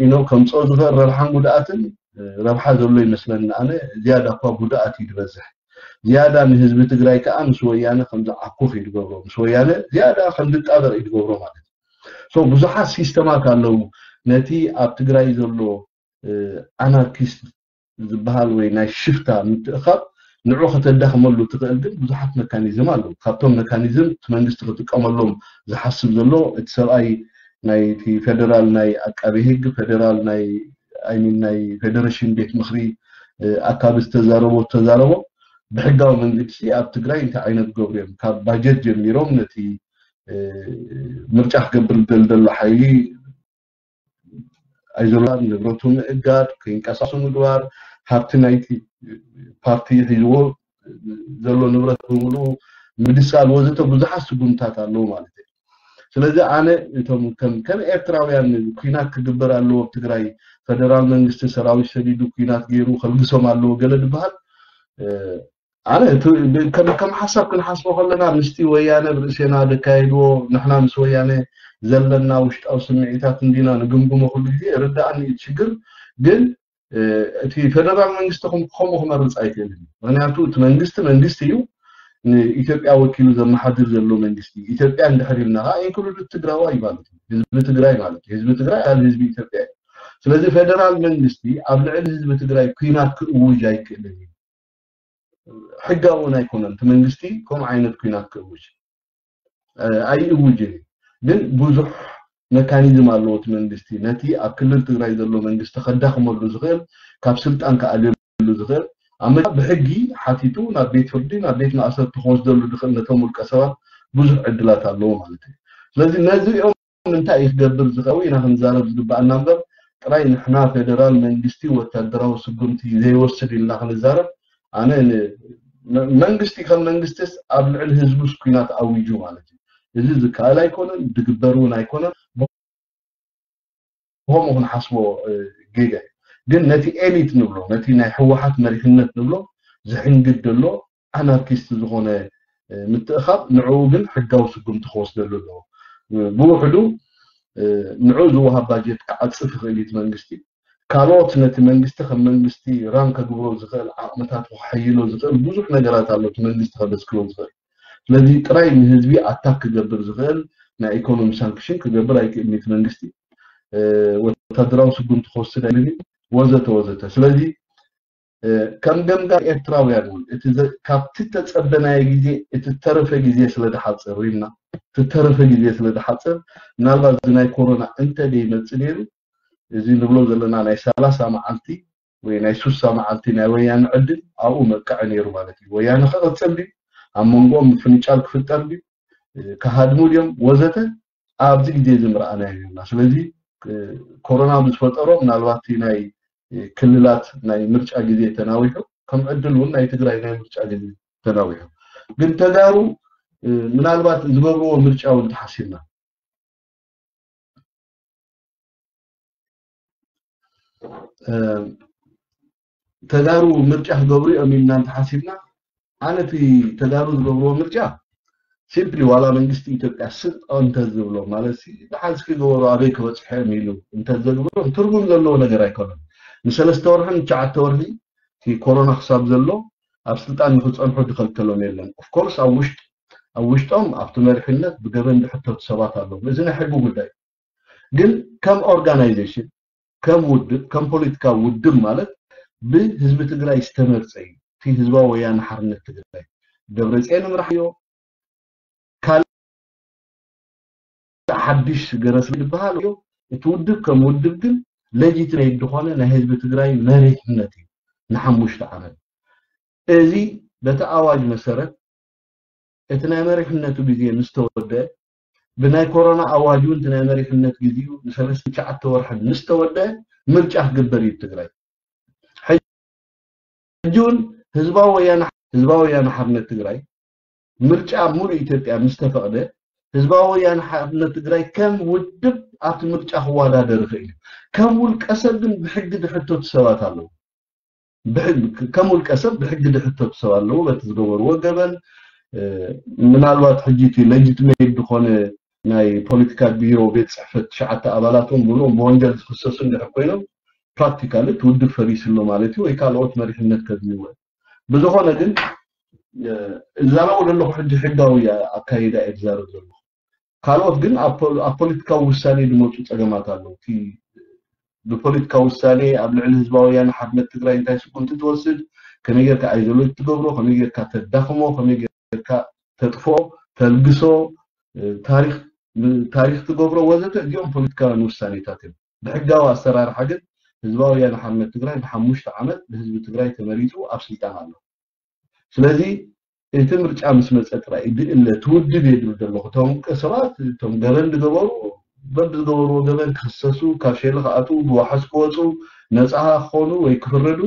ኢኖ ከምፅኦ ዝኽእል ረብሓን ጉድኣትን ረብሓ ዘሎ ይመስለኒ ኣነ ዝያዳ እኳ ጉድኣት እዩ ዝበዝሕ ዝያዳ ንህዝቢ ትግራይ ከዓ ምስ ወያነ ከምዝዓኩፍ እዩ ዝገብሮ ምስ ወያነ ዝያዳ ከምዝጣበቅ እዩ ዝገብሮ ማለት እዩ ብዙሓት ሲስተማት ኣለዉ ነቲ ኣብ ትግራይ ዘሎ ኣናርኪስት ዝበሃል ወይ ናይ ሽፍታ ምትእኻብ ንዑ ከተዳኽመሉ ትኽእል ግን ብዙሓት መካኒዝም ኣለዉ ካብቶም መካኒዝም እቲ መንግስቲ ክጥቀመሎም ዝሓስብ ዘሎ እቲ ሰብኣይ ናይቲ ፌደራል ናይ ኣቃቢ ህግ ፌደራል ናይ ኣይሚን ናይ ፌደሬሽን ቤት ምክሪ ኣካቢ ዝተዛረቦ ተዛረቦ ብሕጋዊ መንግስቲ ኣብ ትግራይ እንታይ ዓይነት ገብሩ እዮም ካብ ባጀት ጀሚሮም ነቲ ምርጫ ክገብር ዝደል ዘሎ ሓይሊ ኣይዞላ ንብረቱ ምእጋድ ከይንቀሳሱ ምግባር ሃብቲ ናይቲ ፓርቲ ሒዝዎ ዘሎ ንብረት ብምሉ ምድሳል ወዘተ ብዙሓት ስጉምታት ኣለዉ ማለት እዩ ስለዚ ኣነ እቶም ከም ከም ኤርትራውያን ኩናት ክግበር ኣለዎ ኣብ ትግራይ ፈደራል መንግስቲ ሰራዊት ሰዲዱ ኩናት ገይሩ ከልግሶም ኣለዎ ገለ ዝበሃል ኣነ ከም ሓሳብ ክንሓስቦ ከለና ምስቲ ወያነ ብርእሴና ዘካየድዎ ንሕና ምስ ወያነ ዘለና ውሽጣዊ ስምዒታት እንዲና ንግምግሞ ኩሉ ግዜ ርዳኣኒ እዩ ሽግር ግን እቲ ፌደራል መንግስቲ ከምኡ ክመርፅ ኣይክእልን እዩ ምክንያቱ እቲ መንግስቲ መንግስቲ እዩ ንኢትዮጵያ ወኪሉ ዘመሓድር ዘሎ መንግስቲ ኢትዮጵያ እንድሕር ኢልና ከዓ ኢንክሉድ ትግራዋ እዩ ማለት እዩ ህዝቢ ትግራይ ማለት እዩ ህዝቢ ትግራይ ኣካል ህዝቢ ኢትዮጵያ እዩ ስለዚ ፌደራል መንግስቲ ኣብ ልዕሊ ህዝቢ ትግራይ ኩናት ክእውጅ ኣይክእልን እዩ ሕጋዊ እውን ኣይኮነን እቲ መንግስቲ ከምኡ ዓይነት ኩናት ክእውጅ ኣይእውጅን እዩ ግን ብዙሕ መካኒዝም ኣለዎ እቲ መንግስቲ ነቲ ኣብ ክልል ትግራይ ዘሎ መንግስቲ ከዳኽመሉ ዝኽእል ካብ ስልጣን ክኣልየሉ ዝኽእል ኣብ መ ብሕጊ ሓቲቱ ናብ ቤት ፍርዲ ናብ ቤት ማእሰርቲ ክወስደሉ ዝኽእል ነቶም ውልቀ ሰባት ብዙሕ ዕድላት ኣለዎ ማለት እዩ ስለዚ ነዚኦም እንታይ እዩ ክገብር ዝኸው ኢና ክንዛረብ ዝግባኣና እምበር ጥራይ ንሕና ፌደራል መንግስቲ ወታደራዊ ስጉምቲ ዘይወስድ ኢልና ክንዛረብ ኣነ መንግስቲ ከም መንግስትስ ኣብ ልዕሊ ህዝቡስ ኩናት ኣዊጁ ማለት እዩ እዚ ዝከኣል ኣይኮነን ዝግበር እውን ኣይኮነን ብኸምኡ ክንሓስቦ ጌጋ እዩ ግን ነቲ ኤሊት ንብሎ ነቲ ናይ ህወሓት መሪሕነት ንብሎ ዝሕንግድ ዘሎ ኣናርኪስት ዝኾነ ምትእኻብ ንዕኡ ግን ሕጋዊ ስጉምቲ ክወስደሉ ኣለዎ ብውሕዱ ንዕኡ ዝወሃብ ባጀት ክዓፅፍ ይኽእል እዩ መንግስቲ ካልኦት ነቲ መንግስቲ ከም መንግስቲ ራን ከግብሮ ዝኽእል ዓቕምታት ክሓይሎ ዝኽእል ብዙሕ ነገራት ኣሎ እቲ መንግስቲ ከመስክሮ ዝኽእል ስለዚ ጥራይ ንህዝቢ ኣታክ ክገብር ዝኽእል ናይ ኢኮኖሚ ሳንክሽን ክገብር ኣይክእልን እቲ መንግስቲ ወታደራዊ ስጉምቲ ክወስድ ኣይልን ወዘተ ወዘተ ስለዚ ከም ገምጋም ኤርትራውያን እውን እቲ ካብቲ ተጸበናዮ ግዜ እቲ ተረፈ ግዜ ስለ ዝሓጽር ሪምና እቲ ተረፈ ግዜ ስለ ዝሓጽር ምናልባት እዚ ናይ ኮሮና እንተ ደይመጽእ ነይሩ እዚ ንብሎ ዘለና ናይ ሰላሳ መዓልቲ ወይ ናይ ሱሳ መዓልቲ ናይ ወያነ ዕድል ኣብኡ መብቅዐ ነይሩ ማለት እዩ። ወያነ ክቕጽል ድዩ? ኣብ መንጎኦም ምፍንጫል ክፍጠር ድዩ? ክሃድሙ ድዮም? ወዘተ ኣብዚ ግዜ እዚ ምርኣናዮ ነርና። ስለዚ ኮሮና ብዝፈጠሮ ምናልባት እቲ ናይ ክልላት ናይ ምርጫ ግዜ ተናዊሑ ከም ዕድል እውን ናይ ትግራይ ናይ ምርጫ ግዜ ተናዊሑ ግን ተጋሩ ምናልባት ዝገብርዎ ምርጫ እውን ተሓሲብና ተጋሩ ምርጫ ክገብሩ እዮም ኢልና እንተሓሲብና ኣነ እቲ ተጋሩ ዝገብርዎ ምርጫ ሲምፕሊ ዋላ መንግስቲ ኢትዮጵያ ስቕ እንተዝብሎ ማለት ደሓን እስኪ ዝበሩ ኣበይ ክበፅሑ እዮም ኢሉ እንተዘግብሮም ትርጉም ዘለዎ ነገር ኣይኮነን። ንሰለስተ ወርሒ ንትሽዓተ ወርሒ እቲ ኮሮና ክሳብ ዘሎ ኣብ ስልጣን ንክፀንሑ ዝኸልከሎም የለን። ኦፍኮርስ ኣብ ውሽጥ ኣብ ውሽጦም ኣብቲ መሪሕነት ብገበን ዝሕተቱ ሰባት ኣለዉ። እዚ ናይ ሕጊ ጉዳይ ግን ከም ኦርጋናይዜሽን ከም ውድብ ከም ፖለቲካዊ ውድብ ማለት ብህዝቢ ትግራይ ዝተመርፀ እዩ። እቲ ህዝባዊ ወያነ ሓርነት ትግራይ ደብረፅዮን ይምራሕ እዮ ካልእ ሓድሽ ገረስ ዝበሃል እዮ። እቲ ውድብ ከም ውድብ ግን ሌጂትሜት ዝኾነ ናይ ህዝቢ ትግራይ መሪሕነት እዩ ንሓሙሽተ ዓመት። እዚ በቲ ኣዋጅ መሰረት እቲ ናይ መሪሕነቱ ግዜ ምስ ተወደአ ብናይ ኮሮና ኣዋጅ እውን እቲ ናይ መሪሕነት ግዜኡ ንሰለስተ ትሽዓተ ወርሒ ምስ ተወደአ ምርጫ ክግበር እዩ ትግራይ። ሕጂ እውን ህዝባዊ ወያነ ህዝባዊ ወያነ ሓርነት ትግራይ ምርጫ ኣብ ሙሉእ ኢትዮጵያ ምስ ተፈቕደ ህዝባዊ ወያነ ሓርነት ትግራይ ከም ውድብ ኣብቲ ምርጫ ክወዳደር ይኽእል እዩ። ከም ውልቀ ሰብ ግን ብሕጊ ዝሕተቱ ሰባት ኣለዉ። ከም ውልቀ ሰብ ብሕጊ ዝሕተቱ ሰብ ኣለዉ። በቲ ዝገበርዎ ገበን ምናልባት ሕጂ እቲ ሌጂትሜት ዝኾነ ናይ ፖለቲካ ቢሮ ቤት ፅሕፈት ትሽዓተ ኣባላቶም ብሎም ብወንጀል ዝኽሰሱ እንድሕር ኮይኖም ፕራክቲካሊ እቲ ውድብ ፈሪሱ ኣሎ ማለት እዩ ወይ ካልኦት መሪሕነት ከድልይዎ። ብዝኾነ ግን እዛረቦ ዘለኹ ሕጂ ሕጋዊ ኣካይዳ እየ ዝዛረብ ዘለኹ። ካልኦት ግን ኣብ ፖለቲካዊ ውሳኔ ዝመፁ ፀገማት ኣለዉ። ብፖለቲካዊ ውሳኔ ኣብ ልዕሊ ህዝባዊ ወያነ ሓርነት ትግራይ እንታይ ስጉምቲ ትወስድ፣ ከመይ ጌርካ ኣይዞሌት ትገብሮ፣ ከመይ ጌርካ ተዳኽሞ፣ ከመይ ጌርካ ተጥፍኦ፣ ተልግሶ፣ ታሪኽ ትገብሮ ወዘተ፣ እዚኦም ፖለቲካውያን ውሳኔታት እዮም። ብሕጋዊ ኣሰራርሓ ግን ህዝባዊ ወያነ ሓርነት ትግራይ ንሓሙሽተ ዓመት ብህዝቢ ትግራይ ተመሪፁ ኣብ ስልጣን ኣሎ። ስለዚ እቲ ምርጫ ምስ መፀ ጥራይ ድእለ ትውድብ እየ ዝብል ዘለኹ። እቶም ሰባት እቶም ገበን ዝገበሩ በብዝገበርዎ ገበን ክኽሰሱ፣ ካብ ሸሊ ክኣትዉ፣ ብዋሕስ ክወፁ፣ ነፃ ክኾኑ ወይ ክፍረዱ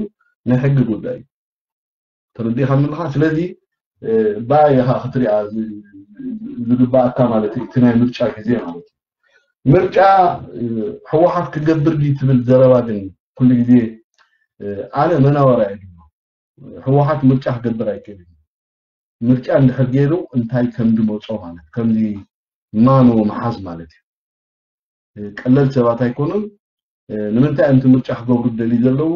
ናይ ሕጊ ጉዳይ እዩ። ተረዲእካ ምልኻ? ስለዚ ብኣይ ኢኻ ክትሪኣ ዝግባኣካ ማለት እዩ፣ እቲ ናይ ምርጫ ግዜ ማለት እዩ። ምርጫ ህወሓት ክገብር ድዩ ትብል ዘረባ ግን ኩሉ ግዜ ኣነ መናወራ እየ። ህወሓት ምርጫ ክገብር ኣይክእልን። ምርጫ እንድሕር ገይሩ እንታይ ከም ዝመፆ ማለት ከምዚ ማኖ መሓዝ ማለት እዩ። ቀለል ሰባት ኣይኮኑን። ንምንታይ እዮም እቲ ምርጫ ክገብሩ ደልዩ ዘለዉ?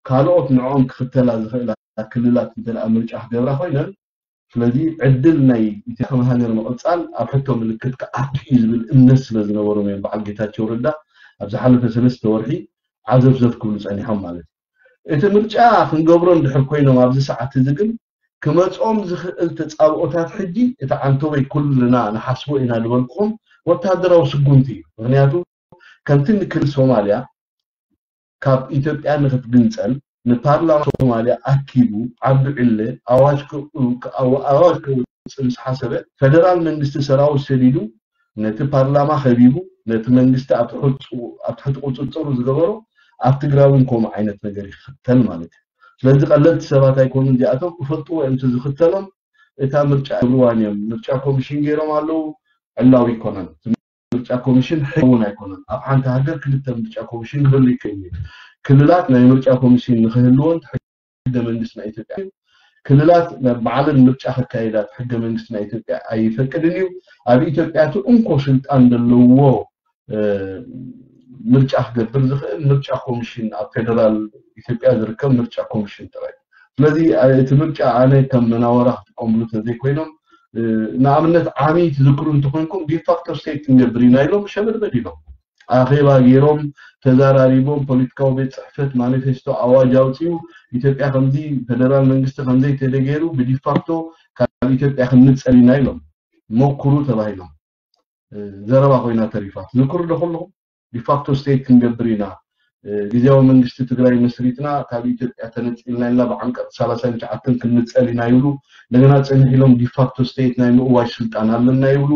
ካልኦት ንዕኦም ክኽተላ ዝኽእላ ክልላት እንተ ደኣ ምርጫ ክገብራ ኮይነን፣ ስለዚ ዕድል ናይ ኢትዮጵያ ከም ሃገር ምቕፃል ኣብ ሕቶ ምልክት ክኣቱ እዩ ዝብል እምነት ስለ ዝነበሮም እዮም በዓል ጌታቸው ረዳ ኣብ ዝሓለፈ ሰለስተ ወርሒ ዓዘፍዘፍ ክብሉ ፀኒሖም ማለት እዩ። እቲ ምርጫ ክንገብሮ እንድሕር ኮይኖም ኣብዚ ሰዓት እዚ ግን ክመፅኦም ዝኽእል ተፃብኦታት ሕጂ እቲ ዓንተቦይ ኩልና ንሓስቦ ኢና ዝበልኩኹም ወታደራዊ ስጉምቲ እዩ። ምክንያቱ ከምቲ ንክል ሶማልያ ካብ ኢትዮጵያ ንክትግንፀል ንፓርላማ ሶማልያ ኣኪቡ ዓብዱ ዕለ ኣዋጅ ኣዋጅ ከውፅእ ምስ ሓሰበ ፈደራል መንግስቲ ሰራዊት ሰዲዱ ነቲ ፓርላማ ከቢቡ ነቲ መንግስቲ ኣብ ትሕቲ ቁፅፅሩ ዝገበሮ ኣብ ትግራይ እውን ከምኡ ዓይነት ነገር ይኽተል ማለት እዩ። ስለዚ ቀለልቲ ሰባት ኣይኮኑን እዚኣቶም፣ ክፈልጥዎ እዮም እቲ ዝኽተሎም። እታ ምርጫ እብርዋን እዮም ምርጫ ኮሚሽን ገይሮም ኣለዉ። ዕላዊ ኣይኮነን። ምርጫ ኮሚሽን ሕጊ እውን ኣይኮነን። ኣብ ሓንቲ ሃገር ክልተ ምርጫ ኮሚሽን ክህሉ ይክእል እዩ። ክልላት ናይ ምርጫ ኮሚሽን ንክህልወን ሕገ መንግስቲ ናይ ኢትዮጵያ ክልላት ባዕለን ምርጫ ከካየዳ ሕገ መንግስቲ ናይ ኢትዮጵያ ኣይፈቅድን እዩ። ኣብ ኢትዮጵያ እቲ እንኮ ስልጣን ዘለዎ ምርጫ ክገብር ዝኽእል ምርጫ ኮሚሽን ኣብ ፌደራል ኢትዮጵያ ዝርከብ ምርጫ ኮሚሽን ጥራይ። ስለዚ እቲ ምርጫ ኣነ ከም መናወራ ክጥቀምሉ ተዘይኮይኖም ንኣብነት ዓሚ ትዝክሩ እንተኮይንኩም ዲፋክቶ ስቴት ክንገብር ኢና ኢሎም ሸበድበድ ኢሎም ኣኼባ ገይሮም ተዛራሪቦም ፖለቲካዊ ቤት ፅሕፈት ማኒፌስቶ ኣዋጅ ኣውፅኡ ኢትዮጵያ ከምዚ ፌደራል መንግስቲ ከምዘይ ተደገይሩ ብዲፋክቶ ካብ ኢትዮጵያ ክንንፀል ኢና ኢሎም ሞክሩ ተባሂሎም ዘረባ ኮይና ተሪፋ ትዝክሩ ዶ ከለኹም ዲፋክቶ ስቴት ክንገብር ኢና ግዜያዊ መንግስቲ ትግራይ መስሪትና ካብ ኢትዮጵያ ተነፂልና ኢልና ብዓንቀፅ ሰላሳን ትሽዓተን ክንንፀል ኢና ይብሉ እንደገና ፅንሕ ኢሎም ዲፋክቶ ስቴት ናይ ምእዋጅ ስልጣን ኣለና ይብሉ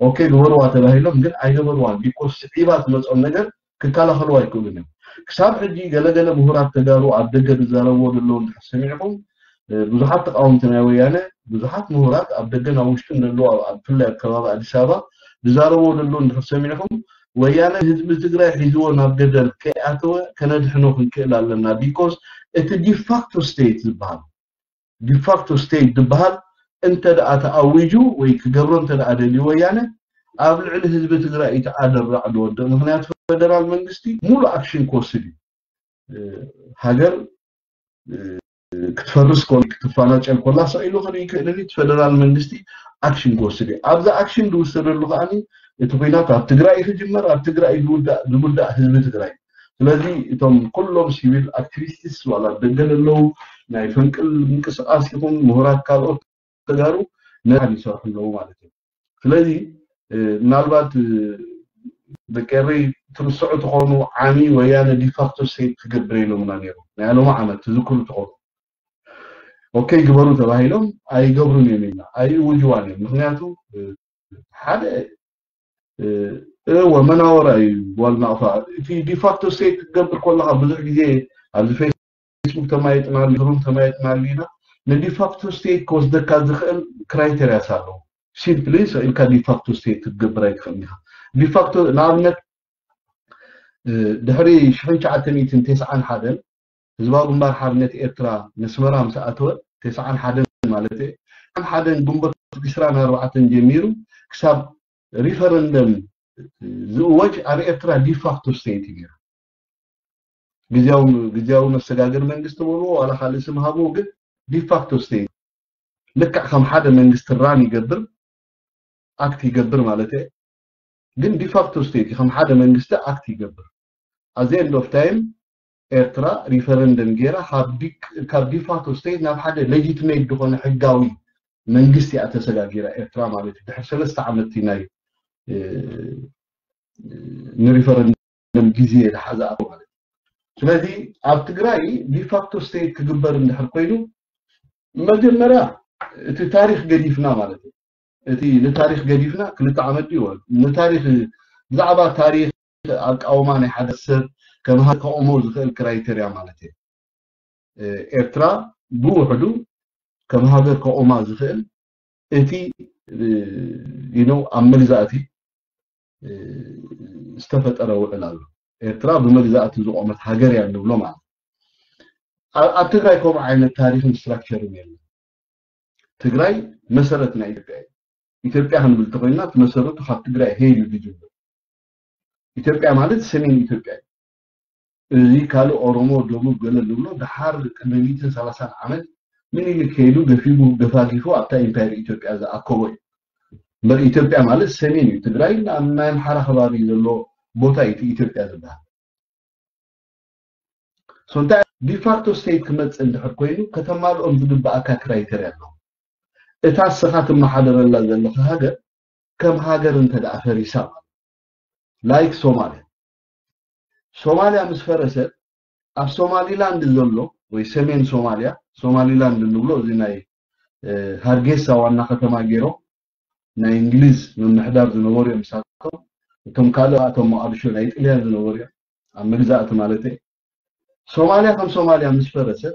ኦኬ ግበርዋ ተባሂሎም ግን ኣይገበርዋን ቢኮስ ስዒባ ትመፆም ነገር ክከላኸልዋ ኣይክእሉን እዮም ክሳብ ሕጂ ገለገለ ምሁራት ተጋሩ ኣብ ደገ ዝዛረብዎ ዘለዉ እንድሕር ሰሚዕኹም ብዙሓት ተቃወምቲ ናይ ወያነ ብዙሓት ምሁራት ኣብ ደገን ኣብ ውሽጥን ዘለዉ ብፍላይ ኣብ ከባቢ ኣዲስ ኣበባ ዝዛረብዎ ዘለዉ እንድሕር ሰሚዕኹም ወያነ ህዝቢ ትግራይ ሒዝዎ ናብ ገደል ከይኣተወ ከነድሕኖ ክንክእል ኣለና ቢኮዝ እቲ ዲፋክቶ ስቴት ዝበሃል ዲፋክቶ ስቴት ዝበሃል እንተ ደኣ ተኣዊጁ ወይ ክገብሮ እንተ ደኣ ደልዩ ወያነ ኣብ ልዕሊ ህዝቢ ትግራይ እቲ ኣደራዕ ዝወድቕ ምክንያቱ ፈደራል መንግስቲ ሙሉ ኣክሽን ክወስድ እዩ ሃገር ክትፈርስ ኮ ክትፈናጨል ኮላ ሰቂሉ ክርኢ ክእልን እቲ ፈደራል መንግስቲ ኣክሽን ክወስድ እዩ ኣብዚ ኣክሽን ዝውሰደሉ ከዓ እቲ ኩናት ኣብ ትግራይ ክጅመር ኣብ ትግራይ ዝውዳእ ህዝቢ ትግራይ ስለዚ እቶም ኩሎም ሲቪል ኣክቲቪስትስ ዋላ ደገ ዘለዉ ናይ ፈንቅል ምንቅስቃስ ይኹን ምሁራት ካልኦት ተጋሩ ነዚ ይሰርሑ ኣለዉ ማለት እዩ ስለዚ ምናልባት ደቂ ኤረይ ትርስዑ ትኾኑ ዓሚ ወያነ ዲፋክቶ ስቴት ክገብር ኢሎምና ነይሩ ናይ ሎሚ ዓመት ትዝክሩ ትኾኑ ኦኬ ግበሩ ተባሂሎም ኣይገብሩን እዮም ኢልና ኣይእውጅዋን እዮም ምክንያቱ ሓደ እወ መናወራ እዩ ዋልናቕፋ። እቲ ዲፋክቶ ስቴት ክትገብር ከለካ ብዙሕ ግዜ ኣብዚ ፌስቡክ ተማይጥናሉ፣ ሩም ተማይጥናሉ ኢና። ንዲፋክቶ ስቴት ክወስደካ ዝኽእል ክራይቴሪያስ ኣለዎ። ሲምፕሊ ሰኢልካ ዲፋክቶ ስቴት ክትገብር ኣይትኽእል ኢኻ። ዲፋክቶ ንኣብነት ድሕሪ ሽሕን ትሽዓተ ሚእትን ተስዓን ሓደን ህዝባዊ ግንባር ሓርነት ኤርትራ ነስመራ ምስ ኣተወ፣ ተስዓን ሓደን ማለት እየ፣ ተስዓን ሓደን ግንቦት ዕስራን ኣርባዕተን ጀሚሩ ክሳብ ሪፈረንደም ዝእወጅ ኣብ ኤርትራ ዲፋክቶ ስቴት እዩ ነይሩ። ግዝያዊ ግዝያዊ መሰጋገር መንግስቲ በልዎ ዋላ ካልእ ስም ሃብዎ፣ ግን ዲፋክቶ ስቴት ልክዕ ከም ሓደ መንግስቲ ራን ይገብር፣ ኣክት ይገብር ማለት እየ። ግን ዲፋክቶ ስቴት ከም ሓደ መንግስቲ ኣክት ይገብር። ኣዚ ኤንድ ኦፍ ታይም ኤርትራ ሪፈረንደም ገይራ ካብ ዲ- ካብ ዲፋክቶ ስቴት ናብ ሓደ ሌጂትሜት ዝኾነ ሕጋዊ መንግስቲ እያ ተሰጋጊራ ኤርትራ ማለት እዩ። ድሕሪ ሰለስተ ዓመት ናይ ንሪፈረንደም ግዜ ዝሓዘ ኣቶ ማለት እዩ። ስለዚ ኣብ ትግራይ ዲፋክቶ ስቴት ክግበር እንድሕር ኮይኑ መጀመርያ እቲ ታሪክ ገዲፍና ማለት እዩ። እቲ ንታሪክ ገዲፍና ክልተ ዓመት ድዩ ንታሪክ ብዛዕባ ታሪክ ኣቃውማ ናይ ሓደ ሰብ ከም ሃገር ከቆሞ ዝኽእል ክራይተርያ ማለት እዩ። ኤርትራ ብውሕዱ ከም ሃገር ከቆማ ዝኽእል እቲ you know ኣብ መግዛእቲ ዝተፈጠረ ውዕል ኣሎ። ኤርትራ ብመግዛእቲ ዝቆመት ሃገር እያ ንብሎ ማለት ኣብ ትግራይ ከምኡ ዓይነት ታሪክን ስትራክቸርን የለን። ትግራይ መሰረት ናይ ኢትዮጵያ እዩ። ኢትዮጵያ ክንብል ተኮይና እቲ መሰረቱ ካብ ትግራይ ሄል እዩ ዝጅምር። ኢትዮጵያ ማለት ሰሜን ኢትዮጵያ እዩ። እዚ ካልእ ኦሮሞ ደቡብ ገለ ንብሎ ድሓር ቅድሚ ሚእትን ሰላሳን ዓመት ምኒልክ ከይዱ ገፊጉ ገፋጊፉ ኣብታ ኢምፓየር ኢትዮጵያ ዝኣከቦ እዩ። እምበር ኢትዮጵያ ማለት ሰሜን እዩ። ትግራይ ኣብ ናይ ኣምሓራ ከባቢ ዘሎ ቦታ እዩ ኢትዮጵያ ዝበሃል። So እንታይ ዲፋክቶ ስቴት ክመፅእ እንድሕር ኮይኑ ከተማልኦም ዝግበኣካ ክራይተርያ ኣለዎ። እታ እስኻ ትመሓደረላ ዘለኻ ሃገር ከም ሃገር እንተ ደኣ ፈሪሳ ማለት ላይክ ሶማልያ ሶማልያ ምስ ፈረሰት ኣብ ሶማሊላንድ ዘሎ ወይ ሰሜን ሶማልያ ሶማሊላንድ እንብሎ እዚ ናይ ሃርጌሳ ዋና ከተማ ገይሮም ናይ እንግሊዝ ምምሕዳር ዝነበሩ እዮም ንሳቶም። እቶም ካልእ ኣቶም መቃድሾ ናይ ጥልያን ዝነበሩ እዮም ኣብ መግዛእቲ ማለት እየ። ሶማልያ ከም ሶማልያ ምስ ፈረሰት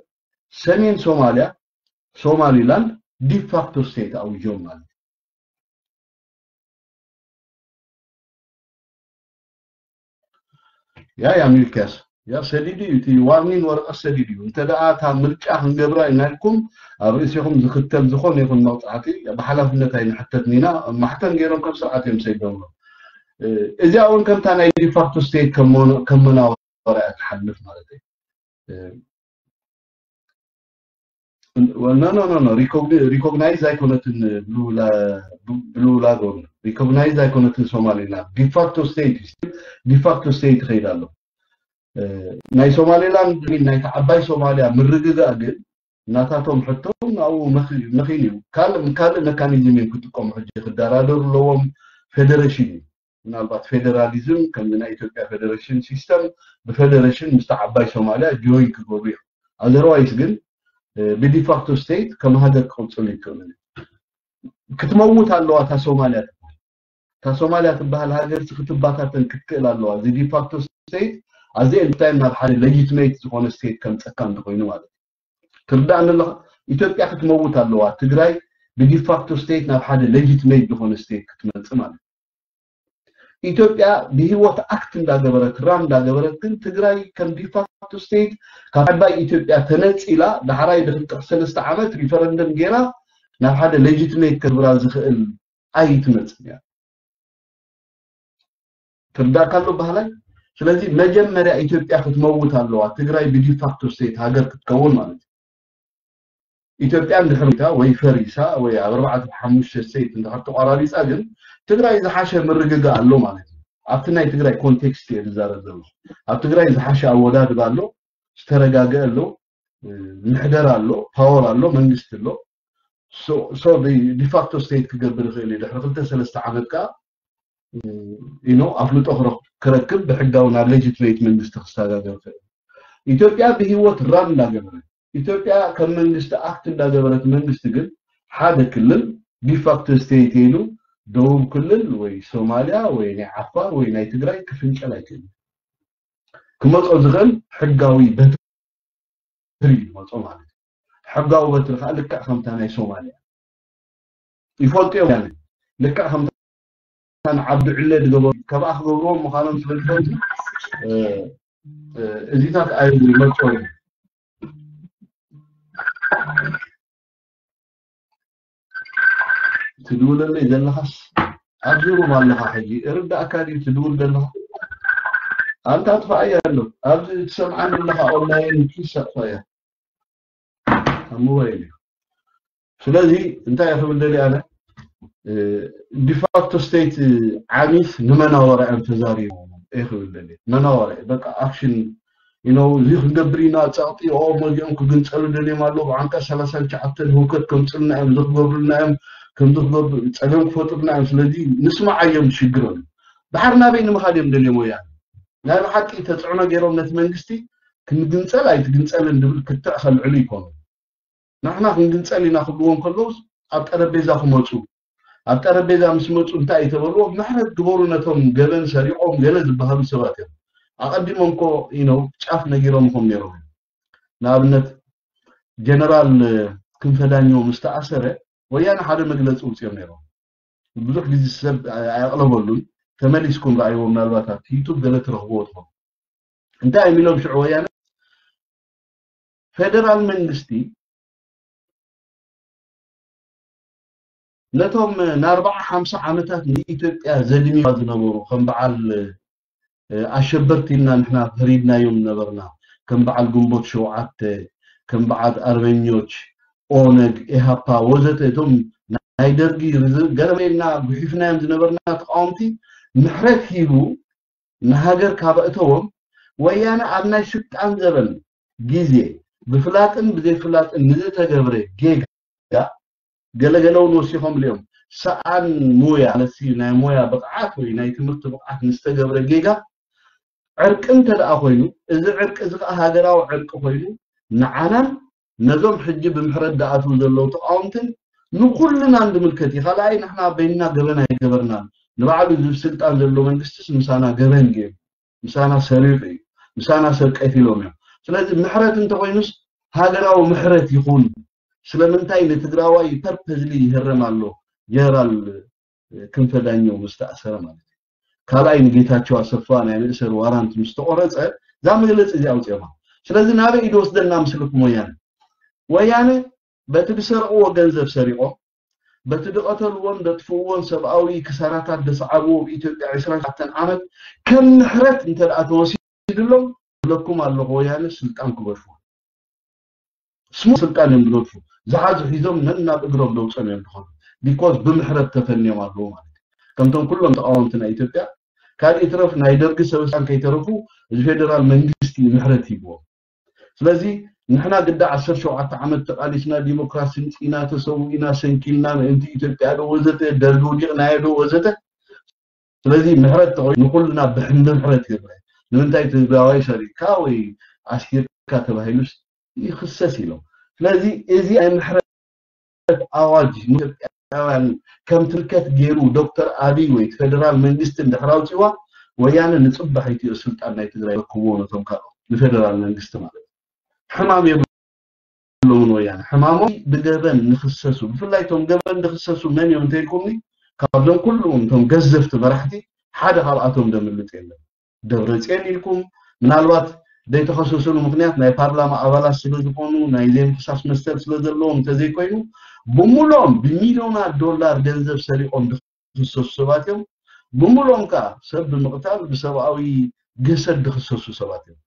ሰሜን ሶማልያ ሶማሊላንድ ዲፋክቶ ስቴት ኣውጆም ማለት እዩ። ያ ያ ሚልክያስ ያ ሰዲዱ እዩ እቲ ዋርኒን ወረቀት ሰዲዱ እዩ። እንተ ደኣ እታ ምርጫ ክንገብራ ኢናልኩም ኣብ ርእሲኹም ዝኽተል ዝኾነ ይኹን መቕፃዕቲ ብሓላፍነት ኣይንሕተትን ኢና። ማሕተም ገይሮም ከም ስርዓት እዮም ሰይዶም። እዚኣ እውን ከምታ ናይ ዲፋክቶ ስቴት ከም መናወራ እያ ትሓልፍ ማለት እዩ። No no no no recognize ኣይኮነትን ብሉ ላጎን recognize ኣይኮነትን ሶማሊላንድ ዲፋክቶ ስቴት ዲፋክቶ ስቴት ይኸይድ ኣሎ። ናይ ሶማሊላንድ ናይታ ዓባይ ሶማሊያ ምርግጋእ ግን ናታቶም ሕቶ ናብኡ መኺን እዩ። ካልእ ካልእ መካኒዝም እዮም ክጥቀሙ ሕጂ ክደራደሩ ኣለዎም። ፌደሬሽን እዩ ምናልባት ፌደራሊዝም ከምዚ ናይ ኢትዮጵያ ፌደሬሽን ሲስተም ብፌደሬሽን ምስቲ ዓባይ ሶማሊያ ጆይን ክገብሩ እዮም። ኣዘርዋይስ ግን ብዲፋክቶ ስቴት ከም ሃገር ክቕፅሉ ይክእሉ ክትመውት ኣለዋ እታ ሶማሊያ ትበሃል እታ ሶማሊያ ትበሃል ሃገር ክትባታተን ክትክእል ኣለዋ እዚ ዲፋክቶ ስቴት ኣዚ እንታይ ናብ ሓደ ሌጂትሜት ዝኾነ ስቴት ከምፀካ እንተኮይኑ ማለት እዩ ትርዳእ ኣለኻ ኢትዮጵያ ክትመውት ኣለዋ ትግራይ ብዲፋክቶ ስቴት ናብ ሓደ ሌጂትሜት ዝኾነ ስቴት ክትመፅእ ማለት ኢትዮጵያ ብህይወት ኣክት እንዳገበረት ራን እንዳገበረት ግን ትግራይ ከም ዲፋክቶ ስቴት ካብ ዓባይ ኢትዮጵያ ተነፂላ ዳሕራይ ድክልጥሕ ሰለስተ ዓመት ሪፈረንደም ገይራ ናብ ሓደ ሌጂትሜት ከግብራ ዝኽእል ኣይትመፅን እያ ትርዳእካ ኣሎ ባህላይ ስለዚ መጀመርያ ኢትዮጵያ ክትመውት ኣለዋ ትግራይ ብዲፋክቶ ስቴት ሃገር ክትከውን ማለት እዩ ኢትዮጵያ እንድሕር ሞይታ ወይ ፈሪሳ ወይ ኣብ ኣርባዕተ ሓሙሽተ ስቴት እንድሕር ተቋራሪፃ ግን ትግራይ ዝሓሸ ምርግጋእ ኣሎ ማለት እዩ ኣብቲ ናይ ትግራይ ኮንቴክስት እየ ዝዛረብ ዘሎ ኣብ ትግራይ ዝሓሸ ኣወዳድባ ኣሎ ዝተረጋገ ኣሎ ምሕደራ ኣሎ ፓወር ኣሎ መንግስቲ ኣሎ ሶ ዲፋክቶ ስቴት ክገብር ይኽእል እዩ ድሕሪ ክልተ ሰለስተ ዓመት ከዓ ኢኖ ኣፍልጦ ክረክብ ብሕጋዊ ናብ ሌጂትሜት መንግስቲ ክሰጋገር ይኽእል ኢትዮጵያ ብህይወት ራን እንዳገበረ ኢትዮጵያ ከም መንግስቲ ኣክት እንዳገበረት መንግስቲ ግን ሓደ ክልል ዲፋክቶ ስቴት ኢሉ ደቡብ ክልል ወይ ሶማልያ ወይ ናይ ዓፋር ወይ ናይ ትግራይ ክፍንጨል ኣይክእልን። ክመጾ ዝኽእል ሕጋዊ በትሪ ይመጾ ማለት እዩ። ሕጋዊ በትሪ ከዓ ልክዕ ከምታ ናይ ሶማልያ ይፈልጡ እዮም። ልክዕ ከምታ ንዓብዱ ዕለ ዝገበሩ፣ ከብኣ ክገብርዎም ምዃኖም ስለ ዝፈልጡ፣ እ፣ እ፣ እዚታት ኣይመጾ እዩ። ትድውለለይ ዘለኻስ ኣብዚ ሩም ኣለኻ ሕጂ? እርዳእካ ድዩ ትድውል ዘለኻ? ኣንታ ኣጥፋኣያ ኣሎ። ኣብዚ ትሰምዓኒ ዘለኻ ኦንላይን ፕሊስ ኣጥፋኣያ። ኣብ ሞባይል እዩ። ስለዚ እንታይ እየ ክብል ደልየ ኣነ? እ፣ ዲፋክቶ ስቴት ዓሚስ ንመናወራ እዮም ተዛሪቦም እየ ክብል ደልየ። መናወራ እዩ። በቃ ኣክሽን you know፣ እዚ ክንገብር ኢና፣ ጸቕጢ ኦ መዚኦም ክግንጸሉ ደልዮም ኣለዉ፣ ብዓንቀጽ ሰላሳን ትሽዓተን ህውከት ከምጽልና እዮም፣ እዚ ክገብሩልና እዮም፣ ከምዚ ክገብሩ ጸገም ክፈጥሩልና እዮም። ስለዚ ንስማዓዮም ሽግሮም። ድሓር ናበይ ንምኻድ እዮም ደልዮም ወያነ? ናይ ብሓቂ ተጽዕኖ ገይሮም ነቲ መንግስቲ ክንግንጸል ኣይትግንጸልን ድብል ክትዕ ከልዕሉ ይኮኑ። ንሕና ክንግንጸል ኢና ክብልዎም ከለውስ ኣብ ጠረጴዛ ክመጹ፣ ኣብ ጠረጴዛ ምስ መጹ እንታይ እዩ ተበልዎ? ምሕረት ግበሩ ነቶም ገበን ሰሪቖም ገለ ዝበሃሉ ሰባት እዮም። ኣቐዲሞም እኮ you know ጫፍ ነጊሮምኹም ነይሮም እዮም። ንኣብነት ጀነራል ክንፈ ዳኘው ምስ ተኣሰረ ወያነ ሓደ መግለጺ ውፅኦም ነይሮም። ብዙሕ ግዜ ሰብ ኣየቕለበሉን። ተመሊስኩም ረኣይዎ፣ ምናልባት ኣብቲ ዩቱብ ገለ ትረኽብዎ ትኾኑ። እንታይ እዮም ኢሎም ሽዑ ወያነ? ፌደራል መንግስቲ ነቶም ንኣርባዓ ሓምሳ ዓመታት ንኢትዮጵያ ዘድምዩ ዝነበሩ ከም በዓል እ፣ ኣሸበርቲ ኢልና ንሕና ፈሪድናዮም ነበርና። ከም በዓል ግንቦት ሸውዓተ፣ ከም በዓል ኣርበኞች፣ ኦነግ፣ ኢሃፓ ወዘተ እቶም ናይ ደርጊ ርዝ-፣ ገረመና ጉሒፍናዮም ዝነበርና ተቃወምቲ ምሕረት ሂቡ ንሃገር ካብ ኣእተዎም ወያነ ኣብ ናይ ስልጣን ዘበን ግዜ ብፍላጥን ብዘይፍላጥን ንዝተገብረ ጌጋ ገለገለ እውን ወሲኾም እዮም። ሰኣን ሞያ ማለት ናይ ሞያ ብቕዓት ወይ ናይ ትምህርቲ ብቕዓት ንዝተገብረ ጌጋ ዕርቂ እንተ ደኣ ኮይኑ፣ እዚ ዕርቂ እዚ ከዓ ሃገራዊ ዕርቂ ኮይኑ ንዓናን ነዞም ሕጂ ብምሕረት ደኣትዉ ዘለዉ ተቃወምትን ንኩልናን ዝምልከት እዩ። ካልኣይ ንሕና በይንና ገበን ኣይገበርናን። ንባዕሉ እዚ ስልጣን ዘሎ መንግስትስ ምሳና ገበን ገይሩ፣ ምሳና ሰሪቑ እዩ፣ ምሳና ሰብ ቀቲሎም እዮም። ስለዚ ምሕረት እንተኮይኑስ ሃገራዊ ምሕረት ይኹን። ስለምንታይ ንትግራዋይ ፐርፐዝሊ ይህረም ኣሎ? ጀነራል ክንፈ ዳኘው ምስ ተኣሰረ ማለት እዩ። ካልኣይ ንጌታቸው ኣሰፋ ናይ መእሰሪ ዋራንት ምስ ተቆረፀ እዛ መግለፂ እዚ ኣውፅኦማ። ስለዚ ናበይ እዩ ዝወስደና ምስልኩም ወያነ? ወያነ በቲ ዝሰርቕዎ ገንዘብ ሰሪቖም፣ በቲ ዝቐተልዎን ዘጥፍእዎን ሰብኣዊ ክሳራታት ዘስዓብዎ ኣብ ኢትዮጵያ ዕስራን ሸውዓተን ዓመት ከም ምሕረት እንተ ደኣ ተወሲድሎም፣ እብለኩም ኣለኹ ወያነ ስልጣን ክገድፉ። ስሙ ስልጣን እዮም ዝገድፉ። ዝሓዙ ሒዞም ነናብ እግሮም ደውፀም እዮም ዝኾኑ። ቢኮዝ ብምሕረት ተፈንዮም ኣለዉ ማለት እዩ። ከምቶም ኩሎም ተቃወምቲ ናይ ኢትዮጵያ ካልእ ይትረፍ ናይ ደርጊ ሰበስልጣን ከይተረፉ እዚ ፌደራል መንግስቲ እዩ ምሕረት ሂብዎም። ስለዚ ንሕና ግዳ ዓሰርተ ሸውዓተ ዓመት ተቃሊስና ዲሞክራሲ ምፅኢና ተሰዊእና ሰንኪልና ምእንቲ ኢትዮጵያ ዶ ወዘተ ደርጊ ውዲቕናዮ ዶ ወዘተ ስለዚ ምሕረት ተኾይኑ ንኩልና ብሕንዲ ምሕረት ይረአ። ንምንታይ ትግራዋይ ሰሪቕካ ወይ ኣሲርካ ተባሂሉስ ይኽሰስ ኢሎም። ስለዚ እዚ ናይ ምሕረት ኣዋጅ ንኢትዮጵያውያን ከም ትምልከት ገይሩ ዶክተር ኣብይ ወይ እቲ ፌደራል መንግስቲ እንድሕር ኣውፂዋ ወያነ ንፅባሒቱ እዩ ስልጣን ናይ ትግራይ ረክብዎ ነቶም ካልኦት ንፌደራል መንግስቲ ማለት እዩ። ሕማም የብሎምን ወያነ። ሕማሞም ብገበን ንኽሰሱ፣ ብፍላይ እቶም ገበን ዝኽሰሱ መን እዮም እንተኢልኩምኒ፣ ካብዞም ኩሎም እቶም ገዘፍቲ መራሕቲ ሓደ ካብኣቶም ዘምልጥ የለን። ደብረፅዮን ኢልኩም ምናልባት ዘይተኸሰሱሉ ምኽንያት ናይ ፓርላማ ኣባላት ስለ ዝኾኑ ናይ ዘይምኽሳስ መሰል ስለ ዘለዎም እንተዘይኮይኑ ብምሉኦም ብሚልዮናት ዶላር ገንዘብ ሰሪቖም ዝኽሰሱ ሰባት እዮም። ብምሉኦም ከዓ ሰብ ብምቕታል ብሰብኣዊ ግህሰት ዝኽሰሱ ሰባት እዮም።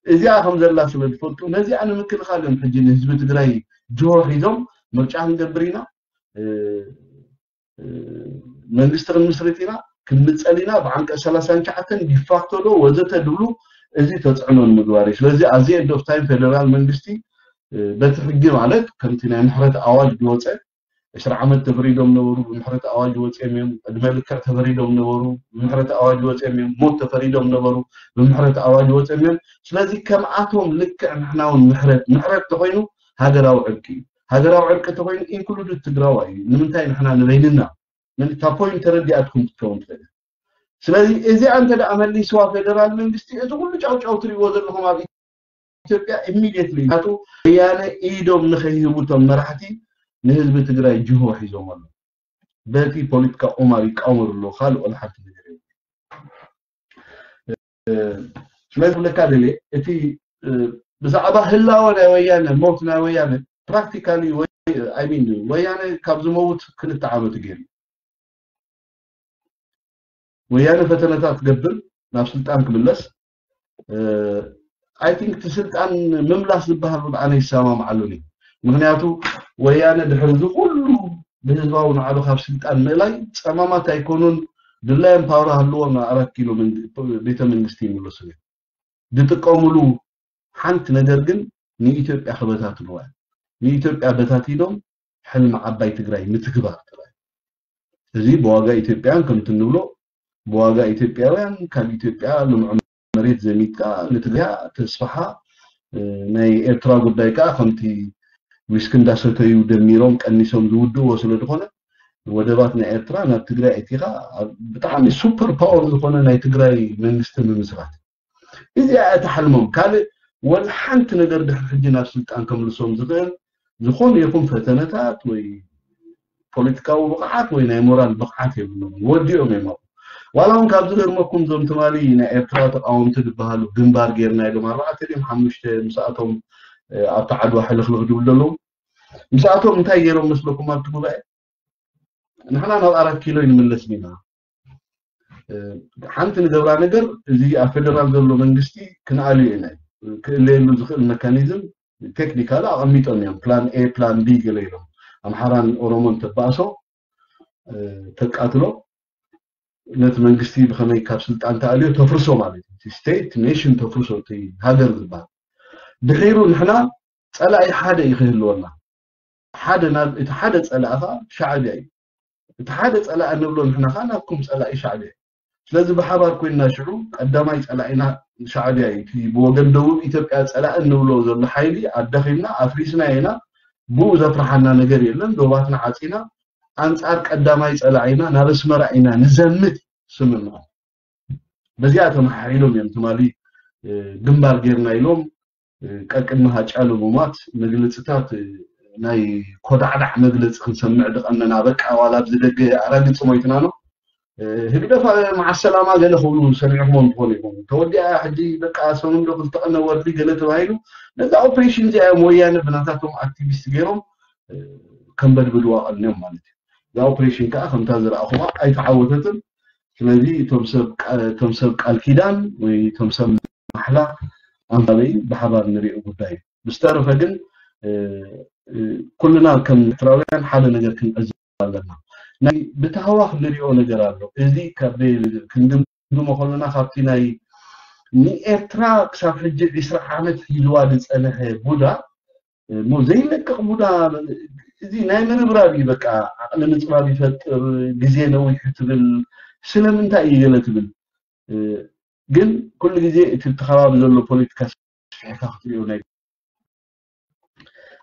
እዚኣ ከም ዘላ ስለ ዝፈልጡ ነዚኣ ንምክልኻል እዮም ሕጂ ንህዝቢ ትግራይ ጅሆ ሒዞም ምርጫ ክንገብር ኢና መንግስቲ ክንምስርት ኢና ክንምፀል ኢና ብዓንቀ ሰላሳን ትሽዓተን ዲፋክቶ ዶ ወዘተ ድብሉ እዚ ተፅዕኖ ንምግባር እዩ። ስለዚ ኣዚ ኤንድ ኦፍ ታይም ፌደራል መንግስቲ በቲ ሕጊ ማለት ከምቲ ናይ ምሕረት ኣዋጅ ዝወፀ ዕስራ ዓመት ተፈሪዶም ነበሩ ብምሕረት ኣዋጅ ወፅኦም እዮም። ዕድመ ልክዕ ተፈሪዶም ነበሩ ብምሕረት ኣዋጅ ወፅኦም እዮም። ሞት ተፈሪዶም ነበሩ ብምሕረት ኣዋጅ ወፅኦም እዮም። ስለዚ ከምኣቶም ልክዕ ንሕና እውን ምሕረት ምሕረት ተኮይኑ ሃገራዊ ዕርቂ እዩ። ሃገራዊ ዕርቂ ተኮይኑ ኢንክሉድድ ትግራዋይ እዩ። ንምንታይ ንሕና ንበይንና ምን እታ ፖይንት ተረዲኣትኩም ክትከውን ትኽእል። ስለዚ እዚኣ እንተ ደኣ መሊስዋ ፌደራል መንግስቲ፣ እዚ ኩሉ ጫውጫው ትሪእዎ ዘለኹም ኣብ ኢትዮጵያ ኢሚድየትሊ ናቱ ወያነ ኢዶም ንኸይህቡ እቶም መራሕቲ ንህዝቢ ትግራይ ጅሆ ሒዞም ኣለዉ። በቲ ፖለቲካ ቁማር ይቃወሙ ኣለዉ። ካልእ ወላ ሓንቲ ነገር የለን። ስለዚ ክብለካ ደልየ እቲ ብዛዕባ ህላወ ናይ ወያነ፣ ሞት ናይ ወያነ ፕራክቲካሊ ወያነ ካብ ዝመውት ክልተ ዓመት ገይሩ። ወያነ ፈተነታት ትገብር ናብ ስልጣን ክምለስ። ኣይ ቲንክ እቲ ስልጣን ምምላስ ዝበሃል እውን ኣነ ይሰማምዓሉን እዩ። ምክንያቱ ወያነ ድሕሪ እዚ ኩሉ ብህዝባዊ ናዕቢ ካብ ስልጣን ምእላይ ጸማማት ኣይኮኑን። ድላዮም ፓወር ሃልዎም ናብ ኣራት ኪሎ ቤተ መንግስቲ ይምለሱ እዮም። ዝጥቀምሉ ሓንቲ ነገር ግን ንኢትዮጵያ ክበታትንዋ እዮም። ንኢትዮጵያ በታቲኖም ሕልሚ ዓባይ ትግራይ ምትግባር ጥራይ። እዚ ብዋጋ ኢትዮጵያውያን ከምቲ እንብሎ ብዋጋ ኢትዮጵያውያን ካብ ኢትዮጵያ ልምዖ መሬት ዘሚትካ ንትግርያ ተስፋሓ። ናይ ኤርትራ ጉዳይ ከዓ ከምቲ ዊስኪ እንዳሰተዩ ደሚሮም ቀኒሶም ዝውድእዎ ስለ ዝኾነ ወደባት ናይ ኤርትራ ናብ ትግራይ ኣእቲኻ ብጣዕሚ ሱፐር ፓወር ዝኾነ ናይ ትግራይ መንግስቲ ምምስራት። እዚኣ እያ እታ ሕልሞም። ካልእ ወላ ሓንቲ ነገር ድሕሪ ሕጂ ናብ ስልጣን ከምልሶም ዝኽእል ዝኾነ ይኹን ፈተነታት ወይ ፖለቲካዊ ብቕዓት ወይ ናይ ሞራል ብቕዓት የብሎምን። ወዲኦም እዮም ኣብኡ። ዋላ እውን ካብ ዝገርመኩም እዞም ትማሊ ናይ ኤርትራ ተቃወምቲ ዝበሃሉ ግንባር ጌርና ኢሎም ኣርባዕተ ድዮም ሓሙሽተ ምስኣቶም ኣብቲ ዓድዋ ሕልኽልኽ ዝብሉ ዘለዉ ምስኣቶም እንታይ ገይሮም መስለኩም ኣብቲ ጉባኤ? ንሕና ናብ ኣራት ኪሎ ይንምለስ ኢና። ሓንቲ ንገብራ ነገር እዚ ኣብ ፌደራል ዘሎ መንግስቲ ክንኣልዮ ኢና። ክእለየሉ ዝኽእል መካኒዝም ቴክኒካል ኣቐሚጦም እዮም። ፕላን ኤ ፕላን ቢ ገለ ኢሎም ኣምሓራን ኦሮሞን ተባእሶ ተቃትሎ ነቲ መንግስቲ ብኸመይ ካብ ስልጣን ተኣልዮ ተፍርሶ ማለት እዩ። ስቴት ኔሽን ተፍርሶ እቲ ሃገር ዝበሃል ድሒሩ ንሕና ጸላኢ ሓደ እዩ ክህልወና። ሓደ ናብ እቲ ሓደ ጸላእኻ ሻዕብያ እዩ። እቲ ሓደ ጸላኢ ንብሎ ንሕና ኸዓ ናብኩም ጸላኢ ሻዕብያ እዩ። ስለዚ ብሓባር ኮይንና ሽዑ ቀዳማይ ጸላኢና ሻዕብያ እዩ። እቲ ብወገን ደቡብ ኢትዮጵያ ጸላኢ እንብሎ ዘሎ ሓይሊ ኣዳኺምና ኣፍሪስና ኢና። ብኡ ዘፍርሓና ነገር የለን። ዶባትና ዓጺና ኣንጻር ቀዳማይ ጸላኢና ናብ ኣስመራ ኢና ንዘምት ስምምዖ። በዚኣ ተመሓሒሎም እዮም ትማሊ ግንባር ጌርና ኢሎም ቀቅድሚ ሃጫሉ ምሟት መግለፅታት ናይ ኮዳዕዳዕ መግለፂ ክንሰምዕ ድቐነና። በቃ ዋላ ኣብዚ ደገ ኣራግፂ ሞይትና ነው። ህግደፍ መዓሰላማ ገለ ክብሉ ሰሚዕኹሞም ትኾኑ ኢኹም። ተወዲኣ ሕጂ በቃ ሰሙን ዶ ክልተ ቀነ ወርዲ ገለ ተባሂሉ ነዛ ኦፕሬሽን እዚኣ እዮም ወያነ ብናታቶም ኣክቲቪስት ገይሮም ከንበድብድዋ ቀንዮም ማለት እዩ። እዛ ኦፕሬሽን ከዓ ከምታ ዝረኣኹዋ ኣይተዓወተትን። ስለዚ እቶም ሰብ ቃ- እቶም ሰብ ቃል ኪዳን ወይ እቶም ሰብ ማሕላ ኣንባበይ ብሓባር ንሪኦ ጉዳይ እዩ። ብዝተረፈ ግን እ፣ እ፣ ኩልና ከም ኤርትራውያን ሓደ ነገር ክንዕዘብ ኣለና። ናይ ብታህዋኽ ንሪኦ ነገር ኣሎ። እዚ ካብ ክንግምግሞ ከለና ካብቲ ናይ ንኤርትራ ክሳብ ሕጂ ዕስራ ዓመት ሒዝዋ ዝጸንሐ ቡዳ እሞ ዘይለቅቕ ቡዳ እዚ ናይ ምርብራብ እዩ። በቃ ዓቕሊ ምጽባብ ይፈጥር፣ ግዜ ነዊሑ ትብል። ስለምንታይ እዩ ገለ ትብል? እ፣ ግን ኩሉ ግዜ እቲ እቲ ከባቢ ዘሎ ፖለቲካ ስፊሕካ ክትሪኦ ናይ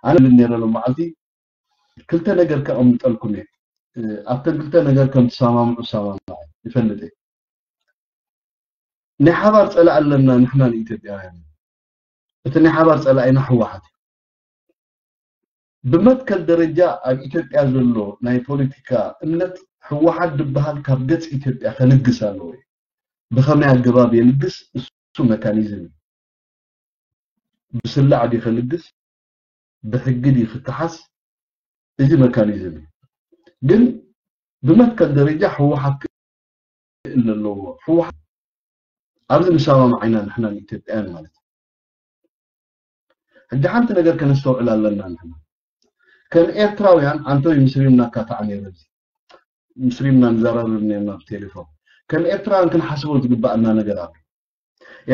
ኣነ ብል ነረ ሎም መዓልቲ ክልተ ነገር ከቐምጠልኩም እየ። እ፣ ኣብተን ክልተ ነገር ከም ትሰማምዑ እሰማምዑ ይፈልጥ እየ። ናይ ሓባር ጸላኢ ኣለና ንሕና ንኢትዮጵያውያን። እቲ ናይ ሓባር ጸላኢና ህወሓት እዩ። ብመትከል ደረጃ ኣብ ኢትዮጵያ ዘሎ ናይ ፖለቲካ እምነት ህወሓት ዝበሃል ካብ ገጽ ኢትዮጵያ ከልግስ ኣለዎ እዩ። ብኸመይ ኣገባብ የልግስ? እሱ መካኒዝም እዩ። ብስላዕ ድዩ ከልግስ? ብሕጊ ድዩ ክከሓስ? እዚ መካኒዝም እዩ። ግን ብመትከል ደረጃ ህወሓት ክእል ኣለዎ። ህወሓት ኣብዚ ንሰማማዕ ኢና ንሕና ንኢትዮጵያውያን ማለት እዩ። ሕጂ ሓንቲ ነገር ከነስተውዕል ኣለና ንሕና ከም ኤርትራውያን። ኣንቶይ ምስሪምና ካታዕ ነይረ፣ ምስሪምና ንዘራረብ ነርና ብቴሌፎን። ከም ኤርትራውያን ክንሓስቦ ዝግባኣና ነገር ኣሎ።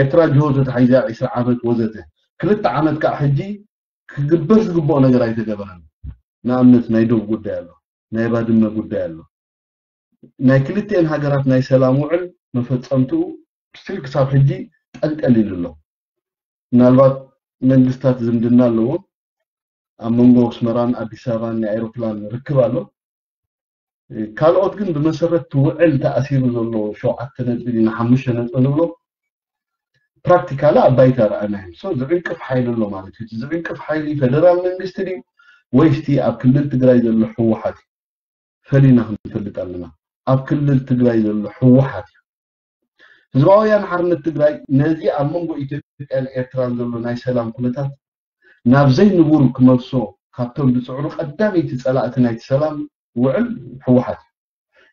ኤርትራ ጅሆ ተታሒዛ ዕስራ ዓመት ወዘተ። ክልተ ዓመት ከዓ ሕጂ ክግበር ዝግብኦ ነገር ኣይተገበረን። ንኣብነት ናይ ዶብ ጉዳይ ኣሎ፣ ናይ ባድመ ጉዳይ ኣሎ። ናይ ክልቲኤን ሃገራት ናይ ሰላም ውዕል መፈጸምትኡ ስቲል ክሳብ ሕጂ ጠልጠል ኢሉ ኣሎ። ምናልባት መንግስታት ዝምድና ኣለዎም። ኣብ መንጎ ኣስመራን ኣዲስ ኣበባን ናይ ኣይሮፕላን ርክብ ኣሎ። ካልኦት ግን ብመሰረት እቲ ውዕል ተኣሲሩ ዘሎ ሸውዓተ ነጥቢ ድና ሓሙሽተ ነጥቢ ንብሎ ፕራክቲካሊ ኣብ ባይታ ረኣናዮም። So ዝዕንቅፍ ሓይሊ ኣሎ ማለት እዩ። እቲ ዝዕንቅፍ ሓይሊ ፌደራል መንግስቲ ድዩ ወይስ እቲ ኣብ ክልል ትግራይ ዘሎ ህወሓት እዩ? ፈሊና ክንፈልጥ ኣለና። ኣብ ክልል ትግራይ ዘሎ ህወሓት እዩ። ህዝባዊ ወያነ ሓርነት ትግራይ ነዚ ኣብ መንጎ ኢትዮጵያን ኤርትራን ዘሎ ናይ ሰላም ኩነታት ናብ ዘይንቡር ክመልሶ ካብቶም ዝፅዕሩ ቀዳመይቲ ፀላእቲ ናይቲ ሰላም ውዕል ህወሓት እዩ።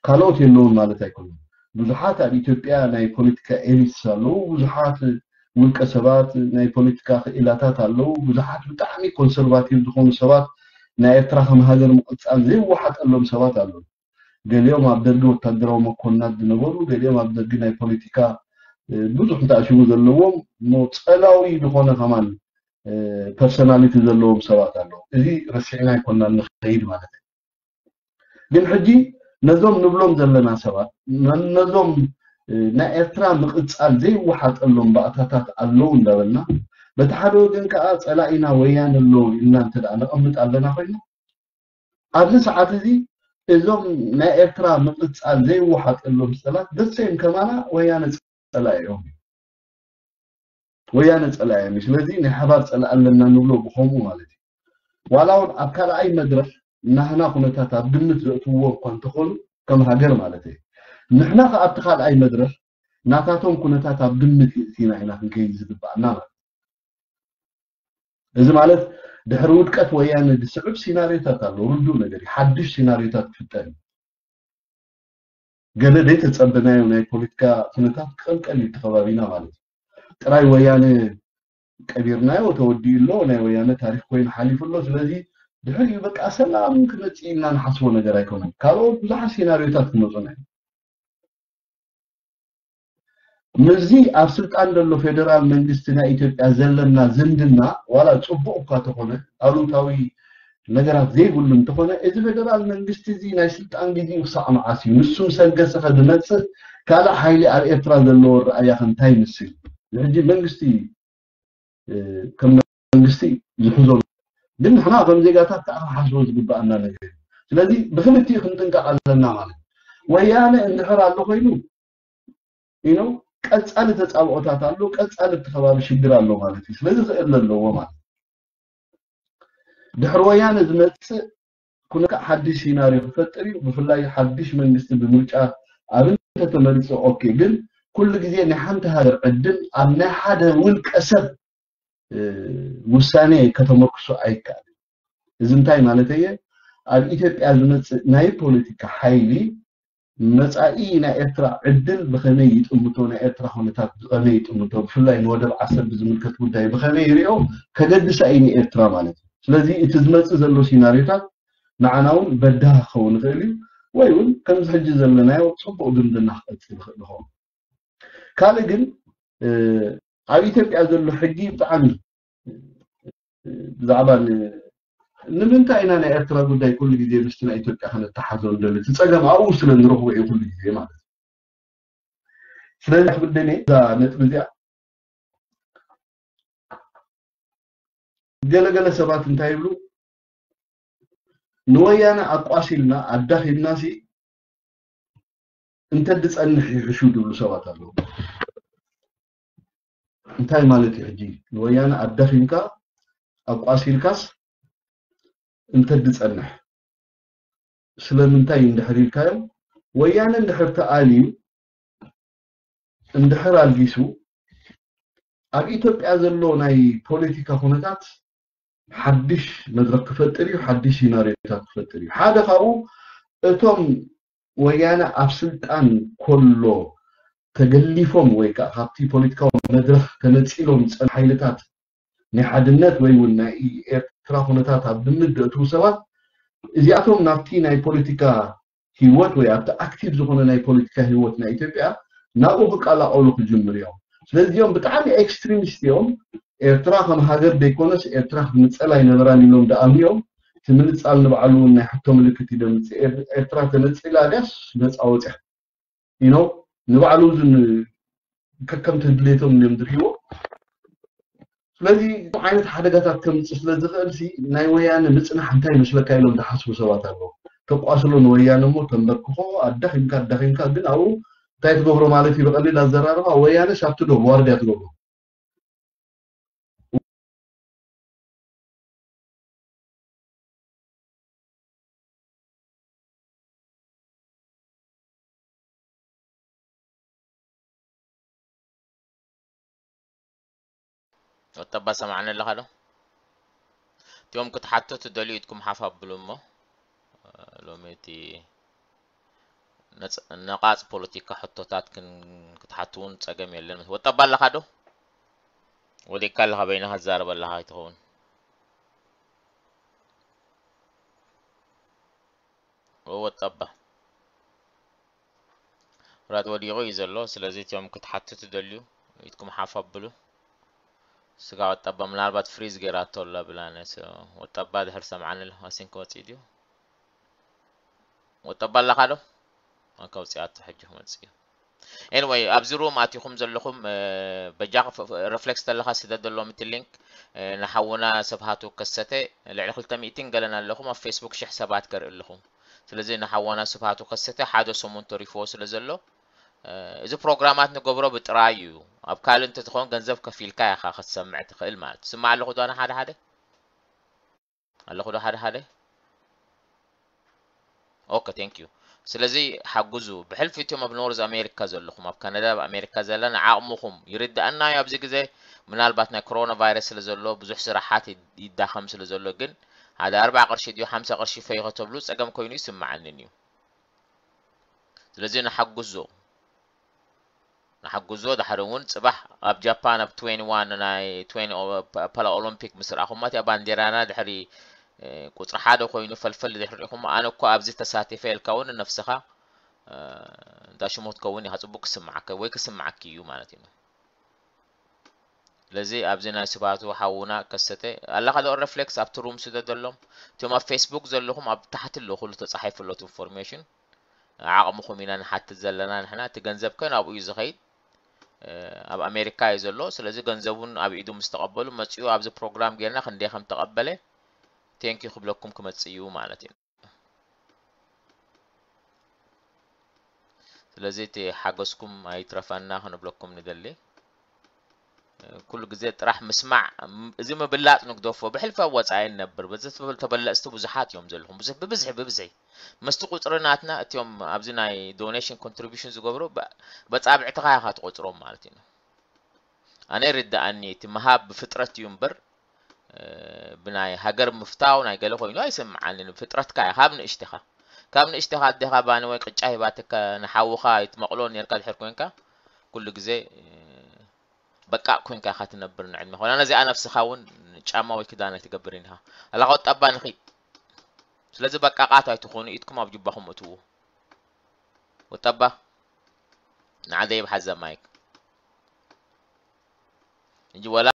ካልኦት የለውን ማለት ኣይኮነን። ብዙሓት ኣብ ኢትዮጵያ ናይ ፖለቲካ ኤሊትስ ኣለዉ፣ ብዙሓት ውልቀ ሰባት ናይ ፖለቲካ ክኢላታት ኣለዉ፣ ብዙሓት ብጣዕሚ ኮንሰርቫቲቭ ዝኾኑ ሰባት ናይ ኤርትራ ከም ሃገር ምቕጻል ዘይወሓጠሎም ሰባት ኣለዉ። ገሊኦም ኣብ ደርጊ ወታደራዊ መኮንናት ዝነበሩ፣ ገሊኦም ኣብ ደርጊ ናይ ፖለቲካ እ፣ ብዙሕ ተኣሽሙ ዘለዎም እሞ ጸላዊ ዝኾነ ከማን እ፣ ፐርሶናሊቲ ዘለዎም ሰባት ኣለዉ። እዚ ረሲዕና ኣይኮናን ንኸይድ ማለት እዩ። ግን ሕጂ ነዞም ንብሎም ዘለና ሰባት ነ- ነዞም እ፣ ናይ ኤርትራ ምቕጻል ዘይወሓጠሎም ባእታታት ኣለዉ እንዳበልና በቲ ሓደ ወገን ከዓ ጸላኢና ወያነ ኣለዉ ኢልና እንተ ደኣ ነቐምጥ ኣለና ኮይና ኣብዚ ሰዓት እዚ እዞም ናይ ኤርትራ ምቕጻል ዘይወሓጠሎም ጸላት ደሴም ከማና ወያነ ጸላኢኦም እዩ። ወያነ ጸላኢኦም እዩ። ስለዚ ናይ ሓባር ጸላኢ ኣለና ንብሎ ብኸምኡ ማለት እዩ። ዋላ እውን ኣብ ካልኣይ መድረኽ ናህና ኩነታት ኣብ ግምት ዘእትውዎ እኳ እንተኾኑ ከም ሃገር ማለት እዩ። ንሕና ከኣ ኣብቲ ካልኣይ መድረኽ ናታቶም ኩነታት ኣብ ግምት የእቲና ኢና ክንከይድ ዝግባኣና ማለት እዩ። እዚ ማለት ድሕሪ ውድቀት ወያነ ዝስዕብ ሲናሪዮታት ኣሎ። ርዱእ ነገር እዩ። ሓድሽ ሲናሪዮታት ክፍጠር እዩ። ገለ ዘይተጸበናዮ ናይ ፖለቲካ ኩነታት ክቐልቀል እዩ እቲ ከባቢና ማለት እዩ። ጥራይ ወያነ ቀቢርናዮ ተወዲኡ ኣሎ፣ ናይ ወያነ ታሪኽ ኮይኑ ሓሊፉ ኣሎ። ስለዚ ድሕሪኡ በቃ ሰላም ክመጽእ ኢልና ንሓስቦ ነገር ኣይኮነን። ካልኦት ብዙሓት ሲናሪዮታት ክመጹና እዮም። ምስዚ ኣብ ስልጣን ዘሎ ፌደራል መንግስቲ ናይ ኢትዮጵያ ዘለና ዝምድና ዋላ ጽቡቕ እኳ ተኾነ ኣሉታዊ ነገራት ዘይብሉ እንተኾነ እዚ ፌደራል መንግስቲ እዚ ናይ ስልጣን ግዜኡ ክሳዕ መዓስ እዩ? ንሱ ምስ ኣንገሰኸ ዝመጽእ ካልእ ሓይሊ ኣብ ኤርትራ ዘለዎ ረኣያ ከ እንታይ ይመስል? ሕጂ መንግስቲ እ፣ ከም መንግስቲ ዝሕዞ ግን ንሕና ከም ዜጋታት ከዓ ክንሓስቦ ዝግባኣና ነገር እዩ። ስለዚ ብክልቲኡ ክንጥንቀቕ ኣለና ማለት እዩ። ወያነ እንድሕር ኣሎ ኮይኑ ኢኖ ቀፃሊ ተፃብኦታት ኣሎ፣ ቀፃሊ እቲ ከባቢ ሽግር ኣሎ ማለት እዩ። ስለዚ ክእል ኣለዎ ማለት እዩ። ድሕሪ ወያነ ዝመፅእ ኩነታት ሓድሽ ሲናሪዮ ክፈጥር እዩ። ብፍላይ ሓድሽ መንግስቲ ብምርጫ ኣብ እንተተመሪፁ ኦኬ፣ ግን ኩሉ ግዜ ናይ ሓንቲ ሃገር ዕድል ኣብ ናይ ሓደ ውልቀ ሰብ እ፣ ውሳኔ ከተመርክሶ ኣይከኣልን። እዚ እንታይ ማለት እየ? ኣብ ኢትዮጵያ ዝመፅእ ናይ ፖለቲካ ሓይሊ መፃኢ ናይ ኤርትራ ዕድል ብኸመይ ይጥምቶ፣ ናይ ኤርትራ ኩነታት ብኸመይ ይጥምቶ፣ ብፍላይ ንወደብ ዓሰብ ብዝምልከት ጉዳይ ብኸመይ ይሪኦ ከገድሳ እዩ ንኤርትራ ማለት እዩ። ስለዚ እቲ ዝመፅእ ዘሎ ሲናሪዮታት ንዓና እውን በዳህ ክኸውን ይኽእል እዩ፣ ወይ እውን ከምዚ ሕጂ ዘለናዮ ፅቡቕ ዝምድና ክቐፅል ይኽእል ይኸውን። ካልእ ግን እ፣ ኣብ ኢትዮጵያ ዘሎ ሕጊ ብጣዕሚ እ፣ ብዛዕባ ን- ንምንታይ ኢና ናይ ኤርትራ ጉዳይ ኩሉ ግዜ ምስቲ ናይ ኢትዮጵያ ከነተሓዞ ንደሊ? እቲ ፀገም ኣብኡ ስለ ንረኽቦ እዩ ኩሉ ግዜ ማለት እዩ። ስለዚ ክብደኔ እዛ ነጥቢ እዚኣ ገለገለ ሰባት እንታይ ይብሉ ንወያነ ኣቋሲልና ኣዳኺምና ሲ እንተድጸንሕ ይሕሹ ዝብሉ ሰባት ኣለዉ። እንታይ ማለት እዩ ሕጂ ንወያነ ኣዳኺምካ ኣቋሲልካስ እንተድጸንሕ ስለምንታይ እንድሕር ኢልካዮም ወያነ እንድሕር ተኣልዩ እንድሕር ኣልጊሱ ኣብ ኢትዮጵያ ዘሎ ናይ ፖለቲካ ኩነታት ሓድሽ መድረክ ክፈጥር እዩ፣ ሓድሽ ሲናሪዮታት ክፈጥር እዩ። ሓደ ካብኡ እቶም ወያነ ኣብ ስልጣን ከሎ ተገሊፎም ወይ ከዓ ካብቲ ፖለቲካዊ መድረክ ተነፂሎም ዝፀኑ ሓይልታት ናይ ሓድነት ወይ እውን ናይ ኤርትራ ኩነታት ኣብ ግምት ዘእትዉ ሰባት እዚኣቶም ናብቲ ናይ ፖለቲካ ህይወት ወይ ኣብቲ ኣክቲቭ ዝኾነ ናይ ፖለቲካ ህይወት ናይ ኢትዮጵያ ናብኡ ክቀላቀሉ ክጅምሩ እዮም። ስለዚ እዚኦም ብጣዕሚ ኤክስትሪሚስት እዮም። ኤርትራ ከም ሃገር ዘይኮነስ ኤርትራ ክትምንጸል ኣይነበራን ኢሎም ዝኣምኑ እዮም። እቲ ምንጻል ንባዕሉ እውን ናይ ሕቶ ምልክት እዩ ዘምጽእ። ኤር- ኤርትራ ተነጺላ ድያስ ነጻ ወጽያ ኢኖ ንባዕሉ ዝን ከከምቲ ድሌቶም እዮም ዝርእይዎ። ስለዚ ዓይነት ሓደጋታት ከምፅእ ስለ ዝኽእል ሲ ናይ ወያነ ምፅናሕ እንታይ ይመስለካ ኢሎም ዝሓስቡ ሰባት ኣለዉ። ተቋስሎ ንወያነ እሞ ተንበርክኾ ኣዳኺምካ ኣዳኺምካ ግን ኣብኡ እንታይ ትገብሮ ማለት እዩ ብቐሊል ኣዘራርባ ወያነ ሻፍቲ ዶ ዋርድያ ትገብሮ ወጠባ ሰማዕኒ ኣለኻ ዶ? እቲኦም ክትሓቱ ትደልዩ ኢድኩም ሓፍ ኣብሉ እሞ ሎሚ እቲ ነጽ- ነቓጽ ፖለቲካ ሕቶታት ክን- ክትሓቱ እውን ጸገም የለን። ወጠባ ኣለኻ ዶ? ወዲቅካ ኣለኻ በይንኻ ትዛረብ ኣለኻ ኣይትኸውን። ወጠባ ራት ወዲቑ እዩ ዘሎ። ስለዚ እቲኦም ክትሓቱ ትደልዩ ኢድኩም ሓፍ ኣብሉ። ስጋ ወጠባ ምናልባት ፍሪዝ ገይራቶ ኣላ ብላነ። ወጠባ ድሕር ሰምዓኒ ኣሎ። ኣሲን ክወፅእ ድዩ? ወጠባ ኣለኻ ዶ? ኣንካ ውፅኣቶ ሕጂ ክመፅእ እዩ። Anyway ኣብዚ ሩም ኣቲኹም ዘለኹም በጃ ሪፍሌክስ ተለኻ ስደደሎም እቲ ሊንክ ንሓውና ስብሃቱ ከሰተ ልዕሊ ክልተ ሚእትን ገለን ኣለኹም ኣብ ፌስቡክ ሽሕ ሰባት ከርኢ ኣለኹም። ስለዚ ንሓዋና ስብሃቱ ከሰተ ሓደ ሰሙን ተሪፍዎ ስለ ዘሎ እዚ ፕሮግራማት ንገብሮ ብጥራይ እዩ። ኣብ ካልእ እንተትኸውን ገንዘብ ከፊልካ ኢኻ ክትሰምዕ ትኽእል ማለት ትስማዕ ኣለኹ ዶ ኣነ ሓደ ሓደ ኣለኹ ዶ ሓደ ሓደ ኦኬ thank you። ስለዚ ሓግዙ ብሕልፊ እትዮም ኣብ ኖርዝ ኣሜሪካ ዘለኹም ኣብ ካናዳ ኣብ ኣሜሪካ ዘለና ዓቕምኹም ይርድኣና እዩ ኣብዚ ግዜ ምናልባት ናይ ኮሮና ቫይረስ ስለ ዘሎ ብዙሕ ስራሓት ይዳኸም ስለ ዘሎ ግን ሓደ ኣርባዓ ቅርሺ ድዩ ሓምሳ ቅርሺ ፈይኸ ተብሉ ጸገም ኮይኑ ይስምዓንን እዩ። ስለዚ ንሓግዞ ንሓግዞ ዳሕሪ እውን ፅባሕ ኣብ ጃፓን ኣብ ትዌንቲ ዋን ናይ ትዌንቲ ፓላ ኦሎምፒክ ምስ ረኣኹማ እቲኣ ባንዴራና ድሕሪ ቁፅሪ ሓደ ኮይኑ ፈልፈል ድሕሪ ሪኹም ኣነ እኮ ኣብዚ ተሳቲፈ ኢልካ እውን ንነፍስኻ እንዳ ሽሞት ከውን ኢኻ ፅቡቅ ክስምዓካ ወይ ክስምዓኪ እዩ ማለት እዩ። ስለዚ ኣብዚ ናይ ስብሃቱ ሓውና ከሰተ ኣለኻ ዶ ሪፍሌክስ ኣብቲ ሩም ስደደሎም እቶም ኣብ ፌስቡክ ዘለኹም ኣብ ታሕቲ ኣሎ ኩሉ ተፃሒፉ ኣሎ ኢንፎርሜሽን ዓቕምኹም ኢና ንሓትት ዘለና ንሕና እቲ ገንዘብ ከ ናብኡ እዩ ዝኸይድ ኣብ ኣሜሪካ እዩ ዘሎ ስለዚ ገንዘቡን ኣብ ኢዱ ምስ ተቐበሉ መፂኡ ኣብዚ ፕሮግራም ጌርና ክንደይ ከም ተቐበለ ቴንኪ ክብለኩም ክመፅእ እዩ ማለት እዩ። ስለዚ እቲ ሓገዝኩም ኣይትረፈና ክንብለኩም ንደሊ። ኩሉ ግዜ ጥራሕ ምስማዕ እዚ ምብላፅ ንግደፎ ብሕልፊ ኣብ ወፃኢ ንነብር በዚ ተበለፅቲ ብዙሓት እዮም ዘለኹም ብዙሕ ብብዝሒ ብብዝሒ ምስቲ ቁፅሪ ናትና እቲኦም ኣብዚ ናይ ዶኔሽን ኮንትሪቢሽን ዝገብሩ በፃብዕትኻ ኢኻ ትቆፅሮም ማለት እዩ። ኣነ ይርድኣኒ እቲ ምሃብ ብፍጥረት እዩ እምበር ብናይ ሃገር ምፍታው ናይ ገለ ኮይኑ ኣይስምዓንን ፍጥረትካ እያ ካብ ንእሽትኻ ካብ ንእሽትኻ ኣዴኻ ባኒ ወይ ቅጫ ሂባትካ ንሓውኻ ይትመቕሎ ኔርካ ድሕር ኮንካ ኩሉ ግዜ በቃ ኮንካ ኢኻ ትነብር ንዕድመ ኮና ነዚኣ ነፍስኻ እውን ጫማ ወይ ክዳን ኣይትገብርን ኢኻ ኣላ ቆጠባ ንኺድ ስለዚ በቃቃት ኣይትኾኑ ኢድኩም ኣብ ጅባኹም እትዉ ወጠባ ንዓደ ይብሓዘ ማይክ እንጂ ወላ